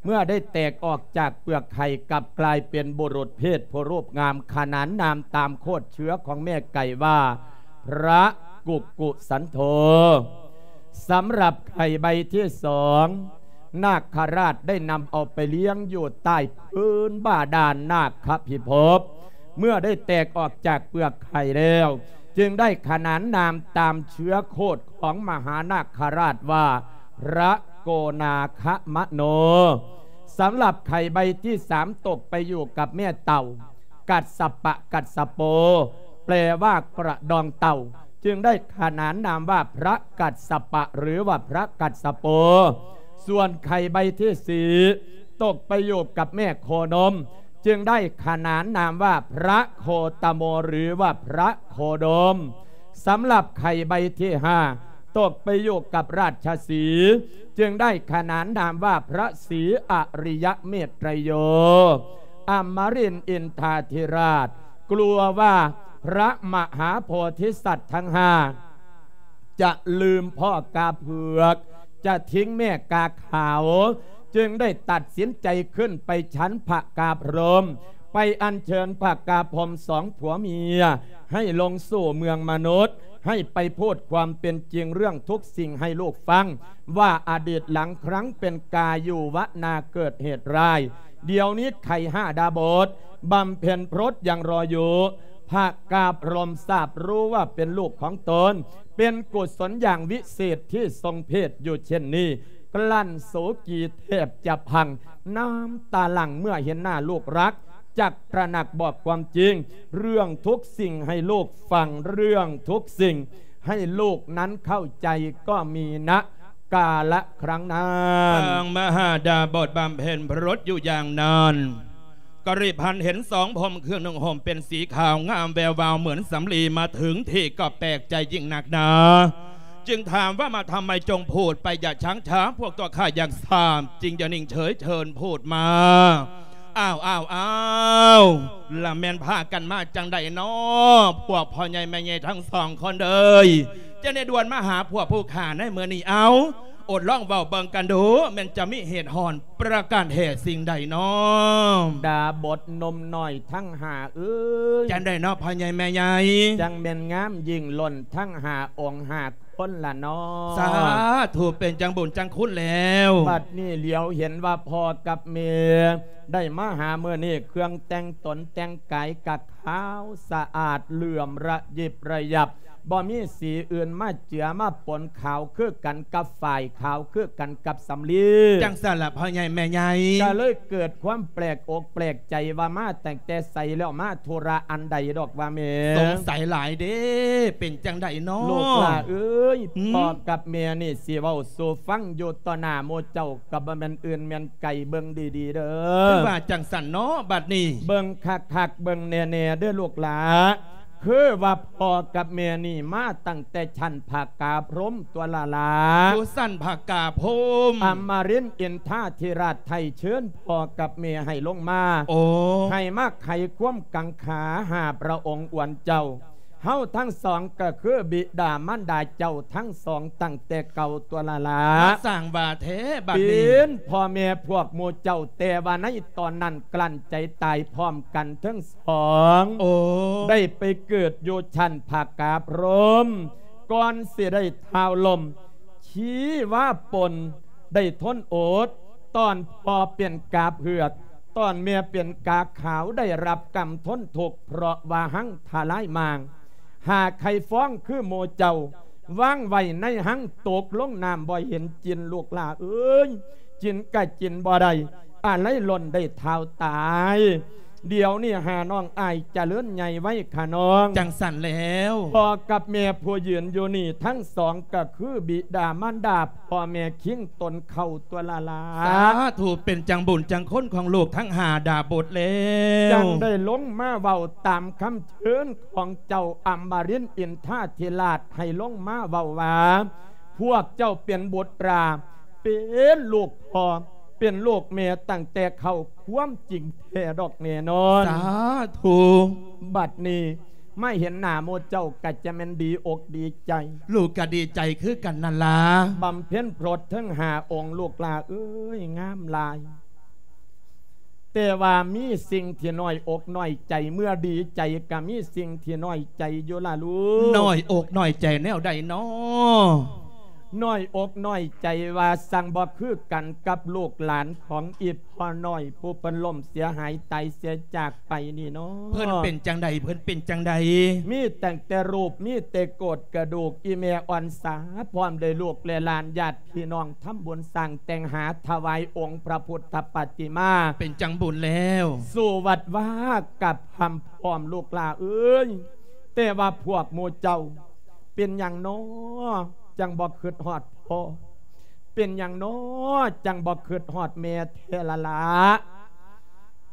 เมื่อได้แตกออกจากเปลือกไข่ กลับกลายเป็นบุรุษเพศผู้รูปงาม ขนานนามตามโคตรเชื้อของแม่ไก่ว่า พระกุกกุสันโธ สำหรับไข่ใบที่สอง นาคราชได้นำเอาไปเลี้ยงอยู่ใต้พื้นบาดาลนาคพิภพ เมื่อได้แตกออกจากเปลือกไข่แล้ว จึงได้ขนานนามตามเชื้อโคตรของมหานาคราชว่า พระโกนาคมโน สำหรับไข่ใบที่สาม ตกไปอยู่กับแม่เต่า กัสสปะกัสสโป แปลว่ากระดองเต่า จึงได้ขนานนามว่าพระกัสสปะ หรือว่าพระกัสสโป ส่วนไข่ใบที่สี่ ตกไปอยู่กับแม่โคนม จึงได้ขนานนามว่าพระโคตโม หรือว่าพระโคดม สำหรับไข่ใบที่ห้า ตกไปอยู่กับราชสีห์ จึงได้ขนานนามว่าพระศรีอริยเมตไตรโย อมรินทร์อินทาธิราช กลัวว่าพระมหาโพธิสัตว์ทั้งห้า จะลืมพ่อกาเผือก จะทิ้งแม่กาขาว จึงได้ตัดสินใจขึ้นไปชั้นพระกาพรหม ไปอัญเชิญพระกาพรหมสองผัวเมีย ให้ลงสู่เมืองมนุษย์ ให้ไปพูดความเป็นจริงเรื่องทุกสิ่งให้ลูกฟัง ว่าอดีตหลังครั้งเป็นกาอยู่วนาเกิดเหตุร้าย เดี๋ยวนี้ไข่ห้าดาบท บำเพ็ญพรตยังรออยู่ พระกาพรหมทราบรู้ว่าเป็นลูกของตน เป็นกุศลอย่างวิเศษที่ทรงเพศอยู่เช่นนี้ กลั้นโศกีแทบจะพัง น้ำตาหลั่งเมื่อเห็นหน้าลูกรัก จักตระหนักบอกความจริง เรื่องทุกสิ่งให้ลูกฟัง เรื่องทุกสิ่งให้ลูกนั้นเข้าใจ ก็มี ณ กาละครั้งนั้น ปางมหาดาบทบำเพ็ญพรตอยู่อย่างนั้น ก็รีบหันเห็นสองพรหมเครื่องนุ่งห่มเป็นสีขาวงามแวววาวเหมือนสำลีมาถึงที่ก็แปลกใจยิ่งนักหนา จึงถามว่า มาทำไมจงพูดไปอย่าช้างช้า พวกตัวข้าอยากทราบ จึงอย่านิ่งเฉย เชิญพูดมา อ้าว อ้าว อ้าว ละแม่นพากันมาจั่งใดน้อ พวกพ่อใหญ่แม่ใหญ่ทั้งสองคนเอย จะได้ด่วนมาหาพวกผู้ข้าในมื้อนี้ เอา โอดลองเว้าเบิ่งกันดู แม่นจะมีเหตุหอนประการแท้สิ่งใดน้อ ดาบทหนุ่มน้อยทั้งห้าเอ้ย จั่งใดน้อพ่อใหญ่แม่ใหญ่ จั่งแม่นงามยิ่งล้นทั้งห้าองค์ห้าคนละน้อ สาธุ เป็นจั่งบุญจั่งคุณแล้ว บัดนี้เหลียวเห็นว่าพ่อกับแม่ได้มาหามื้อนี้ เครื่องแต่งตนแต่งกายกะขาวสะอาดเหลื่อมระยิบระยับ บ่มีสีอื่นมาเจือมาปน ขาวคือกันกับฝ้าย ขาวคือกันกับสำลี จั่งซั้นล่ะพ่อใหญ่แม่ใหญ่ ก็เลยเกิดความแปลกอกแปลกใจว่ามาตั้งแต่ไส แล้วมาธุระอันใดดอกว่าแม่ สงสัยหลายเด้ เป็นจั่งใดน้อ ลูกหล่าเอ้ย หืม พ่อกับแม่นี่สิเว้าสู่ฟัง อยู่ต่อหน้าหมู่เจ้าก็บ่แม่นอื่นแม่นไกล เบิ่งดีๆเด้อ คือว่าจั่งซั้นน้อ บัดนี้ เบิ่งคักๆ เบิ่งแน่ๆเด้อลูกหล่า คือว่าพ่อกับแม่นี่มาตั้งแต่ชั้นพระกาพรหมตั๊วล่ะหล่า อยู่ชั้นพระกาพรหม อมรินทร์อินทาธิราชไถ่เชิญพ่อกับแม่ให้ลงมา โอ้ ให้มาไขความกังขาหาพระองค์อวนเจ้า เฮาทั้งสองก็คือบิดามารดาเจ้าทั้งสองตั้งแต่เก่าตั๊วล่ะหล่า มาสร้างว่าแท้บัดนี้ เป็นพ่อแม่พวกหมู่เจ้า แต่ว่าในตอนนั้นกลั้นใจตายพร้อมกันทั้งสอง โอ้ ได้ไปเกิดอยู่ชั้นพระกาพรหม ก่อนสิได้ท้าวลม ชีวาปน ได้ทนอด ตอนพ่อเป็นกาเผือก ตอนแม่เป็นกาขาว ได้รับกรรมทนทุกข์ เพราะว่าหั้งทลายมาง หากใครฟ้องคือหมู่เจ้า ວາງໄວ້ໃນຮັງ ຕົກລົງນ້ຳບໍ່ເຫັນຈິ້ນ ລູກຫຼ້າເອີຍ ຈິ້ນກະຈິ້ນບໍ່ໄດ້ ອາໄລລ່ອນໄດ້ທ້າວຕາຍ. ດຽວນີ້ຫານ້ອງອ້າຍຈະເລີນໃຫຍ່ໄວຂະນ້ອງ. ຈັ່ງຊັ້ນແລ້ວ ພໍ່ກັບແມ່ຜູ້ຢືນຢູ່ນີ້ທັງສອງ ກໍຄືບິດາມານດາ ພໍ່ແມ່ຄິງຕົນເຂົ້າຕົວລະລາ. ສາທຸ ເປັນຈັ່ງບຸນຈັ່ງຄຸນຂອງລູກທັງຫ້າດາບົດແລ້ວ ຈັ່ງໄດ້ລົງມາເວົ້າຕາມຄຳເຊີນຂອງເຈົ້າອຳມະລິນອິນທາທິລາດ ໃຫ້ລົງມາເວົ້າວ່າ ພວກເຈົ້າເປັນບຸດຕາ ເປັນລູກພໍ່ ເປັນລູກແມ່ຕັ້ງແຕ່ເຄົ້າ ຄວາມຈິງແທ້ດອກແນ່ນອນ. ສາທຸ ບັດນີ້ມາເຫັນໜ້າໝູ່ເຈົ້າ ກະຈະແມ່ນດີອົກດີໃຈ. ລູກກະດີໃຈຄືກັນນັ້ນລະ ບຳເພັນໂຜດເຖິງຫ້າອົງ ລູກຫຼ້າເອີຍ ງາມຫຼາຍ. ແຕ່ວ່າມີສິ່ງທີ່ນ້ອຍອົກນ້ອຍໃຈ ເມື່ອດີໃຈກະມີສິ່ງທີ່ນ້ອຍໃຈຢູ່ລະລູກ. ນ້ອຍອົກນ້ອຍໃຈແນວໃດນໍ? ນ້ອຍອົກນ້ອຍໃຈວ່າ ຊ່າງບໍ່ຄືກັນກັບລູກຫຼານຂອງອີ່ພໍ່ນ້ອຍ ຜູ້ເພິ່ນລົ້ມເສຍຫາຍຕາຍເສຍຈາກໄປນີ້ນໍ. ເພິ່ນເປັນຈັ່ງໃດ? ເພິ່ນເປັນຈັ່ງໃດ? ມີຕັ້ງແຕ່ຮູບ ມີແຕ່ໂຄດກະດູກ ອີ່ແມ່ອ່ອນສາ ພ້ອມດ້ວຍລູກແລະຫຼານ ຍາດພີ່ນ້ອງ ທຳບຸນສ້າງແຕ່ງຫາຖວາຍອົງພະພຸດທະປະຕິມາ ເປັນຈັ່ງບຸນແລ້ວ ສູ່ວັດວາກັບຄຳພ້ອມ ລູກຫຼ້າເອີຍ. ແຕ່ວ່າພວກໝູ່ເຈົ້າ ເປັນຫຍັງນໍ ຈັ່ງບໍ່ຄິດຮອດພໍ່? ເປັນຫຍັງນໍ ຈັ່ງບໍ່ຄິດຮອດແມ່ແທ້ລະລະ?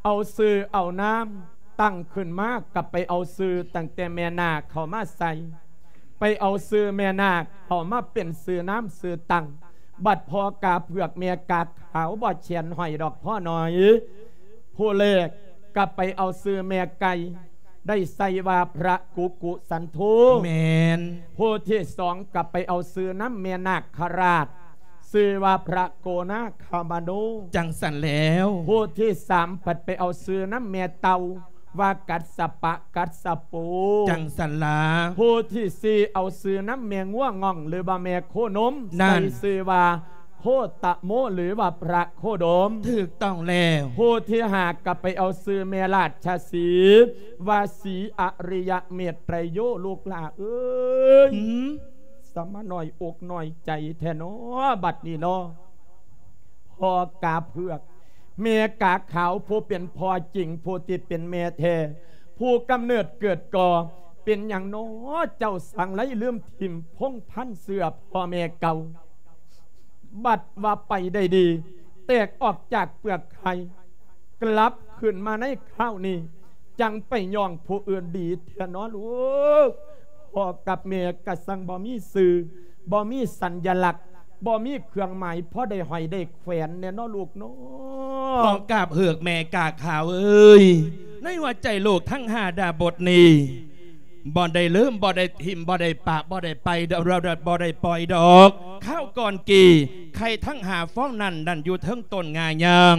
ເອົາຊື່ເອົານາມຕັ້ງຂຶ້ນມາ ກໍໄປເອົາຊື່ຕັ້ງແຕ່ແມ່ນາກເຂົ້າມາໃສ່ ໄປເອົາຊື່ແມ່ນາກເຂົ້າມາເປັນຊື່ນາມຊື່ຕັ້ງ. ບັດພໍ່ກາເຜືອກແມ່ກາຂາວບໍ່ແຂນຫ້ອຍດອກພໍ່ນ້ອຍ. ຜູ້ແລກກໍໄປເອົາຊື່ແມ່ໄກ່ ໄດ້ໃສ່ວ່າພະກຸກຸສັນໂທ. ແມ່ນ. ຜູ້ທີສອງກໍໄປເອົາຊື່ນຳແມ່ນາກຄະລາດ ຊື່ວ່າພະໂກນາຄາມະໂນ. ຈັ່ງຊັ້ນແລ້ວ. ຜູ້ທີສາມພັດໄປເອົາຊື່ນຳແມ່ເຕົ່າ ວ່າກັດສະປະກັດສະໂປ. ຈັ່ງຊັ້ນລະ. ຜູ້ທີສີ່ເອົາຊື່ນຳແມ່ງົວງອງ ຫຼືວ່າແມ່ໂຄນົມ ນັ້ນ ໃສ່ຊື່ວ່າໂຄຕະໂມ ຫຼືວ່າພະໂຄດົມ. ຖືກຕ້ອງແລ້ວ. ຜູ້ທີຫ້າກໍໄປເອົາຊື່ແມ່ລາດຊະສີ ວ່າສີອະລິຍະເມດໄຕໂຍ ລູກຫຼ້າເອີຍ. ຫືມ? ສະມານ້ອຍອົກນ້ອຍໃຈແທ້ນໍ ບັດນີ້ນໍ. ພໍ່ກາເຜືອກ ແມ່ກາຂາວ ຜູ້ເປັນພໍ່ຈິງ ຜູ້ທີ່ເປັນແມ່ແທ້ ຜູ້ກຳເນີດເກີດກໍ່ ເປັນຫຍັງນໍ ເຈົ້າສັງໄລລືມຖິ້ມພົງພັນເຊື້ອພໍ່ແມ່ເກົ່າ? ບັດວ່າໄປໄດ້ດີ ແຕກອອກຈາກເປືອກໄຂ່ ກັບຄືນມາໃນຄາວນີ້ ຈັ່ງໄປຍ້ອງຜູ້ອື່ນດີແທ້ນໍລູກ. ພໍ່ກັບແມ່ກະສັງບໍ່ມີຊື່ ບໍ່ມີສັນຍະລັກ ບໍ່ມີເຄື່ອງໝາຍພໍໄດ້ຫ້ອຍໄດ້ແຂວນແນ່ນໍລູກນໍ. ພໍ່ກາເຜືອກແມ່ກາຂາວເອີຍ ໃນຫົວໃຈລູກທັງຫ້າດາບົດນີ້ ບໍ່ໄດ້ລືມ ບໍ່ໄດ້ຖິ້ມ ບໍ່ໄດ້ປະ ບໍ່ໄດ້ໄປ ບໍ່ໄດ້ປ່ອຍດອກ. ຄາວກ່ອນກີ້ ໄຂ່ທັງຫ້າຟອງນັ້ນ ນັ້ນຢູ່ເທິງຕົ້ນງາຍາງ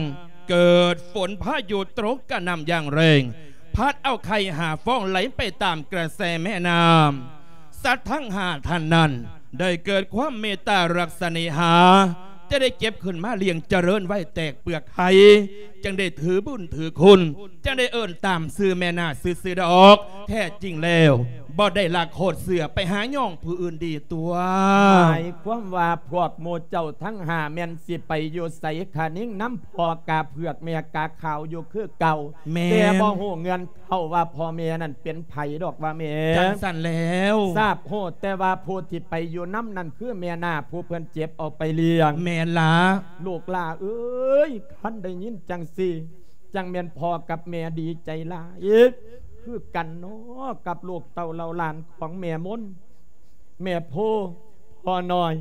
ເກີດຝົນພາຍຸຕົກກະໜ່ຳຢ່າງແຮງ ພັດເອົາໄຂ່ຫ້າຟອງໄຫຼໄປຕາມກະແສແມ່ນ້ຳ. ສັດທັງຫ້າທ່ານນັ້ນ ໄດ້ເກີດຄວາມເມດຕາລັກສະເນຫາ ຈະໄດ້ເກັບຂຶ້ນມາລ້ຽງຈະເລີນໄວ້ແຕກເປືອກໄຂ່ ຈັ່ງໄດ້ຖືບຸນຖືຄຸນ ຈັ່ງໄດ້ເອີ້ນຕາມຊື່ແມ່ນາງຊື່ໆດອກ. ແທ້ຈິງແລ້ວ ບໍ່ໄດ້ລັກໂຄດເຊື້ອໄປຫາຍ້ອງຜູ້ອື່ນດີຕົວະ. ໝາຍຄວາມວ່າພວກໝູ່ເຈົ້າທັງຫ້າແມ່ນຊິໄປຢູ່ໃສຄະນິງນຳພໍ່ກາເຜືອກແມ່ກາຂາວຢູ່ຄືເກົ່າ. ແມ່ນ. ແຕ່ບໍ່ຮູ້ເງື່ອນ ເພາະວ່າພໍ່ແມ່ນັ້ນເປັນໃຜດອກວ່າແມ່. ຈັ່ງຊັ້ນແລ້ວ. ຊາບຮູ້ແຕ່ວ່າຜູ້ທີ່ໄປຢູ່ນຳນັ້ນຄືແມ່ນາ ຜູ້ເພິ່ນເຈັບເອົາໄປລ້ຽງ. ແມ່ນລະ. ລູກຫຼ້າເອີຍ ຄັນໄດ້ຍິນຈັ່ງຊີ້ ຈັ່ງແມ່ນພໍ່ກັບແມ່ດີໃຈຫຼາຍຄືກັນເນາະ ກັບລູກເຕົ້າເຫຼົ່າຫຼານຂອງແມ່ມົນ ແມ່ໂພ ພໍ່ນ້ອຍ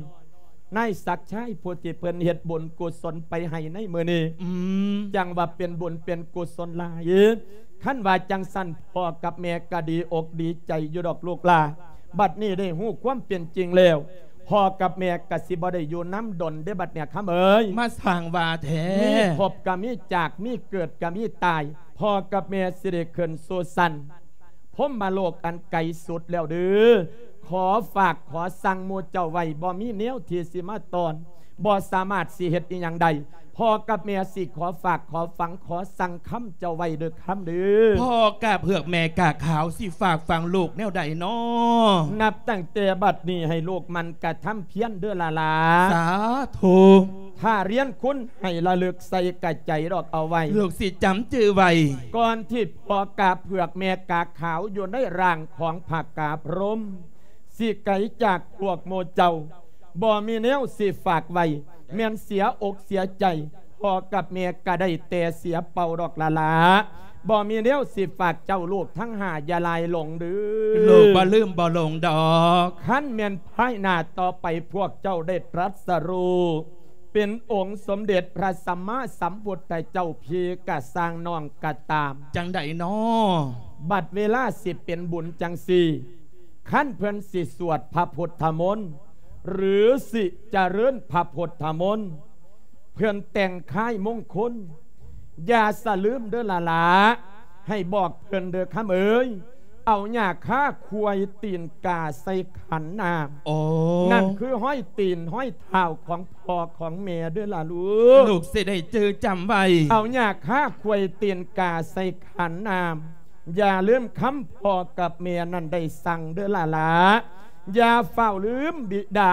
ນາຍສັກຊາຍ ຜູ້ທີ່ເພິ່ນເຮັດບຸນກຸສົນໄປໃຫ້ໃນມື້ນີ້. ອືມ. ຈັ່ງວ່າເປັນບຸນເປັນກຸສົນຫຼາຍ. ຄັນວ່າຈັ່ງຊັ້ນ ພໍ່ກັບແມ່ກໍດີອົກດີໃຈຢູ່ດອກລູກຫຼ້າ. ບັດນີ້ໄດ້ຮູ້ຄວາມເປັນຈິງແລ້ວ ພໍ່ກັບແມ່ກໍຊິບໍ່ໄດ້ຢູ່ນຳດົນເດ້ບັດນີ້ຄຳເອີຍ. ມາສ້າງວ່າແທ້. ມີພົບກໍມີຈາກ ມີເກີດກໍມີຕາຍ. ພໍ່ກັບແມ່ຊິໄດ້ຂຶ້ນສູ່ຊັ້ນ ພົມມະໂລກອັນໄກສຸດແລ້ວເດີ. ຂໍຝາກຂໍສັ່ງໝູ່ເຈົ້າໄວ້ ບໍ່ມີແນວທີ່ຊິມາຕ້ອນ ບໍ່ສາມາດຊິເຮັດອີ່ຫຍັງໄດ້. ພໍ່ກັບແມ່ຊິຂໍຝາກ ຂໍຝັງ ຂໍສັ່ງຄຳເຈົ້າໄວ້ເດີຄຳເດີ. ພໍ່ກາເຜືອກແມ່ກາຂາວ ຊິຝາກຝັງລູກແນວໃດນໍ? ນັບຕັ້ງແຕ່ບັດນີ້ໃຫ້ລູກໝັ່ນກະທຳພຽນເດີຫຼ້າຫຼ້າ. ສາທຸ. ຖ້າຮຽນຄຸນໃຫ້ລະລຶກໃສ່ກະໃຈດອກເອົາໄວ້ ລູກຊິຈຳຈື່ໄວ້. ກ່ອນທີ່ພໍ່ກາເຜືອກແມ່ກາຂາວຢູ່ໃນຮ່າງຂອງພະກາພົມ ຊິໄກຈາກພວກໝູ່ເຈົ້າ ບໍ່ມີແນວຊິຝາກໄວ້ ແມ່ນເສຍອົກເສຍໃຈ ພໍ່ກັບແມ່ກະໄດ້ແຕ່ເສຍເປົ່າດອກຫຼ້າຫຼ້າ. ບໍ່ມີແນວຊິຝາກເຈົ້າລູກທັງຫ້າ ຢ່າຫຼາຍຫຼົງເດີ. ລູກບໍ່ລືມບໍ່ຫຼົງດອກ. ຄັນແມ່ນພາຍໜ້າຕໍ່ໄປພວກເຈົ້າໄດ້ຕລັດສະຮູ້ ເປັນອົງສົມເດັດພະສຳມາສຳພຸດທະເຈົ້າ ພີ່ກະຊ່າງນ້ອງກະຕາມ ຈັ່ງໃດນໍ? ບັດເວລາຊິເປັນບຸນຈັ່ງຊີ້ ຄັນເພິ່ນຊິສວດພະພຸດທະມົນ ຫຼື ຊິຈະເລີນພະພຸດທະມົນ ເພິ່ນແຕ່ງຄາຍມົງຄົນ ຢ່າສະລືມເດີຫຼ້າຫຼ້າ ໃຫ້ບອກເພິ່ນເດີຄຳເອີຍ. ເອົາຫຍ້າຄາຂວາຍຕີນກາໃສ່ຂັນນ້ຳ. ໂອ້ ນັ້ນຄືຮອຍຕີນຮອຍເທົ້າຂອງພໍ່ຂອງແມ່ເດີຫຼ້າລູກ. ລູກຊິໄດ້ຈື່ຈຳໄວ້. ເອົາຫຍ້າຄາຂວາຍຕີນກາໃສ່ຂັນນ້ຳ. ຢ່າລືມຄຳພໍ່ກັບແມ່ນັ້ນໄດ້ສັ່ງເດີຫຼ້າຫຼ້າ. ຢ່າຟ້າວລືມບິດາ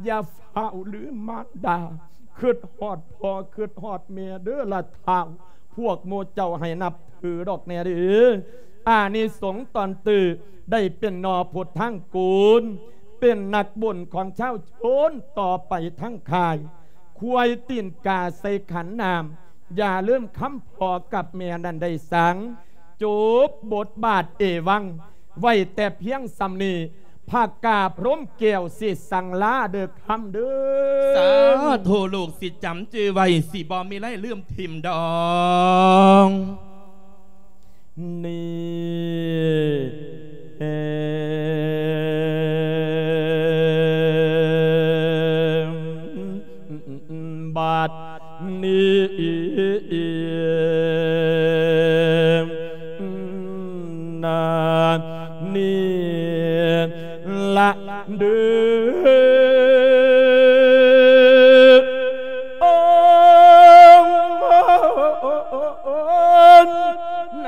ຢ່າຟ້າວລືມມານດາ. ຄຶດຮອດພໍ່ຄຶດຮອດແມ່ເດີລະທ້າວ. ພວກໝູ່ເຈົ້າໃຫ້ນັບຖືດອກແນ່ເດີ. ອານິສົງຕອນຕື້ໄດ້ເປັນໜໍ່ພຸດທາງກູນ ເປັນນັກບຸນຂອງຊາວຊົນຕໍ່ໄປທັງຄ້າຍ. ຂວາຍຕີນກາໃສ່ຂັນນ້ຳ. ຢ່າລືມຄຳພໍ່ກັບແມ່ນັ້ນໄດ້ສັ່ງ. ຈົບບົດບາດເອວັງ ໄວ້ແຕ່ພຽງສ່ຳນີ້. ພະກາພົມແກ້ວຊິສັ່ງລາເດີຄຳເດີ. ສາທຸ ລູກຊິຈຳຈື່ໄວ້ ຊິບໍ່ມີໄຫຼລືມຖິ້ມດອງ. ນີ້ ບັດນີ້ນາ ນີ້ລະເດີ ໂອ້ ໃນ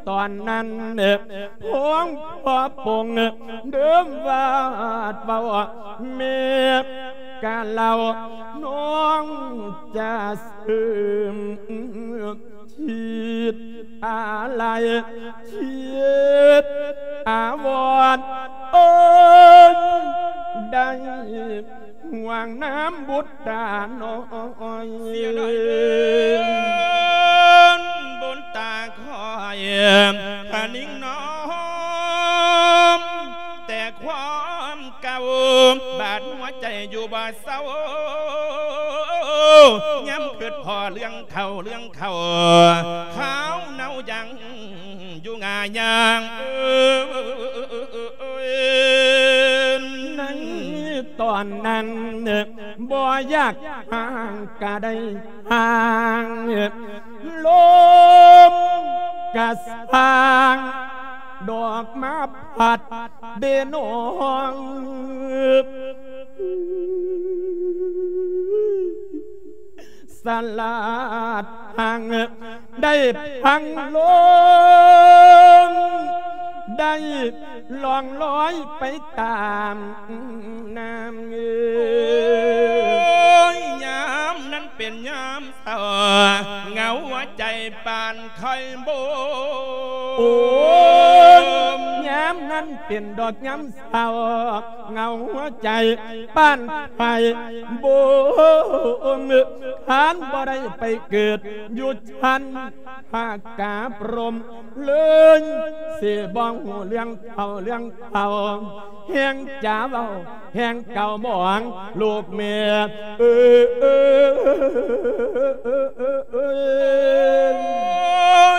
ຕອນນັ້ນ ພວງພໍ່ປົງເດີມວາດເວົ້າ ແມ່ກະເລົ່າ ນ້ອງຈະເສີມ ຄິດອາໄລ ຄິດອາວອນ ໂອ້ຍ ໄດ້ຫວງນຳບຸດຕານ້ອຍ ເສຍດາຍເດີ ບຸດຕາຂ້ອຍ ຄະນິງນ້ອມ ແຕ່ຄວາມ ເກົ່າ ບາດຫົວໃຈຢູ່ບໍ່ເຊົາ ຍາມຄຶດພໍ້ເລື່ອງເຖົ້າເລື່ອງເຖົ້າ ຂາວເນົ່າຍັງຢູ່ງ່າຍາງ ໃນຕອນນັ້ນ ບໍ່ຢາກຫ່າງກະໄດ້ຫ່າງ ລົມກະສ້າງ ດອກມາພັດເດນ້ອງ ສະຫຼາດຫາງ ໄດ້ພັງລົງ ໄດ້ລ່ອງລອຍໄປຕາມນ້ຳ ຍາມນັ້ນເປັນຍາມ ເສົ້າ ເຫງົາຫົວໃຈປານໄຂ້ໂບມ ໂອ້ຍ ຍາມນັ້ນເປັນດອກຍາມເສົ້າ ເຫງົາຫົວໃຈປານໄຂ້ໂບມ ຄັນບໍ່ໄດ້ໄປເກີດຢູ່ຊັ້ນພະກາພົມ ເລີຍຊິບໍ່ຮູ້ເລື່ອງເຖົ້າເລື່ອງເຖົ້າ ແຮ່ງຈະເວົ້າແຮ່ງເກົ່າໝອງ ລູກແມ່ເອີ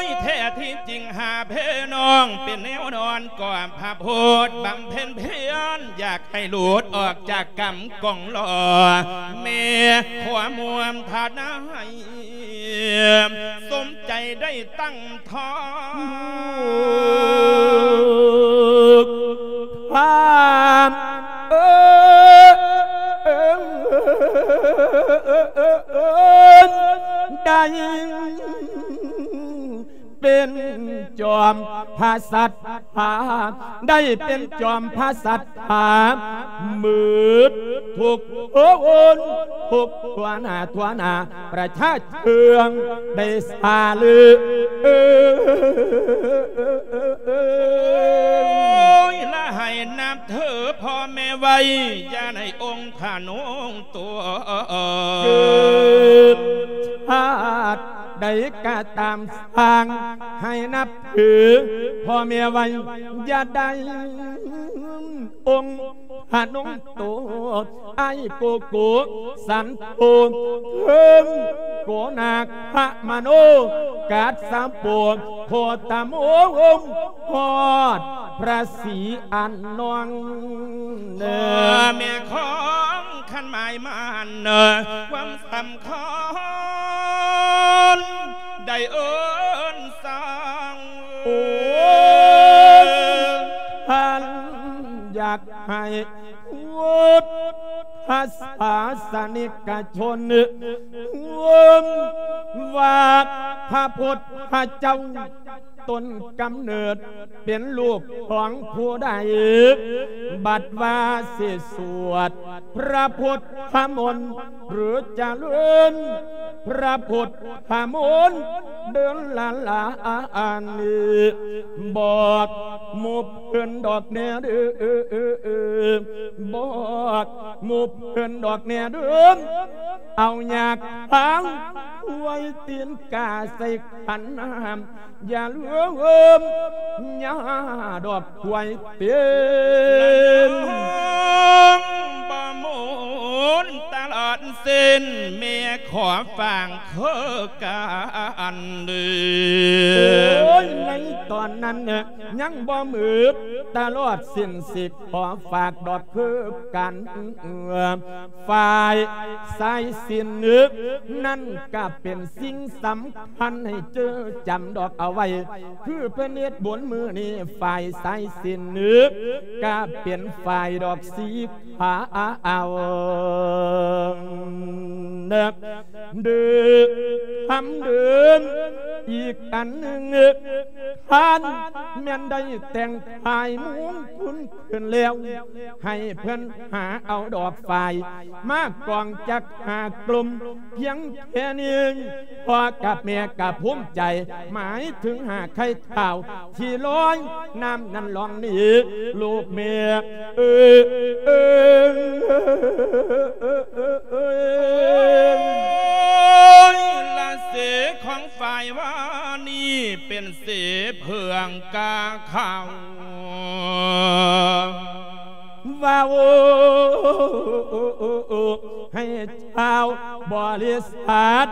ຍ ແທ້ທີ່ຈິງຫາເພນ້ອງ ເປັນແນວນອນກອມພະໂພດບຳເພັນພຽນ ຢາກໃຫ້ຫຼຸດອອກຈາກກຳກອງລໍ ແມ່ຂໍມວນພານາໃຫ້ ສົມໃຈໄດ້ຕັ້ງທ້ອງ ພາມເອີຍ ເອີ ໄດ້ເປັນຈອມພະສັດຖາ ໄດ້ເປັນຈອມພະສັດຖາ ໝົດທຸກຄົນ ທຸກທົ່ວໜ້າທົ່ວໜ້າ ປະຊາເທື່ອງໄດ້ສາລື ໂອ້ຍ ລະໃຫ້ນັບຖືພໍ່ແມ່ໄວ້ ຢ່າໃນອົງຂະນົງຕົວ ເກີດຊາດໃດກະຕາມ ຊ່າງໃຫ້ນັບຖືພໍ່ແມ່ໄວ້ ຢ່າໄດ້ອົງ ພະນົງໂຕ ອ້າຍໂກໂກ ສັນໂທ ເທິງໂກນາຄະມະໂນ ກັດສະໂປ ໂຄຕະໂມ ຮອດພະສີອານອງ ເອີ ແມ່ຂອງຂັນໝາຍໝັ້ນ ຄວາມສຳຄັນ ໄດ້ເອີ້ນສາງ ໂອ້ຍ ທ່ານຢາກໃຫ້ພຸດທະສາສະນິກະຊົນ ວ່າພະພຸດທະເຈົ້າ ຕົ້ນກຳເນີດເປັນລູກຂອງຜູ້ໃດ ບັດວ່າຊິສວດພະພຸດທະມົນ ຫຼື ຈະເລີນພະພຸດທະມົນ ເດີນລະລາອັນນີ້ ບອກໝູ່ເພິ່ນດອກແນ່ເດີ ບອກໝູ່ເພິ່ນດອກແນ່ເດີ ເອົາຫຍ້າຄາງຄວາຍຕີນກາໃສ່ຂັນນ້ຳ ຢ່າລືມຫຍ້າດອກຄວາຍຕີນ ລະນ້ອງບໍ່ໝູນຕະຫຼອດເສັ້ນ ແມ່ຂໍຝາກເຄີກັນເດີ ໂອ້ຍ ໃນຕອນນັ້ນຍັງບໍ່ໝົດຕະຫຼອດເສັ້ນ ຊິຂໍຝາກດອກເຄີກັນ ຝ່າຍສາຍສິນນັ້ນກະເປັນສິ່ງສຳຄັນໃຫ້ເຈີຈຳດອກເອົາໄວ້ ຄືເພິ່ນເຮັດບຸນມື້ນີ້ ຝ່າຍສາຍສິນກະເປັນຝ່າຍດອກສີຂາວ ເດີ ຄຳເດີນ ອີກອັນໜຶ່ງ ທ່ານແມ່ນໄດ້ແຕ່ງຖ່າຍມຸງຄຸນ ຂຶ້ນແລ້ວ ໃຫ້ເພິ່ນຫາເອົາດອກຝ້າຍມາກອງຈັກຫ້າກຸ່ມ ພຽງແຄ່ນີ້ ພໍ່ກັບແມ່ກໍພູມໃຈ ໝາຍເຖິງຫ້າໄຂ່ທ້າວທີ່ລອຍນ້ຳນັ້ນລ່ອງໜີ ລູກແມ່ເອີຍ ໂອ້ຍ ລະເສຂອງຝ່າຍວານີເປັນເສເຜືອງກາຂາວ ເວົ້າໃຫ້ຊາວບໍລິສັດ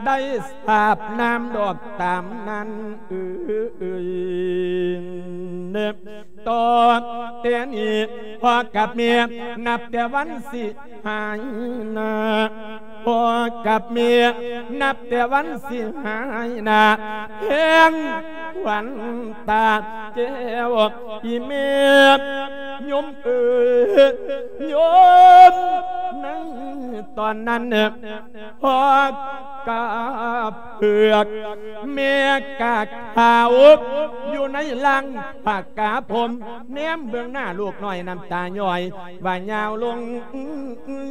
ໄດ້ສາບນາມດອກຕາມນັ້ນເອີຍ ຕໍ່ແຕ່ນີ້ພໍ່ກັບແມ່ນັບແຕ່ວັນຊິຫາຍໜ້າ ພໍ່ກັບແມ່ນັບແຕ່ວັນຊິຫາຍໜ້າ ແຮງຂວັນຕາແກ້ວ ອີແມ່ໂຍມເອີຍ ໂຍມ ໃນຕອນນັ້ນ ພໍ່ກະເຜືອກ ແມ່ກະຂາວ ຢູ່ໃນລ່າງຜ້າກະພົມ ແນມເບິ່ງໜ້າລູກນ້ອຍ ນ້ຳຕາຍ້ອຍ ວ່າຍາວລົງ ໂອ້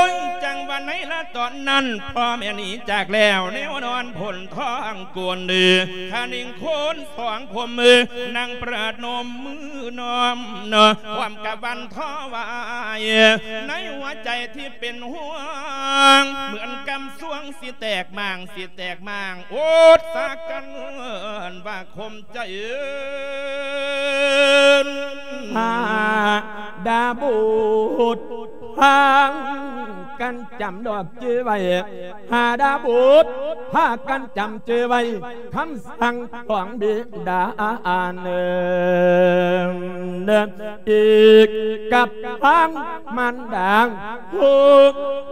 ຍ ຈັ່ງວ່າໃນລະຕອນນັ້ນ ພໍ່ແມ່ໜີຈາກແລ້ວ ແນວນອນພົ້ນທ້ອງກົນ ຄະນິງໂຄນສອງຜົມ ນັ່ງປະນົມມືນ້ອມ ພ້ອມກັບວັນຖວາຍ ໃນຫົວໃຈທີ່ເປັນຫ່ວງ ເໝືອນກຳຊວງຊິແຕກໝ່າງ ຊິແຕກໝ່າງ ອົດສາກັນວ່າຄົມ ໃຈເອີນ ຫາດາບຸດ ພາກັນຈຳດອກຈື່ໄວ້ ຫາດາບຸດ ພາກັນຈຳຈື່ໄວ້ ຄຳສັ່ງຂອງບິດາເນີ ອີກກັບທາງມານດາ ຜູ້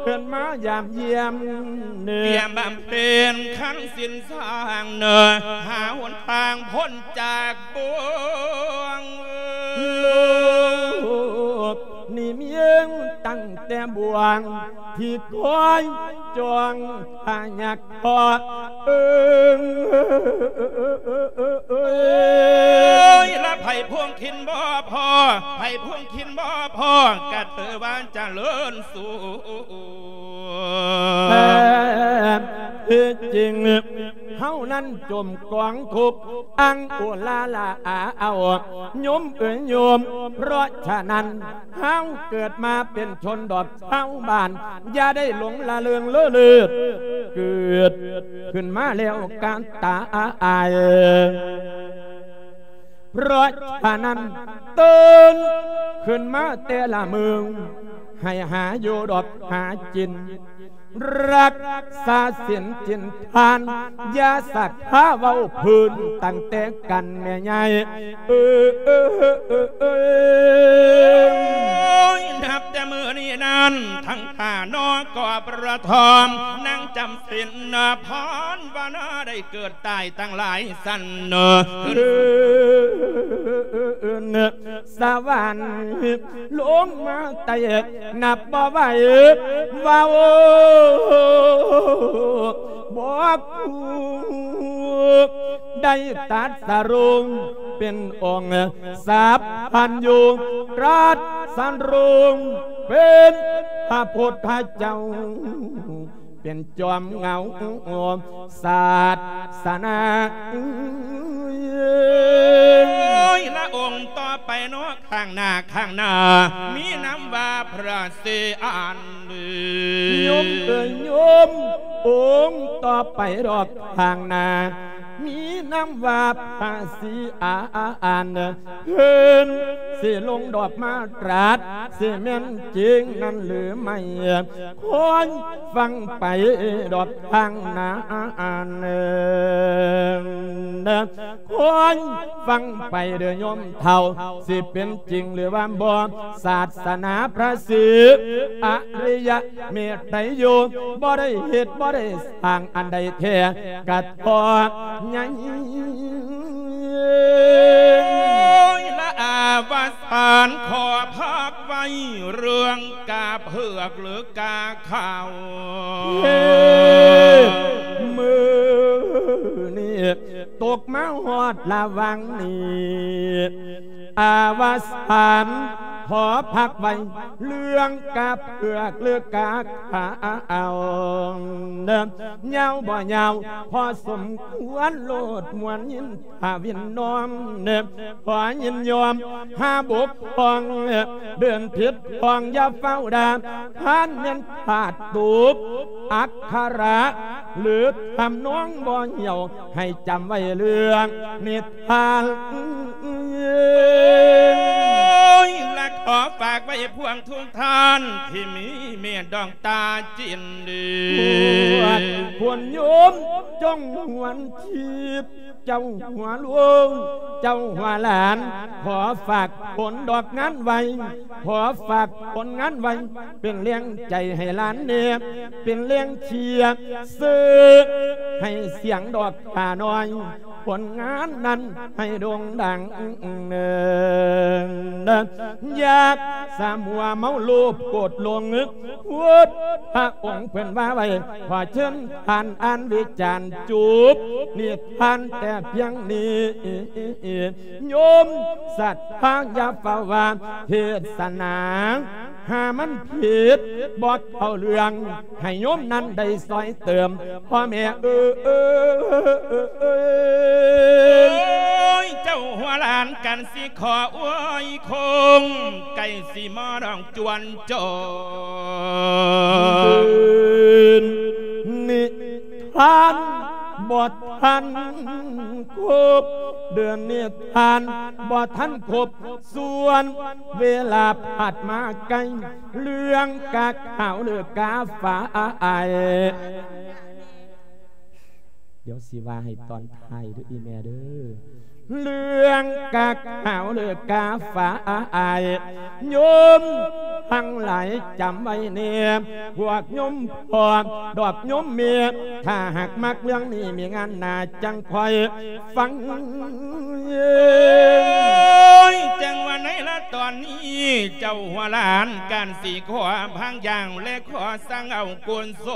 ເພິ່ນມາຢາມຢ້ຽມເນີ ຕຽມບຳເພັນຂັນສິນ ສ້າງເນີ ຫາຫົນທາງພົ້ນຈາກບ່ວງ ໂລກນີ້ມີຕັ້ງແຕ່ບ່ວງທີ່ຄອຍ ຈອງພະຍັກພໍ້ ເອີ ລະໃຜພວງຂິນບໍ່ພໍ ໃຜພວງຂິນບໍ່ພໍ ກະຖືວ່າຈະເລີນສູງ. ແທ້ທີ່ຈິງ ເຮົານັ້ນຈົມກອງທຸກ ອັງໂອລາລາອາເອົາ ໂຍມເອີຍໂຍມ. ເພາະສະນັ້ນ ເຮົາເກີດມາເປັນຊົນດອກຊາວບ້ານ ຢ່າໄດ້ຫຼົງລະເລີງເລີເລີດ ເກີດຂຶ້ນມາແລ້ວກະຕາຍ. ເພາະສະນັ້ນ ຕື່ນຂຶ້ນມາແຕ່ລະມື້ ໃຫ້ຫາຢູ່ດອກຫາກິນ ຮັກສາສິນກິນທານ ຢ່າສັກພາເວົ້າພື້ນຕັ້ງແຕ່ກັນແມ່ໃຫຍ່ເອີຍ. ໂອ້ຍ ນັບແຕ່ມື້ນີ້ນັ້ນ ທັງຂ້ານ້ອງກໍປະທອມ ນາງຈຳສິນພອນວະນາ ໄດ້ເກີດຕາຍຕັ້ງຫຼາຍສັນເນາະ ສະຫວັນລົງມາແຕກນັບບໍ່ໄຫວ ເວົ້າບໍ່ຮູ້ ໄດ້ຕັດສະຮູ້ເປັນອົງສັບພັນຍູ ຕລັດສະຮູ້ເປັນພະພຸດທະເຈົ້າ ເປັນຈອມເງົາສາສະໜາ. ໂອ້ຍ ລະອົງຕໍ່ໄປເນາະ ຂ້າງໜ້າ ຂ້າງໜ້າ ມີນາມວ່າພະສີອານ ໂຍມເອີຍໂຍມ ອົງຕໍ່ໄປດອກຂ້າງໜ້າ ມີນາມວ່າພະສີອານ ເພິ່ນຊິລົງດອກມາຕຣັດ ຊິແມ່ນຈິງນັ້ນຫຼືໄມ່ ຄອຍຟັງໄປດອກທາງໜ້າ ຄອຍຟັງໄປເດີໂຍມເຖົ້າ ຊິເປັນຈິງຫຼືວ່າບໍ່ ສາສະໜາພະສີອະລິຍະເມໄຕໂຍ ບໍ່ໄດ້ເຮັດບໍ່ໄດ້ ທາງອັນໃດແທ້ກະເທາະໃຫຍ່ ລະອາວະສານ ຂໍພັກໄວ້ເລື່ອງກາເຜືອກຫຼືກາຂາວ ເອີ ມື້ນີ້ຕົກມາຮອດລະຫວ່າງນີ້ ອາວະສານ ຂໍພັກໄວ້ເລື່ອງກາເຜືອກຫຼືກາຂາວ ຍາວບໍ່ຍາວພໍສົມຄວນໂລດ ມ່ວນຍິນພາວິນນ້ອມ ຂໍຍິນຍອມຫາບົກຜ່ອງ ເດີນຜິດຜ່ອງຢ່າຟ້າວດ່າ ທ່ານແມ່ນຂາດຕົກອັກຂະລະ ຫຼືທຳນອງບໍ່ຫ່ຽວ ໃຫ້ຈຳໄວ້ເລື່ອງນິ ທ່ານ ໂອ້ຍ ລະຂໍຝາກໄວ້ພວງທຸກທ່ານ ທີ່ມີເມດດວງຕາຈິນດີ ພວກຄົນໂຍມຈົ່ງຫວນຄີບ ເຈົ້າຫົວລູກ ເຈົ້າຫົວຫຼານ ຂໍຝາກຜົນດອກງານໄວ້ ຂໍຝາກຜົນງານໄວ້ ເປັນແຮງໃຈໃຫ້ຫຼານແດ່ ເປັນແຮງເຊຍເຊີ ໃຫ້ສຽງດອກຂ້ານ້ອຍ ຜົນງານນັ້ນໃຫ້ໂດ່ງດັງ ຢ່າສະມົວເມົາໂລບໂກດຫຼົງ ພຸດທະອົງເພິ່ນວ່າໄວ້ ຂໍເຊີນທ່ານອ່ານວິຈານ ຈົບນິທານແຕ່ພຽງນີ້ ໂຍມສັດທາຢ່າຟ້າວວ່າເທດສະໜາ ຫາມັນຜິດບໍ່ເຂົ້າເລື່ອງ ໃຫ້ໂຍມນັ້ນໄດ້ຊ່ອຍເຕີມ ພໍ່ແມ່ເອີຍ ໂອ້ຍ ເຈົ້າຫົວຫຼານກັນຊິຂໍອວຍຄົງ ໃກ້ຊິມາດອງຈວນຈອນ ເດີນນິທານບໍ່ທັນຄົບ ເດີນນິທານບໍ່ທັນຄົບ ສ່ວນເວລາຜ່ານມາໄກ ເລື່ອງກາຂາວຫຼືກາຟ້າອາຍ ດຽວຊິວ່າໃຫ້ຕອນທ້າຍເດີອີ່ແມ່ເດີ. ເລື່ອງກາຂາວ ຫຼື ກາຝ້າຍ ໂຍມທັງຫຼາຍຈຳໄວ້ແນ່ ພວກໂຍມພໍ່ດອກໂຍມແມ່ ຖ້າຫາກມັກເລື່ອງນີ້ ມີງານໜ້າຈັ່ງຄ່ອຍຟັງ. ໂອ້ຍ ຈັ່ງວ່າໃນລະຕອນນີ້ ເຈົ້າຫົວຫຼານການສີຂໍພາງຢ່າງ ແລະ ຂໍສັ່ງເອົາກຸນສ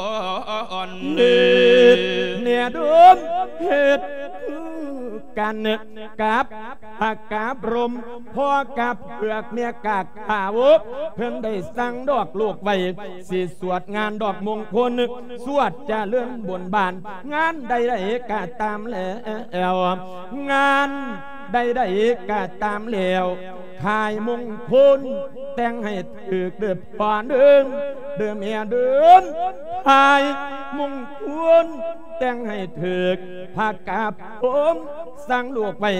ອນ ເຮັດແນ່ເດີມ ເຮັດຄືກັນກັບພະກາບລົມ ພໍ່ກາບເຜືອກ ແມ່ກາຂາວ ເພິ່ນໄດ້ສັ່ງດອກລູກໄວ້ ຊິສວດງານດອກມົງຄົນ ສວດຈະເລີນບຸນບານ ງານໃດໆກະຕາມແລ້ວ ງານໃດໆກະຕາມແລ້ວ ຂາຍມົງຄົນ ແຕ່ງໃຫ້ຖືກເດີພໍ່ເດີມ ເດີແມ່ເດີມ ຂາຍມົງຄົນ ແຕ່ງໃຫ້ຖືກ ພະກາບຜົມສັ່ງລູກໄວ້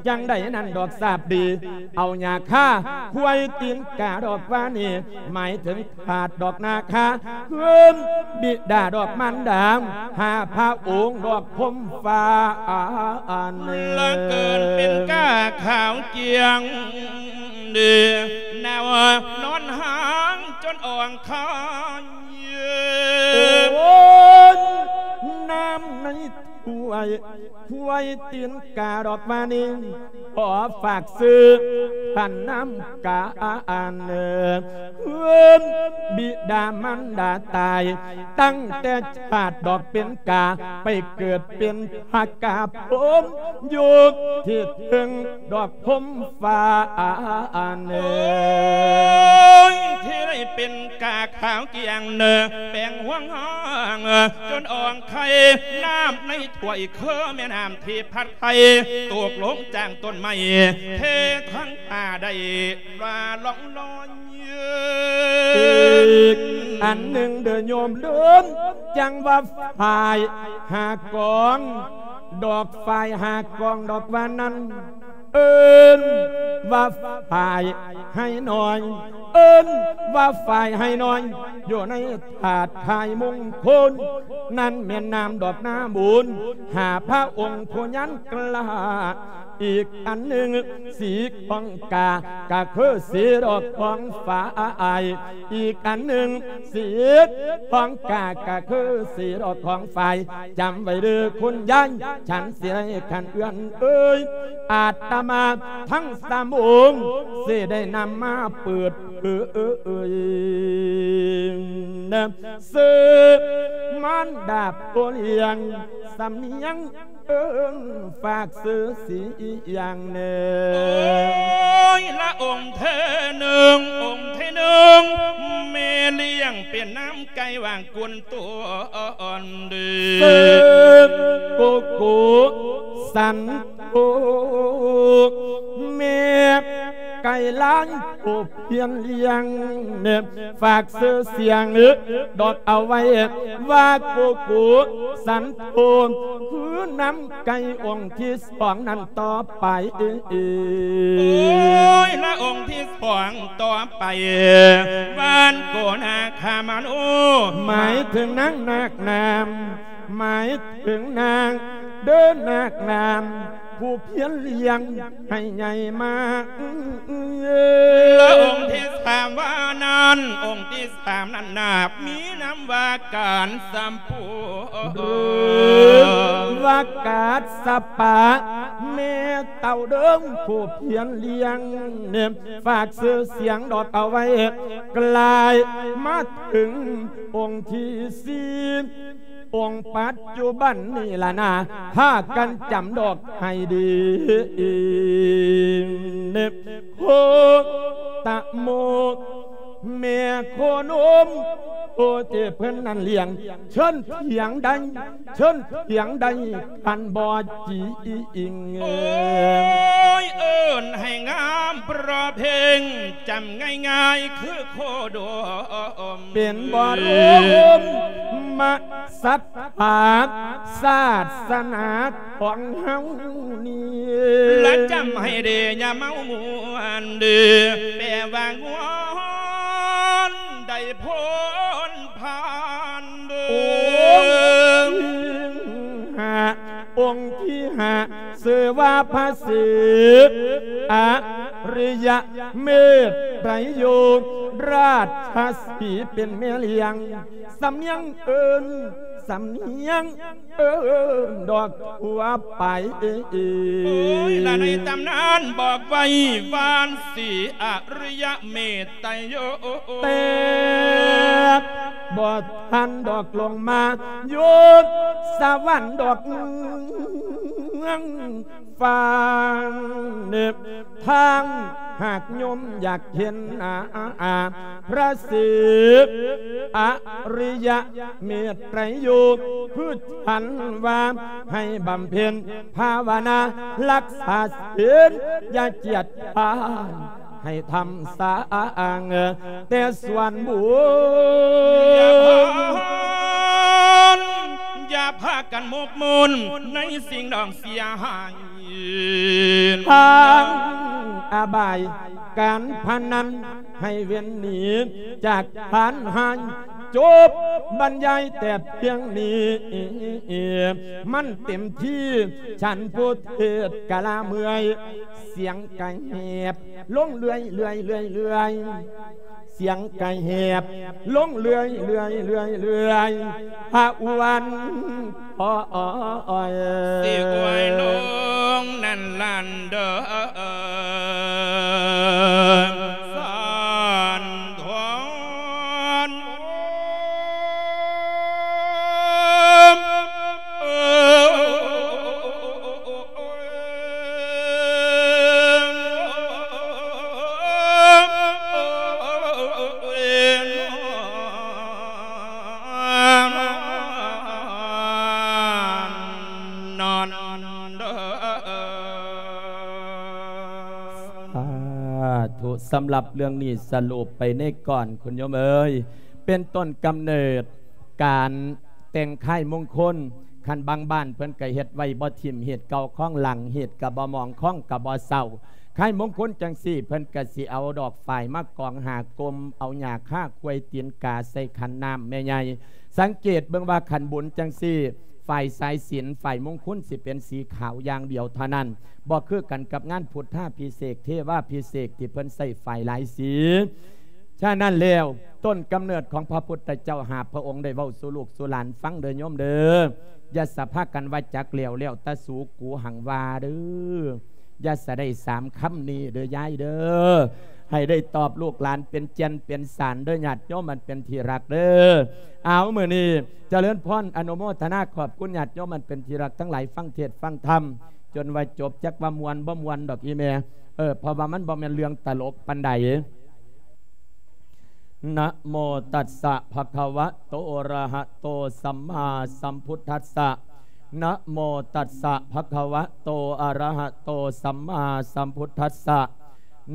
ຈັ່ງໃດນັ້ນດອກຊາບດີ ເອົາຫຍ້າຄາຄວາຍຕີນກາດອກວ່ານີ້ ໝາຍເຖິງທາດດອກນາຄາ ເອີ້ນບິດາດອກມານດາ ຫາພະອົງດອກພົມຟ້າອັນ ລະເກີນເປັນກາຂາວກຽງ ເດີນາວນອນຫາງຈົນອ່ອງຄາຍ ໂອ້ຍ ນ້ຳໃນຖ້ວຍ ຖ້ວຍຕີນກາດອກມານີ້ ຂໍຝາກຊື່ ທ່ານນ້ຳກາອັນ ເອີ້ນບິດາມານດາຕາຍ ຕັ້ງແຕ່ຊາດດອກເປັນກາ ໄປເກີດເປັນພະກາພົມ ຢູ່ທີ່ເທິງດອກພົມຟ້າອັນ ໂອ້ຍ ທີ່ໄດ້ເປັນກາຂາວກຽງເນີ ແປງຫວງຫ້ອງຈົນອ່ອງໄຄ ນ້ຳໃນຖ້ວຍຄືແມ່ນ້ຳທີ່ພັດໄຄ ຕົກລົງຈາກຕົ້ນໄມ້ ເທທັງ ອາ ໄດ້ວ່າລ່ອງລອຍ ອີກອັນໜຶ່ງເດີໂຍມເດີ ຈັ່ງວ່າຝ້າຍຫາກອງ ດອກຝ້າຍຫາກອງດອກວ່ານັ້ນ ເອີ້ນວ່າຝ້າຍໄຮນ້ອຍ ເອີ້ນວ່າຝ້າຍໄຮນ້ອຍ ຢູ່ໃນທາດຂາຍມົງຄົນ ນັ້ນແມ່ນນ້ຳດອກນາບຸນ ຫາພະອົງຜູ້ຍານກລ້າ ອີກອັນໜຶ່ງ ສີຂອງກາກະຄືສີດອກຂອງຝ້າຍ ອີກອັນໜຶ່ງ ສີຂອງກາກະຄືສີດອກຂອງຝ້າຍ ຈຳໄວ້ເດີຄຸນຍາຍ ສັນສິໄລຂັນເອື້ອນເອີຍ ອາດຕະມາທັງສາມອົງ ຊິໄດ້ນຳມາເປີດເຜີຍ ຊື່ມານດາຜູ້ລ້ຽງ ສຳນຽງ ເອີ້ນຝາກຊື່ສີຢ່າງແນ່ ໂອ້ຍ ລະອົງເທີໜຶ່ງ ອົງເທີໜຶ່ງ ແມ່ລ້ຽງເປັນນ້ຳໄກ່ວ່າກຸນຕົວອ່ອນເດີ ເຊີໂກໂກ ສັນໂທ ແມ່ໄກ່ລ້າງ ຜູ້ພຽນລ້ຽງ ຝາກຊື່ສຽງດອກເອົາໄວ້ ວ່າໂກໂກ ສັນໂທ ຄືນ້ຳໄກ່ອົງທີສອງນັ້ນຕໍ່ໄປ ໂອ້ຍ ລະອົງທີສອງຕໍ່ໄປ ຫວານໂກນາຄາມະໂນ ໝາຍເຖິງນາງນາກນ້ຳ ໝາຍເຖິງນາງເດີນາກນ້ຳ ຜູ້ພຽນລ້ຽງໃຫ້ໃຫຍ່ມາ ລະອົງທີສາມວ່ານັ້ນ ອົງທີສາມນັ້ນນາບ ມີນາມວ່າການສຳປູ ຫຼືວ່າກາດສະປາ ແມ່ເຕົ້າເດີມຜູ້ພຽນລ້ຽງ ຝາກຊື່ສຽງດອກເອົາໄວ້ ກາຍມາເຖິງອົງທີສີ່ ອົງປັດຈຸບັນນີ້ລະນາ ພາກັນຈຳດອກໃຫ້ດີ ໂຄຕະໂມ ແມ່ໂຄນົມ ໂອເຈເພິ່ນນັ້ນລ້ຽງ ເຊີນຖຽງໄດ້ ເຊີນຖຽງໄດ້ ຄັນບໍ່ຈິງ ໂອ້ຍ ເອີ້ນໃຫ້ງາມປະເພງ ຈຳງ່າຍໆຄືໂຄດົມ ເປັນບໍ່ລົມມະ ສັດທາສາສະໜາຂອງເຮົານີ້ ລະຈຳໃຫ້ເດ ຢ່າເມົາມ່ວນເດີ ແປວ່າງ່ວນໄດ້ພົ້ນຜ່ານເດີ ອົງທີຫ້າ ອົງທີຫ້າ ຊື່ວ່າ ພະສີ ອະລິຍະເມດໄຕໂຍ ລາຊະສີເປັນແມ່ລ້ຽງ ສຳນຽງເອີ້ນ ສຳນຽງເອີ້ນດອກທົ່ວໄປ. ໂອ້ຍ ລະໃນຕຳນານບອກໄວ້ວ່າ ສີອະລິຍະເມດໄຕໂຍ ແຕ່ບໍ່ທັນດອກລົງມາຢູ່ສະຫວັນດອກ ຟັງເນບທາງ ຫາກໂຍມຢາກເຫັນ ອາ ອາ ອາ ພະສີ ອະລິຍະເມດໄຕໂຍ ຄືທ່ານວ່າ ໃຫ້ບຳເພັນພາວະນາ ຮັກສາສິນ ຢ່າກຽດຄ້ານ ໃຫ້ທຳສ້າງແຕ່ສ່ວນບຸນ. ຢ່າພາກັນໝົກໝຸ່ນໃນສິ່ງດອງເສຍຫາຍ ທາງອະບາຍການພະນັນ ໃຫ້ເວັ້ນໜີຈາກທ່ານໃຫ້ ຈົບບັນຍາຍແຕ່ພຽງນີ້ ມັນເຕັມທີ່ ທ່ານຜູ້ເທດກະລາເມື່ອຍ ສຽງກະແຫບລົງເລື້ອຍໆໆ ສຽງກະແຫບລົງເລື້ອຍໆໆ ພະອວນ ໂອ້ຍ ຊິອວຍລົງນັ້ນລະເດີ ສານທອນ. ສາທຸ ສຳລັບເລື່ອງນີ້ສະຫຼຸບໄປໃນກ່ອນ ຄຸນໂຍມເອີຍ ເປັນຕົ້ນກຳເນີດການ ແຕ່ງຄ້າຍມົງຄົນ ຄັນບາງບ້ານເພິ່ນກະເຮັດໄວ້ບໍ່ຖິ້ມ ຮີດເກົ່າຄອງຫຼັງ ຮີດກະບໍ່ໝອງ ຄອງກະບໍ່ເຊົາ. ຄ້າຍມົງຄົນຈັ່ງຊີ້ ເພິ່ນກະຊິເອົາດອກຝ້າຍມາກອງຫາກົມ ເອົາຫຍ້າຄາຄວາຍຕີນກາໃສ່ຂັນນ້ຳແມ່ໃຫຍ່. ສັງເກດເບິ່ງວ່າຄັນບຸນຈັ່ງຊີ້ ຝ້າຍສາຍສິນ ຝ້າຍມົງຄຸນຊິເປັນສີຂາວຢ່າງດຽວເທົ່ານັ້ນ ບໍ່ຄືກັນກັບງານພຸດທາພິເສກ ເທວາພິເສກ ທີ່ເພິ່ນໃຊ້ຝ້າຍຫຼາຍສີ. ສະນັ້ນແລ້ວ ຕົ້ນກຳເນີດຂອງພະພຸດທະເຈົ້າຫ້າພະອົງ ໄດ້ເວົ້າສູ່ລູກສູ່ຫຼານຟັງເດີໂຍມເດີ. ຢ່າສະພາກັນວ່າຈັກແລ້ວ ແລ້ວແຕ່ສູກູຫັງວ່າເດີ. ຢ່າສະໄດ້ສາມຄຳນີ້ເດີຍາຍເດີ. ໃຫ້ໄດ້ຕອບລູກຫຼານເປັນແກ່ນເປັນສານເດີ ຍາດໂຍມອັນເປັນທີ່ຮັກເດີ. ເອົາ ມື້ນີ້ຈະເລີນພອນອະນຸໂມທະນາ ຂອບຄຸນຍາດໂຍມອັນເປັນທີ່ຮັກທັງຫຼາຍ ຟັງເທດຟັງທຳ ຈົນວ່າຈົບ. ຈັກວ່າມ່ວນບໍ່ມ່ວນດອກອີ່ແມ່ ເອີ ເພາະວ່າມັນບໍ່ແມ່ນເລື່ອງຕະຫຼົກປານໃດ. ນະໂມຕັດສະ ພະຄະວະໂຕ ອະລະຫະໂຕ ສຳມາສຳພຸດທັດສະ. ນະໂມຕັດສະ ພະຄະວະໂຕ ອະລະຫະໂຕ ສຳມາສຳພຸດທັດສະ.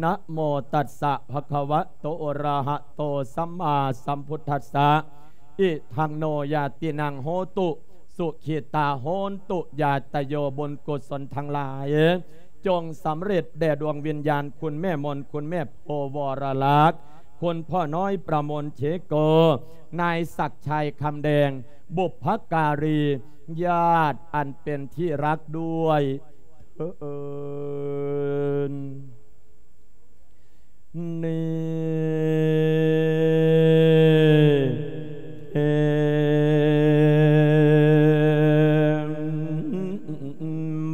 ນະໂມຕັດສະ ພະຄະວະໂຕ ອະລະຫະໂຕ ສຳມາສຳພຸດທັດສະ. ອິທັງໂນ ຍາຕິນັງ ໂຫຕຸ ສຸຂີຕາ ໂຫນຕຸ ຍາດຕະໂຍ. ບຸນກຸສົນທັງຫຼາຍ ຈົ່ງສຳເລັດແດ່ດວງວິນຍານ ຄຸນແມ່ມົນ ຄຸນແມ່ໂພວໍລະລັກ ຄຸນພໍ່ນ້ອຍປະມົນເທໂກ ນາຍສັກຊາຍຄຳແດງ ບຸບພະກາລີ ຍາດອັນເປັນທີ່ຮັກດ້ວຍເທີ້ນ. ນີ້ ເອີ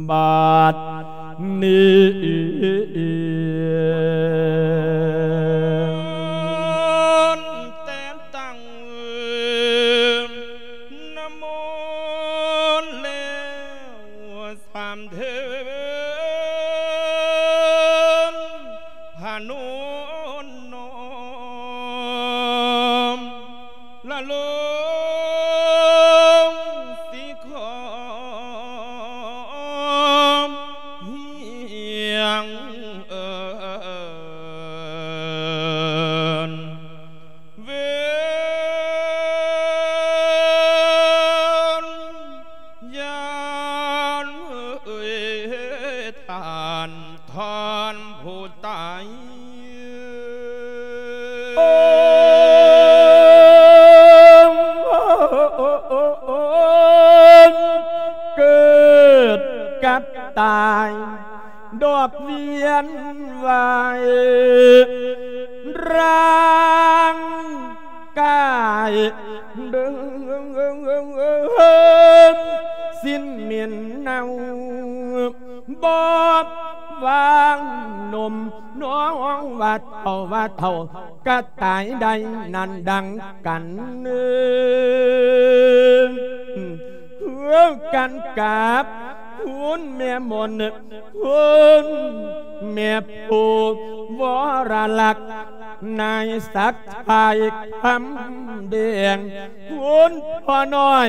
ບາດນີ້ ແຕ່ນຕັ້ງ ນະໂມແລ້ວ ສາມເທີນ ພະນົມນ້ອມ ລະລົງສີຂອມ ຮຽງເອີ້ນ ເວນຍານເອີຍ ທ່ານທອນຜູ້ຕາຍ ເກີດກັບ ຕາຍ ດອກວຽນວາຍ ຮ່າງກາຍເດີ່ງ ສິ້ນເໝັນເນົ່າ ບໍ່ວ່າໜຸ່ມ ນ້ອງວ່າເຖົ້າ ວ່າເຖົ້າ ກະຕາຍໄດ້ນັ້ນດັ່ງກັນເນີ່ ເພື່ອກັນກັບຄຸນແມ່ມົນ ຄຸນແມ່ຜູ້ວໍລະລັກ ນາຍສັກຊາຍຄຳແດງ ຄຸນພໍ່ນ້ອຍ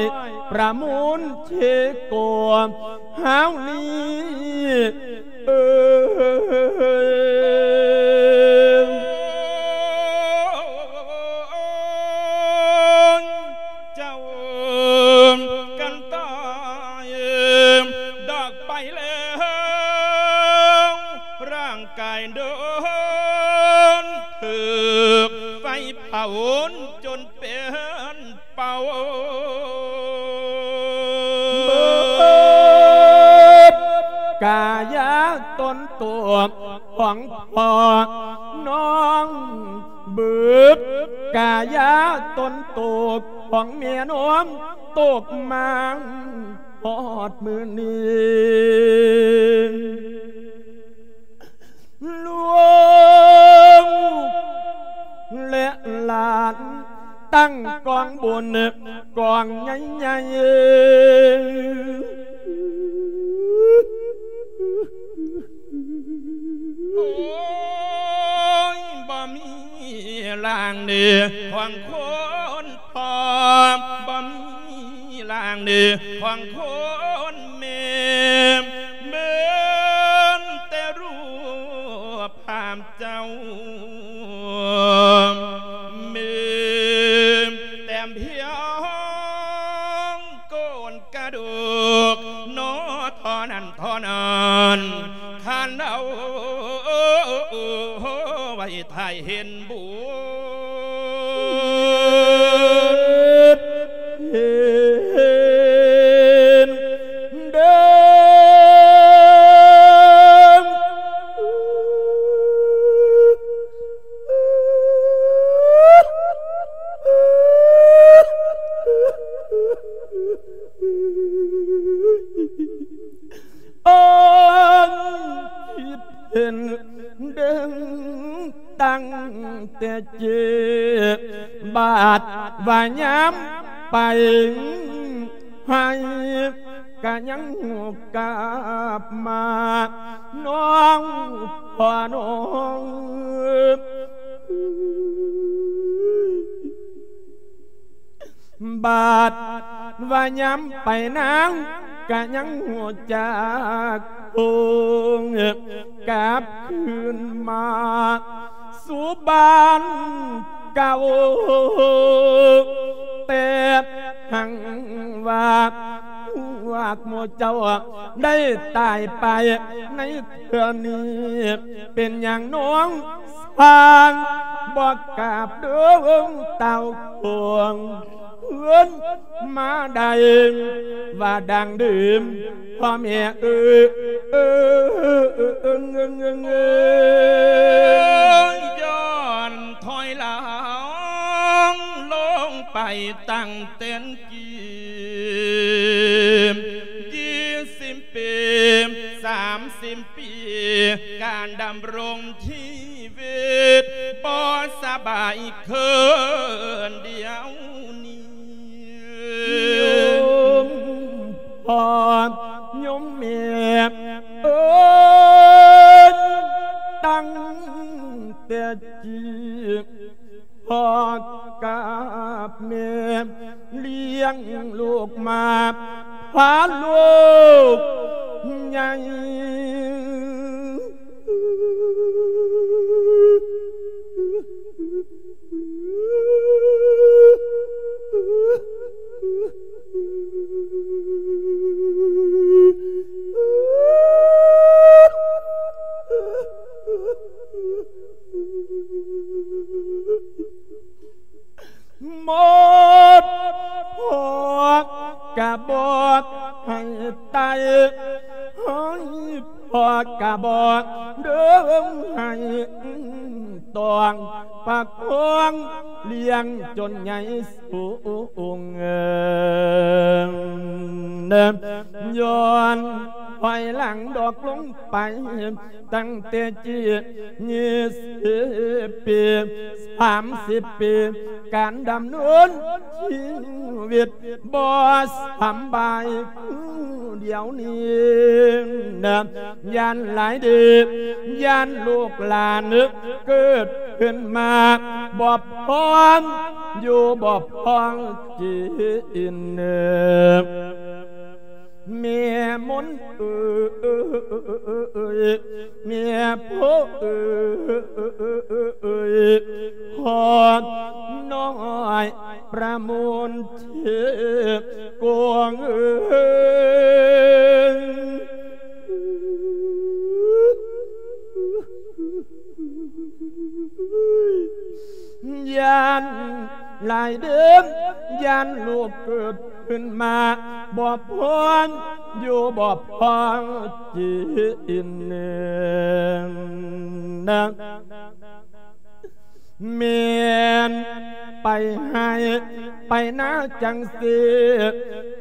ປະມູນເຊໂກ ຮາວນີ້ ເອີ ເຈົ້າກັນຕາຍດອກໄປແລ້ວ ຮ່າງກາຍໂດນຖືກໄຟເຜົາຈົນເປັນ ເປົ່າ ເບີດກາຍາຕົນໂຕຂອງພໍ່ນ້ອງ ເບີດກາຍາຕົນໂຕຂອງແມ່ນ້ອງ ຕົກມາຮອດມື້ນີ້ ລູກ ແລະ ຫຼານຕັ້ງກອງບຸນກອງໃຫຍ່ໆ ໂອ້ຍ ບໍ່ມີຮ່າງເດີຂອງຄົນພໍ່ ບໍ່ມີຮ່າງເດີຂອງຄົນແມ່ ເໝືອນແຕ່ຮູບພາບ ເຈົ້າ ມີແຕ່ພຽງໂຄງກະດູກໜໍ ເທົ່ານັ້ນເທົ່ານັ້ນ ຄັນເອົາໄວ້ຖ້າເຫັນບຸນ ເຫັນເດີ ເອີ້ນຄິດເຫັນເດີ ຕັ້ງແຕ່ເຈ ບາດວ່າຍາມໄປໃຫ້ ກະຍັງກາບມານ້ອງພໍ່ນ້ອງ ບາດວ່າຍາມໄປນາງກະຍັງຮູ້ຈັກຄົງ ກັບຄືນມາສູ່ບ້ານເກົ່າ ແຕ່ຫາກວ່າພວກໝູ່ເຈົ້າໄດ້ຕາຍໄປໃນເທື່ອນີ້ ເປັນຫຍັງນ້ອງຊ່າງບໍ່ກາບເດີເຕົ້າໂຄງ ເພິ່ນມາໄດ້ວ່າດັ່ງເດີມ ພໍ່ແມ່ເອີ ເອີ ເອີ ເອີ ເອີ ເອີ ຍ້ອນຖອຍຫຼັງລົງໄປຕັ້ງແຕ່ນກີ້ ຍີ່ສິບປີ ສາມສິບປີ ການດຳລົງທີ່ ຊີວິດບໍ່ສະບາຍຄືນດຽວນີ້ ໂຍມພໍ່ໂຍມແມ່ເອີຍ ຕັ້ງແຕ່ຈີ້ພໍ່ກັບແມ່ ລ້ຽງລູກມາ ພາລູກໃຫຍ່ ໝົດພວກກະບອກໃຫ້ໄຕ່ ພໍ່ກະບໍ່ເດີໃຫ້ ຕ້ອງປະຄອງລ້ຽງຈົນໃຫຍ່ສູງ ຍ້ອນຖອຍຫຼັງດອກລົງໄປ ຕັ້ງແຕ່ຈີ່ສິບປີ ສາມສິບປີ ການດຳເນີນຊີວິດບໍ່ສຳບາຍຄືດຽວນີ້ນະ ຢ້ານຫຼາຍເດີ ຢ້ານລູກຫຼານເກີດຂຶ້ນມາບໍ່ພ້ອມ ຢູ່ບໍ່ພ້ອມກິນ ແມ່ມົນເອີຍ ແມ່ໂພເອີຍ ພໍ່ນ້ອຍປະມູນເທບກວງເອີຍ ຢ້ານຫຼາຍເດີ ຢ້ານລູກເກີດຂຶ້ນມາບໍ່ພ້ອມ ຢູ່ບໍ່ພ້ອມກິນນະ ແມ່ນໄປໄຮ່ໄປນາຈັ່ງຊີ້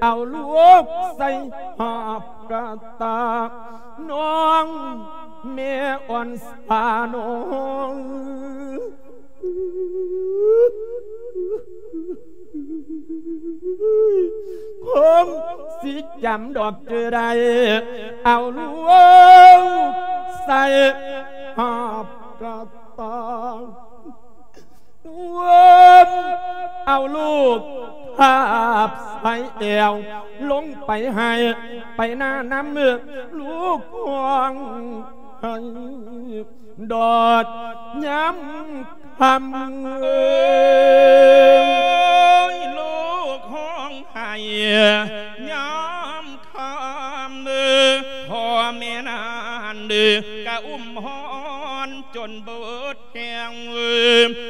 ເອົາລູກໃສ່ຮອບກະຕາ ນ້ອງແມ່ອ່ອນສານ້ອງ ຄົງຊິຈຳດອກຈື່ໄດ້ ເອົາລູກໃສ່ຮອບກະຕາ ເອົາລູກພາບໃສ່ແອວ ລົງໄປໄຮ່ໄປນານຳ ລູກຮ້ອງໄຫ້ ດອດຍາມຄ່ຳ ໂອ້ຍ ລູກຮ້ອງໄຫ້ຍາມຄ່ຳ ພໍ່ແມ່ນັ້ນກະອຸ້ມຮ້ອນຈົນເບິດແຮງ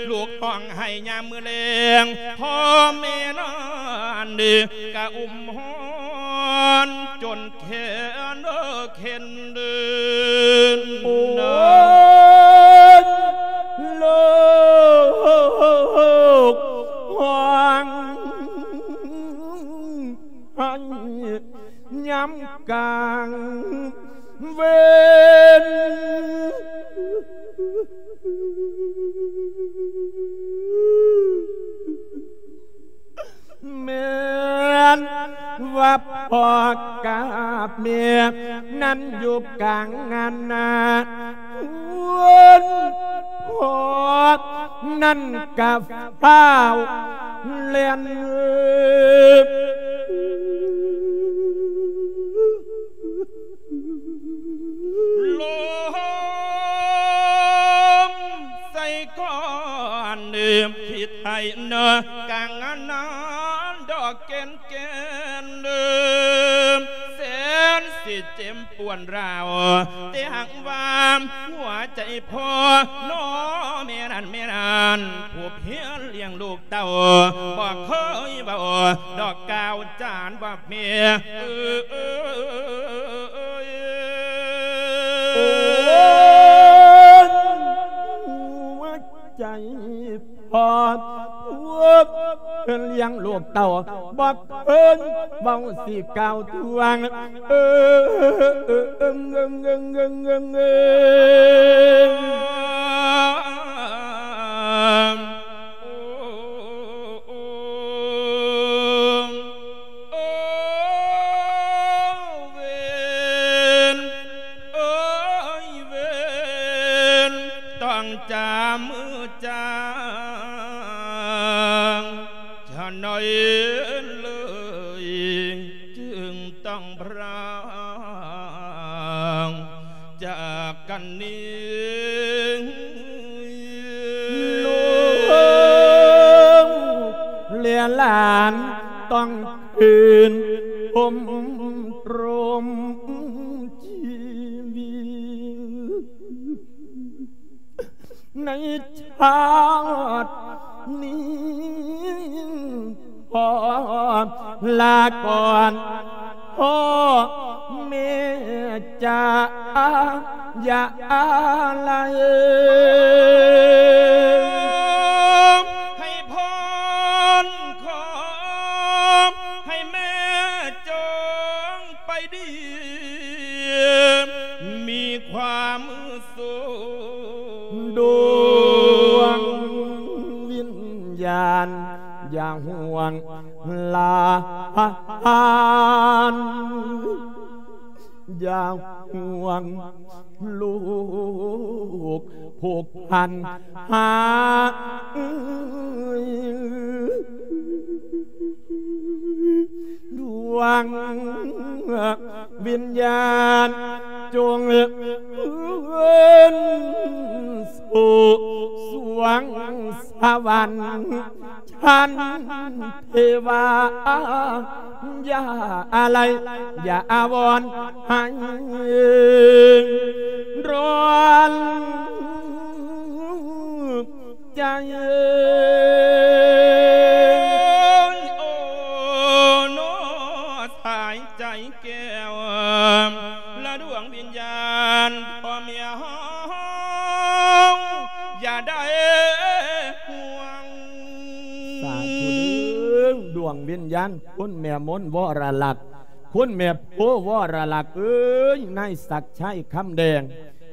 ລູກຮ້ອງໄຫ້ຍາມມື້ແລງ ພໍ່ແມ່ນັ້ນກະອຸ້ມຮ້ອນຈົນ ແຂນເອີເຂັນເດີນ ໂອ້ຍ ໂລກຮ້ອງໄຫ້ຍາມກາງເວັນ ແມ່ນວ່າພໍ່ກັບແມ່ນັ້ນຢູ່ກາງງານນາ ຄົນພໍ່ນັ້ນກະຟ້າວແລ່ນ ລົມໃສ່ກ້ອນ ຜິດໃຫ້ເນີ ກາງງານນາດອກແກ່ນແກ່ນ ແສນຊິເຈັບປວດຮ້າວ ແຕ່ຫາກວ່າຫົວໃຈພໍ່ ນ້ອງແມ່ນັ້ນ ແມ່ນັ້ນ ຜູ້ພຽນລ້ຽງລູກ ເຕົ້າບໍ່ເຄີຍເວົ້າດອກກ່າວຈານວ່າແມ່ເອີຍ ໂອ້ຍ ຫົວໃຈພໍ່ຜູ້ລ້ຽງລູກເຕົ້າບໍ່ເຄີຍເວົ້າຊິກ່າວທວງ ເອີ ໂອ້ ເວັນ ເອີຍ ເວັນ ຕ້ອງຈາມືຈາງ ຈະໜ້ອຍເລີຍ ຈຶ່ງຕ້ອງພຣາກ ຈາກກັນນີ້ ລູກແລະຫຼານຕ້ອງຄືນພົມລົມຊີວິດ ໃນຊາດນີ້ ຂໍລາກ່ອນພໍ່ແມ່ ຈາ ຢ່າລະເອີ ໃຫ້ພົ້ນ ຂໍໃຫ້ແມ່ຈົ່ງໄປດີ ມີຄວາມສຸກ ດວງວິນຍານ ຢ່າຫ່ວງຫຼານ ຢ່າຫ່ວງລູກຜູກພັນຫາ ດວງວິນຍານຈົ່ງເຄື່ອນສູ່ສວງສະຫວັນ ທ່ານເທວາ ຢ່າອາໄລ ຢ່າອາວອນໃຫ້ຮ້ອນໃຈ ໂອ້ ໂນ ສາຍໃຈແກ້ວ ລະດວງວິນຍານພໍ່ແມ່ເຮົາ ຢ່າໄດ້ຫ່ວງ ສາທຸເດີ້ ດວງວິນຍານຄຸນແມ່ມົນວໍລະລັກ ຄຸນແມ່ໂພວໍລະລັກເອີຍ ນາຍສັກໄຊຄຳແດງ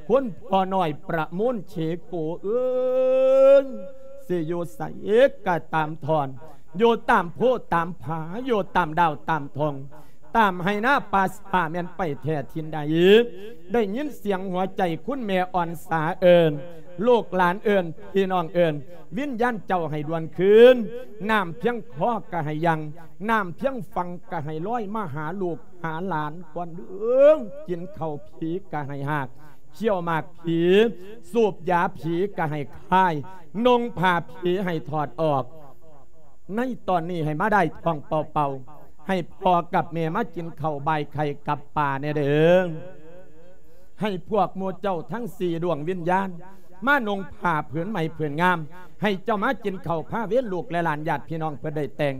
ຄຸນພໍ່ນ້ອຍປະມູນເຊໂກເອີຍ ຊິຢູ່ໃສກະຕາມທ່ອນ ຢູ່ຕາມໂພຕາມຜາ ຢູ່ຕາມດາວຕາມທົ່ງ ຕາມໄຮ່ນາປ່າສາ ແມ່ນໄປແທ້ຖິ່ນໃດ ໄດ້ຍິນສຽງຫົວໃຈຄຸນແມ່ອ່ອນສາເອີ້ນ ລູກຫຼານເອີ້ນ ພີ່ນ້ອງເອີ້ນ ວິນຍານເຈົ້າໃຫ້ດ່ວນຄືນ ນ້ຳພຽງຄໍກະໃຫ້ຢັ້ງ ນ້ຳພຽງຝັ່ງກະໃຫ້ລອຍ ມາຫາລູກຫາຫຼານກ່ອນເດີ້ ກິນເຂົ້າຜີກະໃຫ້ຮາກ ຄ້ຽວໝາກຜີ ສູບຢາຜີກະໃຫ້ຄາຍ ນຸ່ງຜ້າຜີໃຫ້ຖອດອອກ ໃນຕອນນີ້ໃຫ້ມາໄດ້ທ້ອງເປົ່າໆ ໃຫ້ພໍ່ກັບແມ່ມາກິນເຂົ້າບ່າຍໄຂ່ກັບປາແດ່ເດີ້ ໃຫ້ພວກໝູ່ເຈົ້າທັງສີ່ດວງວິນຍານ ມານຸ່ງຜ້າຜືນໃໝ່ຜືນງາມ ໃຫ້ເຈົ້າມາກິນເຂົ້າພາເວນລູກແລະຫຼານຍາດພີ່ນ້ອງເພິ່ນໄດ້ແຕ່ງ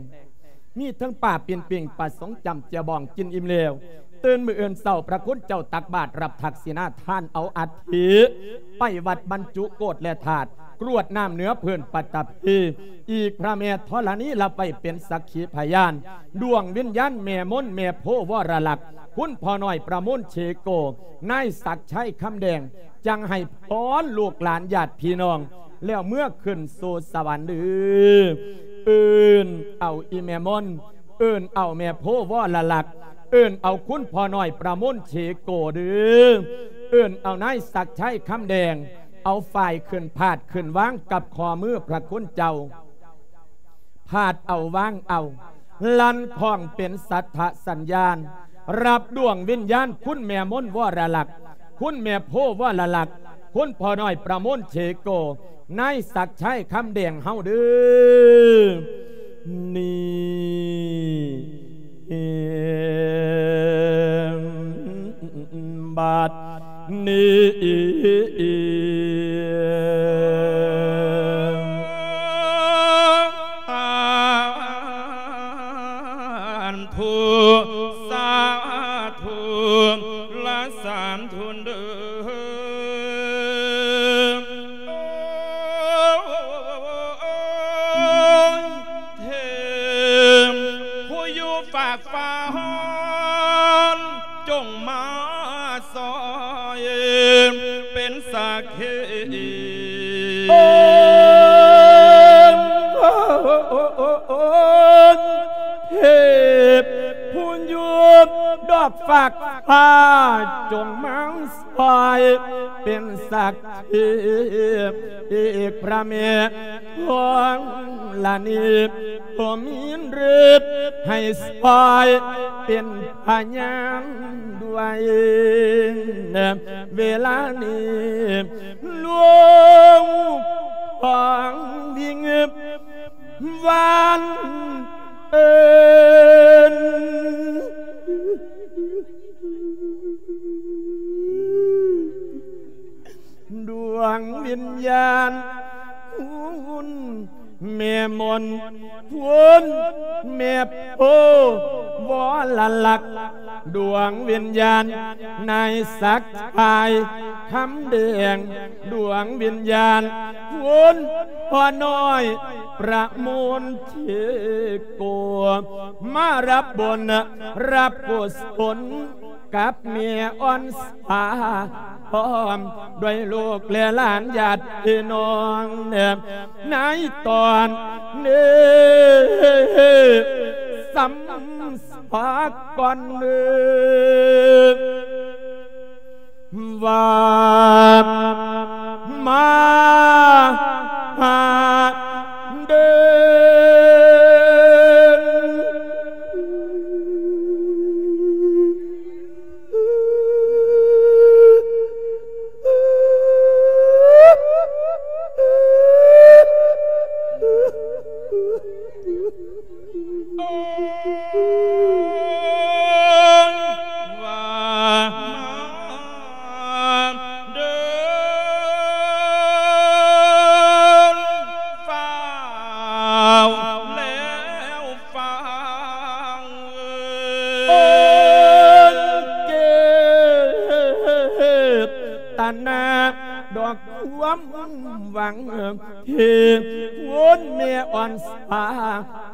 ມີທັງປາປີ້ງປີ້ງ ປາສົງຈ້ຳ ແຈ່ວບອງກິນອີ່ມແລ້ວ ຕື່ນມື້ອື່ນເຊົ້າພະຄຸນເຈົ້າຕັກບາດຮັບທັກສິນາທານເອົາອັດຖິ ໄປວັດບັນຈຸໂກດແລະທາດ ກຣວດນ້ຳເໜືອພື້ນປະຕະພີ ອີກພະແມ່ທໍລະນີຮັບໄວ້ເປັນສັກຂີພະຍານ ດວງວິນຍານແມ່ມົນແມ່ໂພວໍລະລັກ ຄຸນພໍ່ນ້ອຍປະມູນເຊໂກ ນາຍສັກໄຊຄຳແດງ ຈັ່ງໃຫ້ພອນລູກຫຼານຍາດພີ່ນ້ອງ ແລ້ວເມືອຂຶ້ນສູ່ສະຫວັນເດີ້ ເອີ້ນເອົາອີ່ແມ່ມົນ ເອີ້ນເອົາແມ່ໂພວໍລະລັກ ເອີ້ນເອົາຄຸນພໍ່ນ້ອຍປະມູນເຊໂກເດີ້ ເອີ້ນເອົານາຍສັກໄຊຄຳແດງ ເອົາຝ້າຍຂຶ້ນພາດຂຶ້ນວາງກັບຂໍ້ມືພະຄຸນເຈົ້າ ພາດເອົາວາງເອົາ ລັນຄ້ອງເປັນສັດທະສັນຍານ ຮັບດວງວິນຍານຄຸນແມ່ມົນວໍລະລັກ ຄຸນແມ່ໂພວໍລະລັກ ຄຸນພໍ່ນ້ອຍປະມູນເຊໂກ ນາຍສັກໄຊຄຳແດງເຮົາເດີ້ ນີ້ ບັດນີ້ ສາທຸ ສາທຸລະສາທຸເດີ້ ເທບຜູ້ຢູ່ຟາກ ຟ້າຮ້ອນ ຈົ່ງມາຊ່ອຍເປັນສັກຂີ ໂອ້ ເທບຜູ້ຢູ່ດອກຟາກຟ້າ ຈົ່ງມາຊ່ອຍເປັນສັກຂີ ອີກພະແມ່ ທອງລະນີ ກໍມີເລິດໃຫ້ຊ່ອຍເປັນພະຍານດ້ວຍ ເວລານີ້ ຫຼວງພອງວິງວານເອີ້ນ ດວງວິນຍານ ຄຸນແມ່ມົນ ຄຸນແມ່ໂພວໍລະລັກ ດວງວິນຍານນາຍສັກຊາຍຄຳແດງ ດວງວິນຍານຄຸນພໍ່ນ້ອຍປະມູນເທໂກ ມາຮັບບຸນຮັບກຸສົນ ກັບແມ່ອ່ອນສາ ພ້ອມດ້ວຍລູກແລະຫຼານຍາດພີ່ນ້ອງ ໃນຕອນນີ້ ສຳພາກອນວ່າ ມາຫາເດີ ว่ามาเดิน ฟ้าวแล้วฟ้าว เอิ้นเจตนาดอกความหวัง ที่คุณแม่อ่อนสา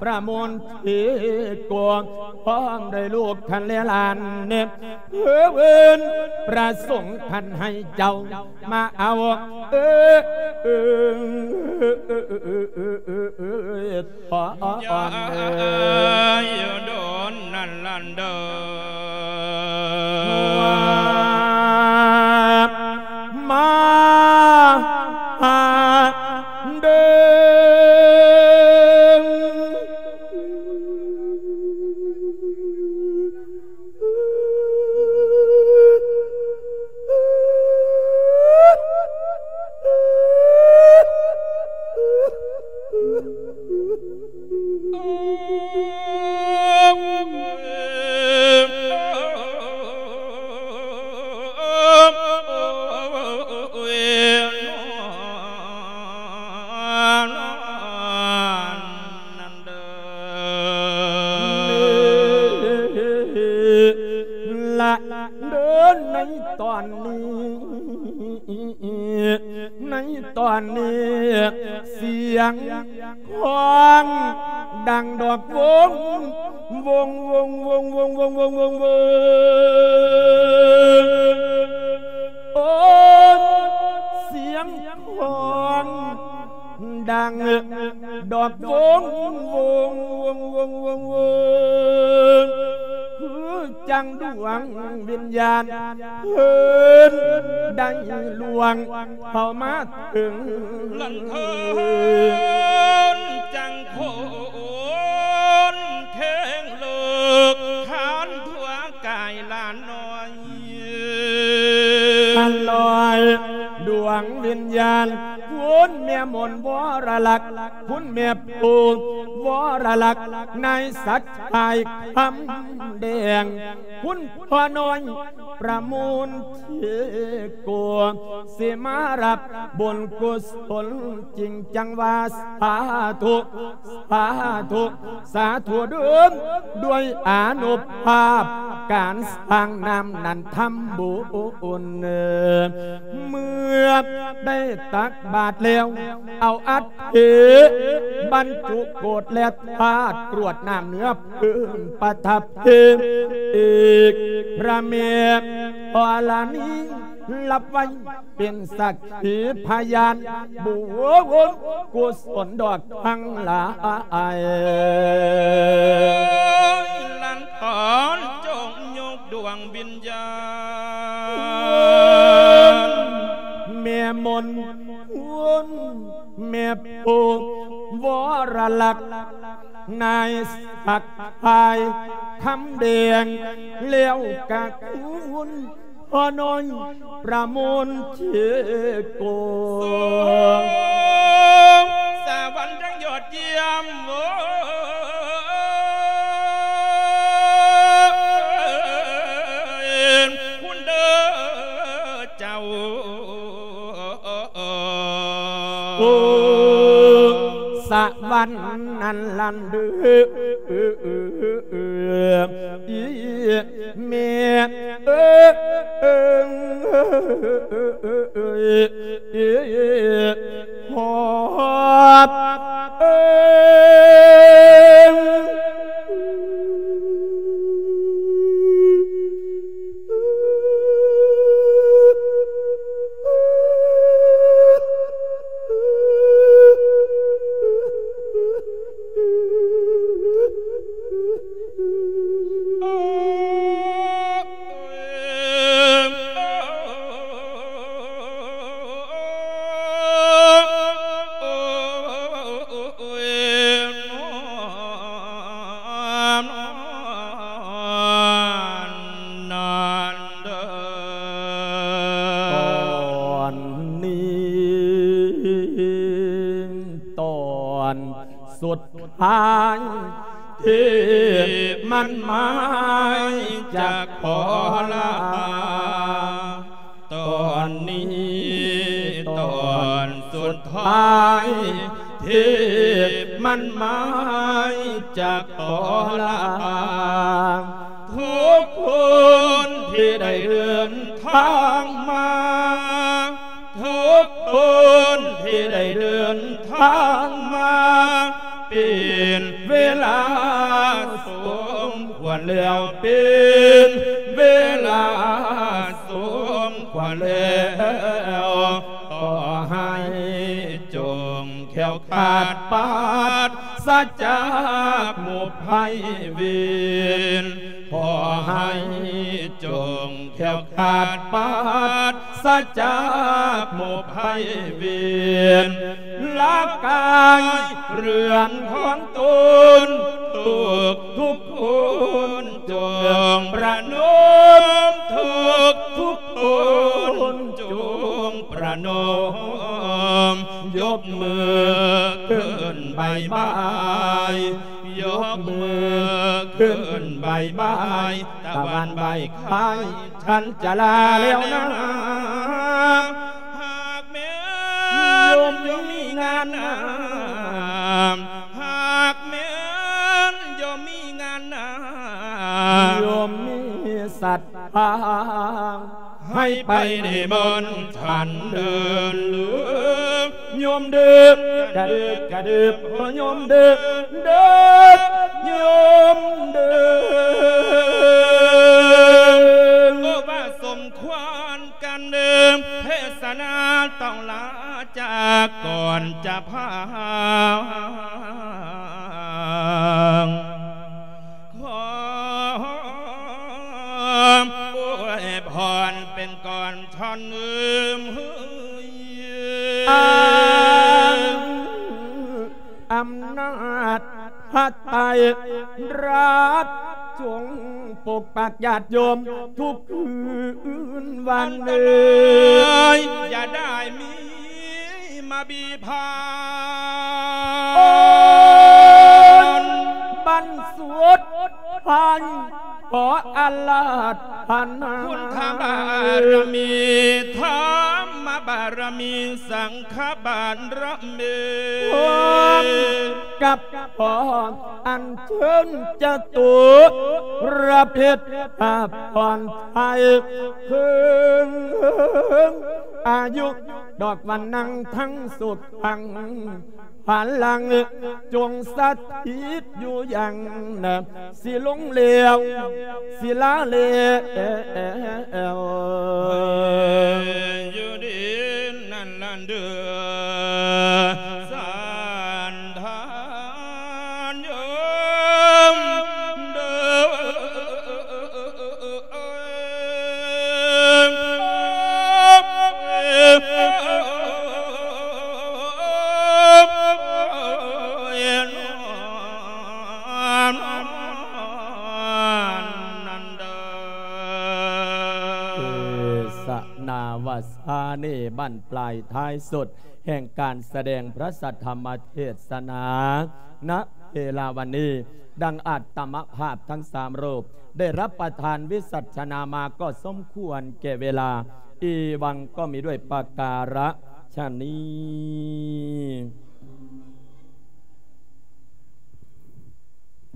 ประมวลที่กวง พร้อมด้วยลูกคันและหลานเนี่ย เพื่อเวินประสงค์คันให้เจ้า มาเอา เออ เออ เออ เออ เออ เออ เออ เออ เออ ขออ่อน อย่า เออ โดนนั่นลันเดอ มา หา เดิน ละเดินในตอนนี้ ในตอนนี้ เสียง ฮ้องดังดอกวง วง วง โอ้ เสียงฮ้องดังดอกวง วง คือจั่งดวงวิญญาณเพิ่นได้ล่วงเข้ามา ถึงลันเทินจังโคนแข้งเลิก ขานทั่วกายหลานน้อย อันลอยดวงวิญญาณ คุณแม่มนต์วรลักษณ์ คุณแม่ปู่วรลักษณ์ นายศักดิ์ชายคำแดง คุณพ่อน้อย ประมูลที่กลัวสิมารับบุญกุศล จริงจังว่าสาธุ สาธุ สาธุเดิม ด้วยอานุภาพการสร้างน้ำนั้นทำบุญ เมื่อได้ตักบาตรแล้ว เอาอัฐิบรรจุโกศและธาตุกรวดน้ำเนื้อ พื้นประทับเทพ เอกพระแม่ธรณี รับไว้เป็นสักขีพยาน บุญกุศลดอกทั้งหลาย หลานขอจงยกดวงวิญญาณ แม่มนต์ แม่ปู่วรลักษณ์ นายศักดิ์ชายคำแดง แล้วกะคุณพ่อน้อยประมูลเทโก สวรรค์ทั้งยอดเยี่ยม โอ้ย คุณเด้อเจ้า โอ้ สะหวันนั้นลันเด้อ อีแม่ ສຸດທ້າຍທີ່ໝັ້ນໝາຍຈະຂໍລາ. ຕອນນີ້ຕອນສຸດທ້າຍທີ່ໝັ້ນໝາຍຈະຂໍລາ. ທຸກຄົນທີ່ໄດ້ເດີນທາງມາ ທຸກຄົນທີ່ໄດ້ເດີນທາງມາ ເປັນເວລາສົມຄວນແລ້ວ ເປັນເວລາສົມຄວນແລ້ວ. ຂໍໃຫ້ຈົ່ງແຄ້ວຄາດປາດສະຈາກໝົດໄພເວນ ຂໍໃຫ້ຈົ່ງແຄ້ວຄາດປາດສະຈາກໝົດໄພເວນ ລະກາຍເຮືອນຂອງຕົນ ທຸກທຸກຄົນຈົ່ງປະນົມ ທຸກທຸກຄົນຈົ່ງປະນົມ ຍົກມືຂຶ້ນບາຍບາຍ ຍົກມືຂຶ້ນບາຍບາຍ ຕາວັນບາຍຄາຍ ສັນຈະລາແລ້ວນາ. ຫາກແມ່ນໂຍມມີງານນາ ຫາກແມ່ນໂຍມມີງານນາ ໂຍມມີສັດທາ ໃຫ້ໄປນິມົນທ່ານເດີນເລີຍ ໂຍມເດີນ ກະເດີນ ກະເດີນ ໂຍມເດີນ ເດີນ ໂຍມເດີນ. ໂອ້ ວ່າສົມຄວນກັນເດີນ ເທດສະນາຕ້ອງລາຈາກກ່ອນຈະພາ ຂໍອວຍພອນເປັນກ່ອນທ່ອນເອີມເຮີຍ ອຳນາດພະໄຕຣະ ຈົ່ງປົກປັກຍາດໂຍມທຸກຄືນວັນເອີຍ ອັນຕະລາຍຢ່າໄດ້ມີ ມາບີພາ ໂອ້ຍ ບັນສຸດພັນ ຂໍອາລາທະນາ ພຸດທະບາລະມີ ທຳມະບາລະມີ ສັງຄະບາລະມີ ພ້ອມກັບຂໍອັນເຊີນຈະຕຸລະເພັດ ພາພອນໄທ ເຄິ່ງອາຍຸ ດອກວັນນັງທັງສຸກທັງພະລັງ ຈົ່ງສະຖິດຢູ່ຢ່າງນາ ຊິຫຼົງແລ້ວ ຊິລາແລ້ວ ໃຫ້ຢູ່ດີນັ້ນລະເດີ ສັນທານໂຍມເດີ. ເອສະນາວະສາເນ ບັ້ນປາຍທ້າຍສຸດ ແຫ່ງການສະແດງພະສັດທຳມະເທດສະໜາ ນະເວລາວັນນີ້ ດັ່ງອາດຕະມະພາບທັງສາມຮູບ ໄດ້ຮັບປະທານວິສັດຊະນາມາກໍສົມຄວນແກ່ເວລາ ອີວັງກໍມີດ້ວຍປະກາລະຊະນີ້.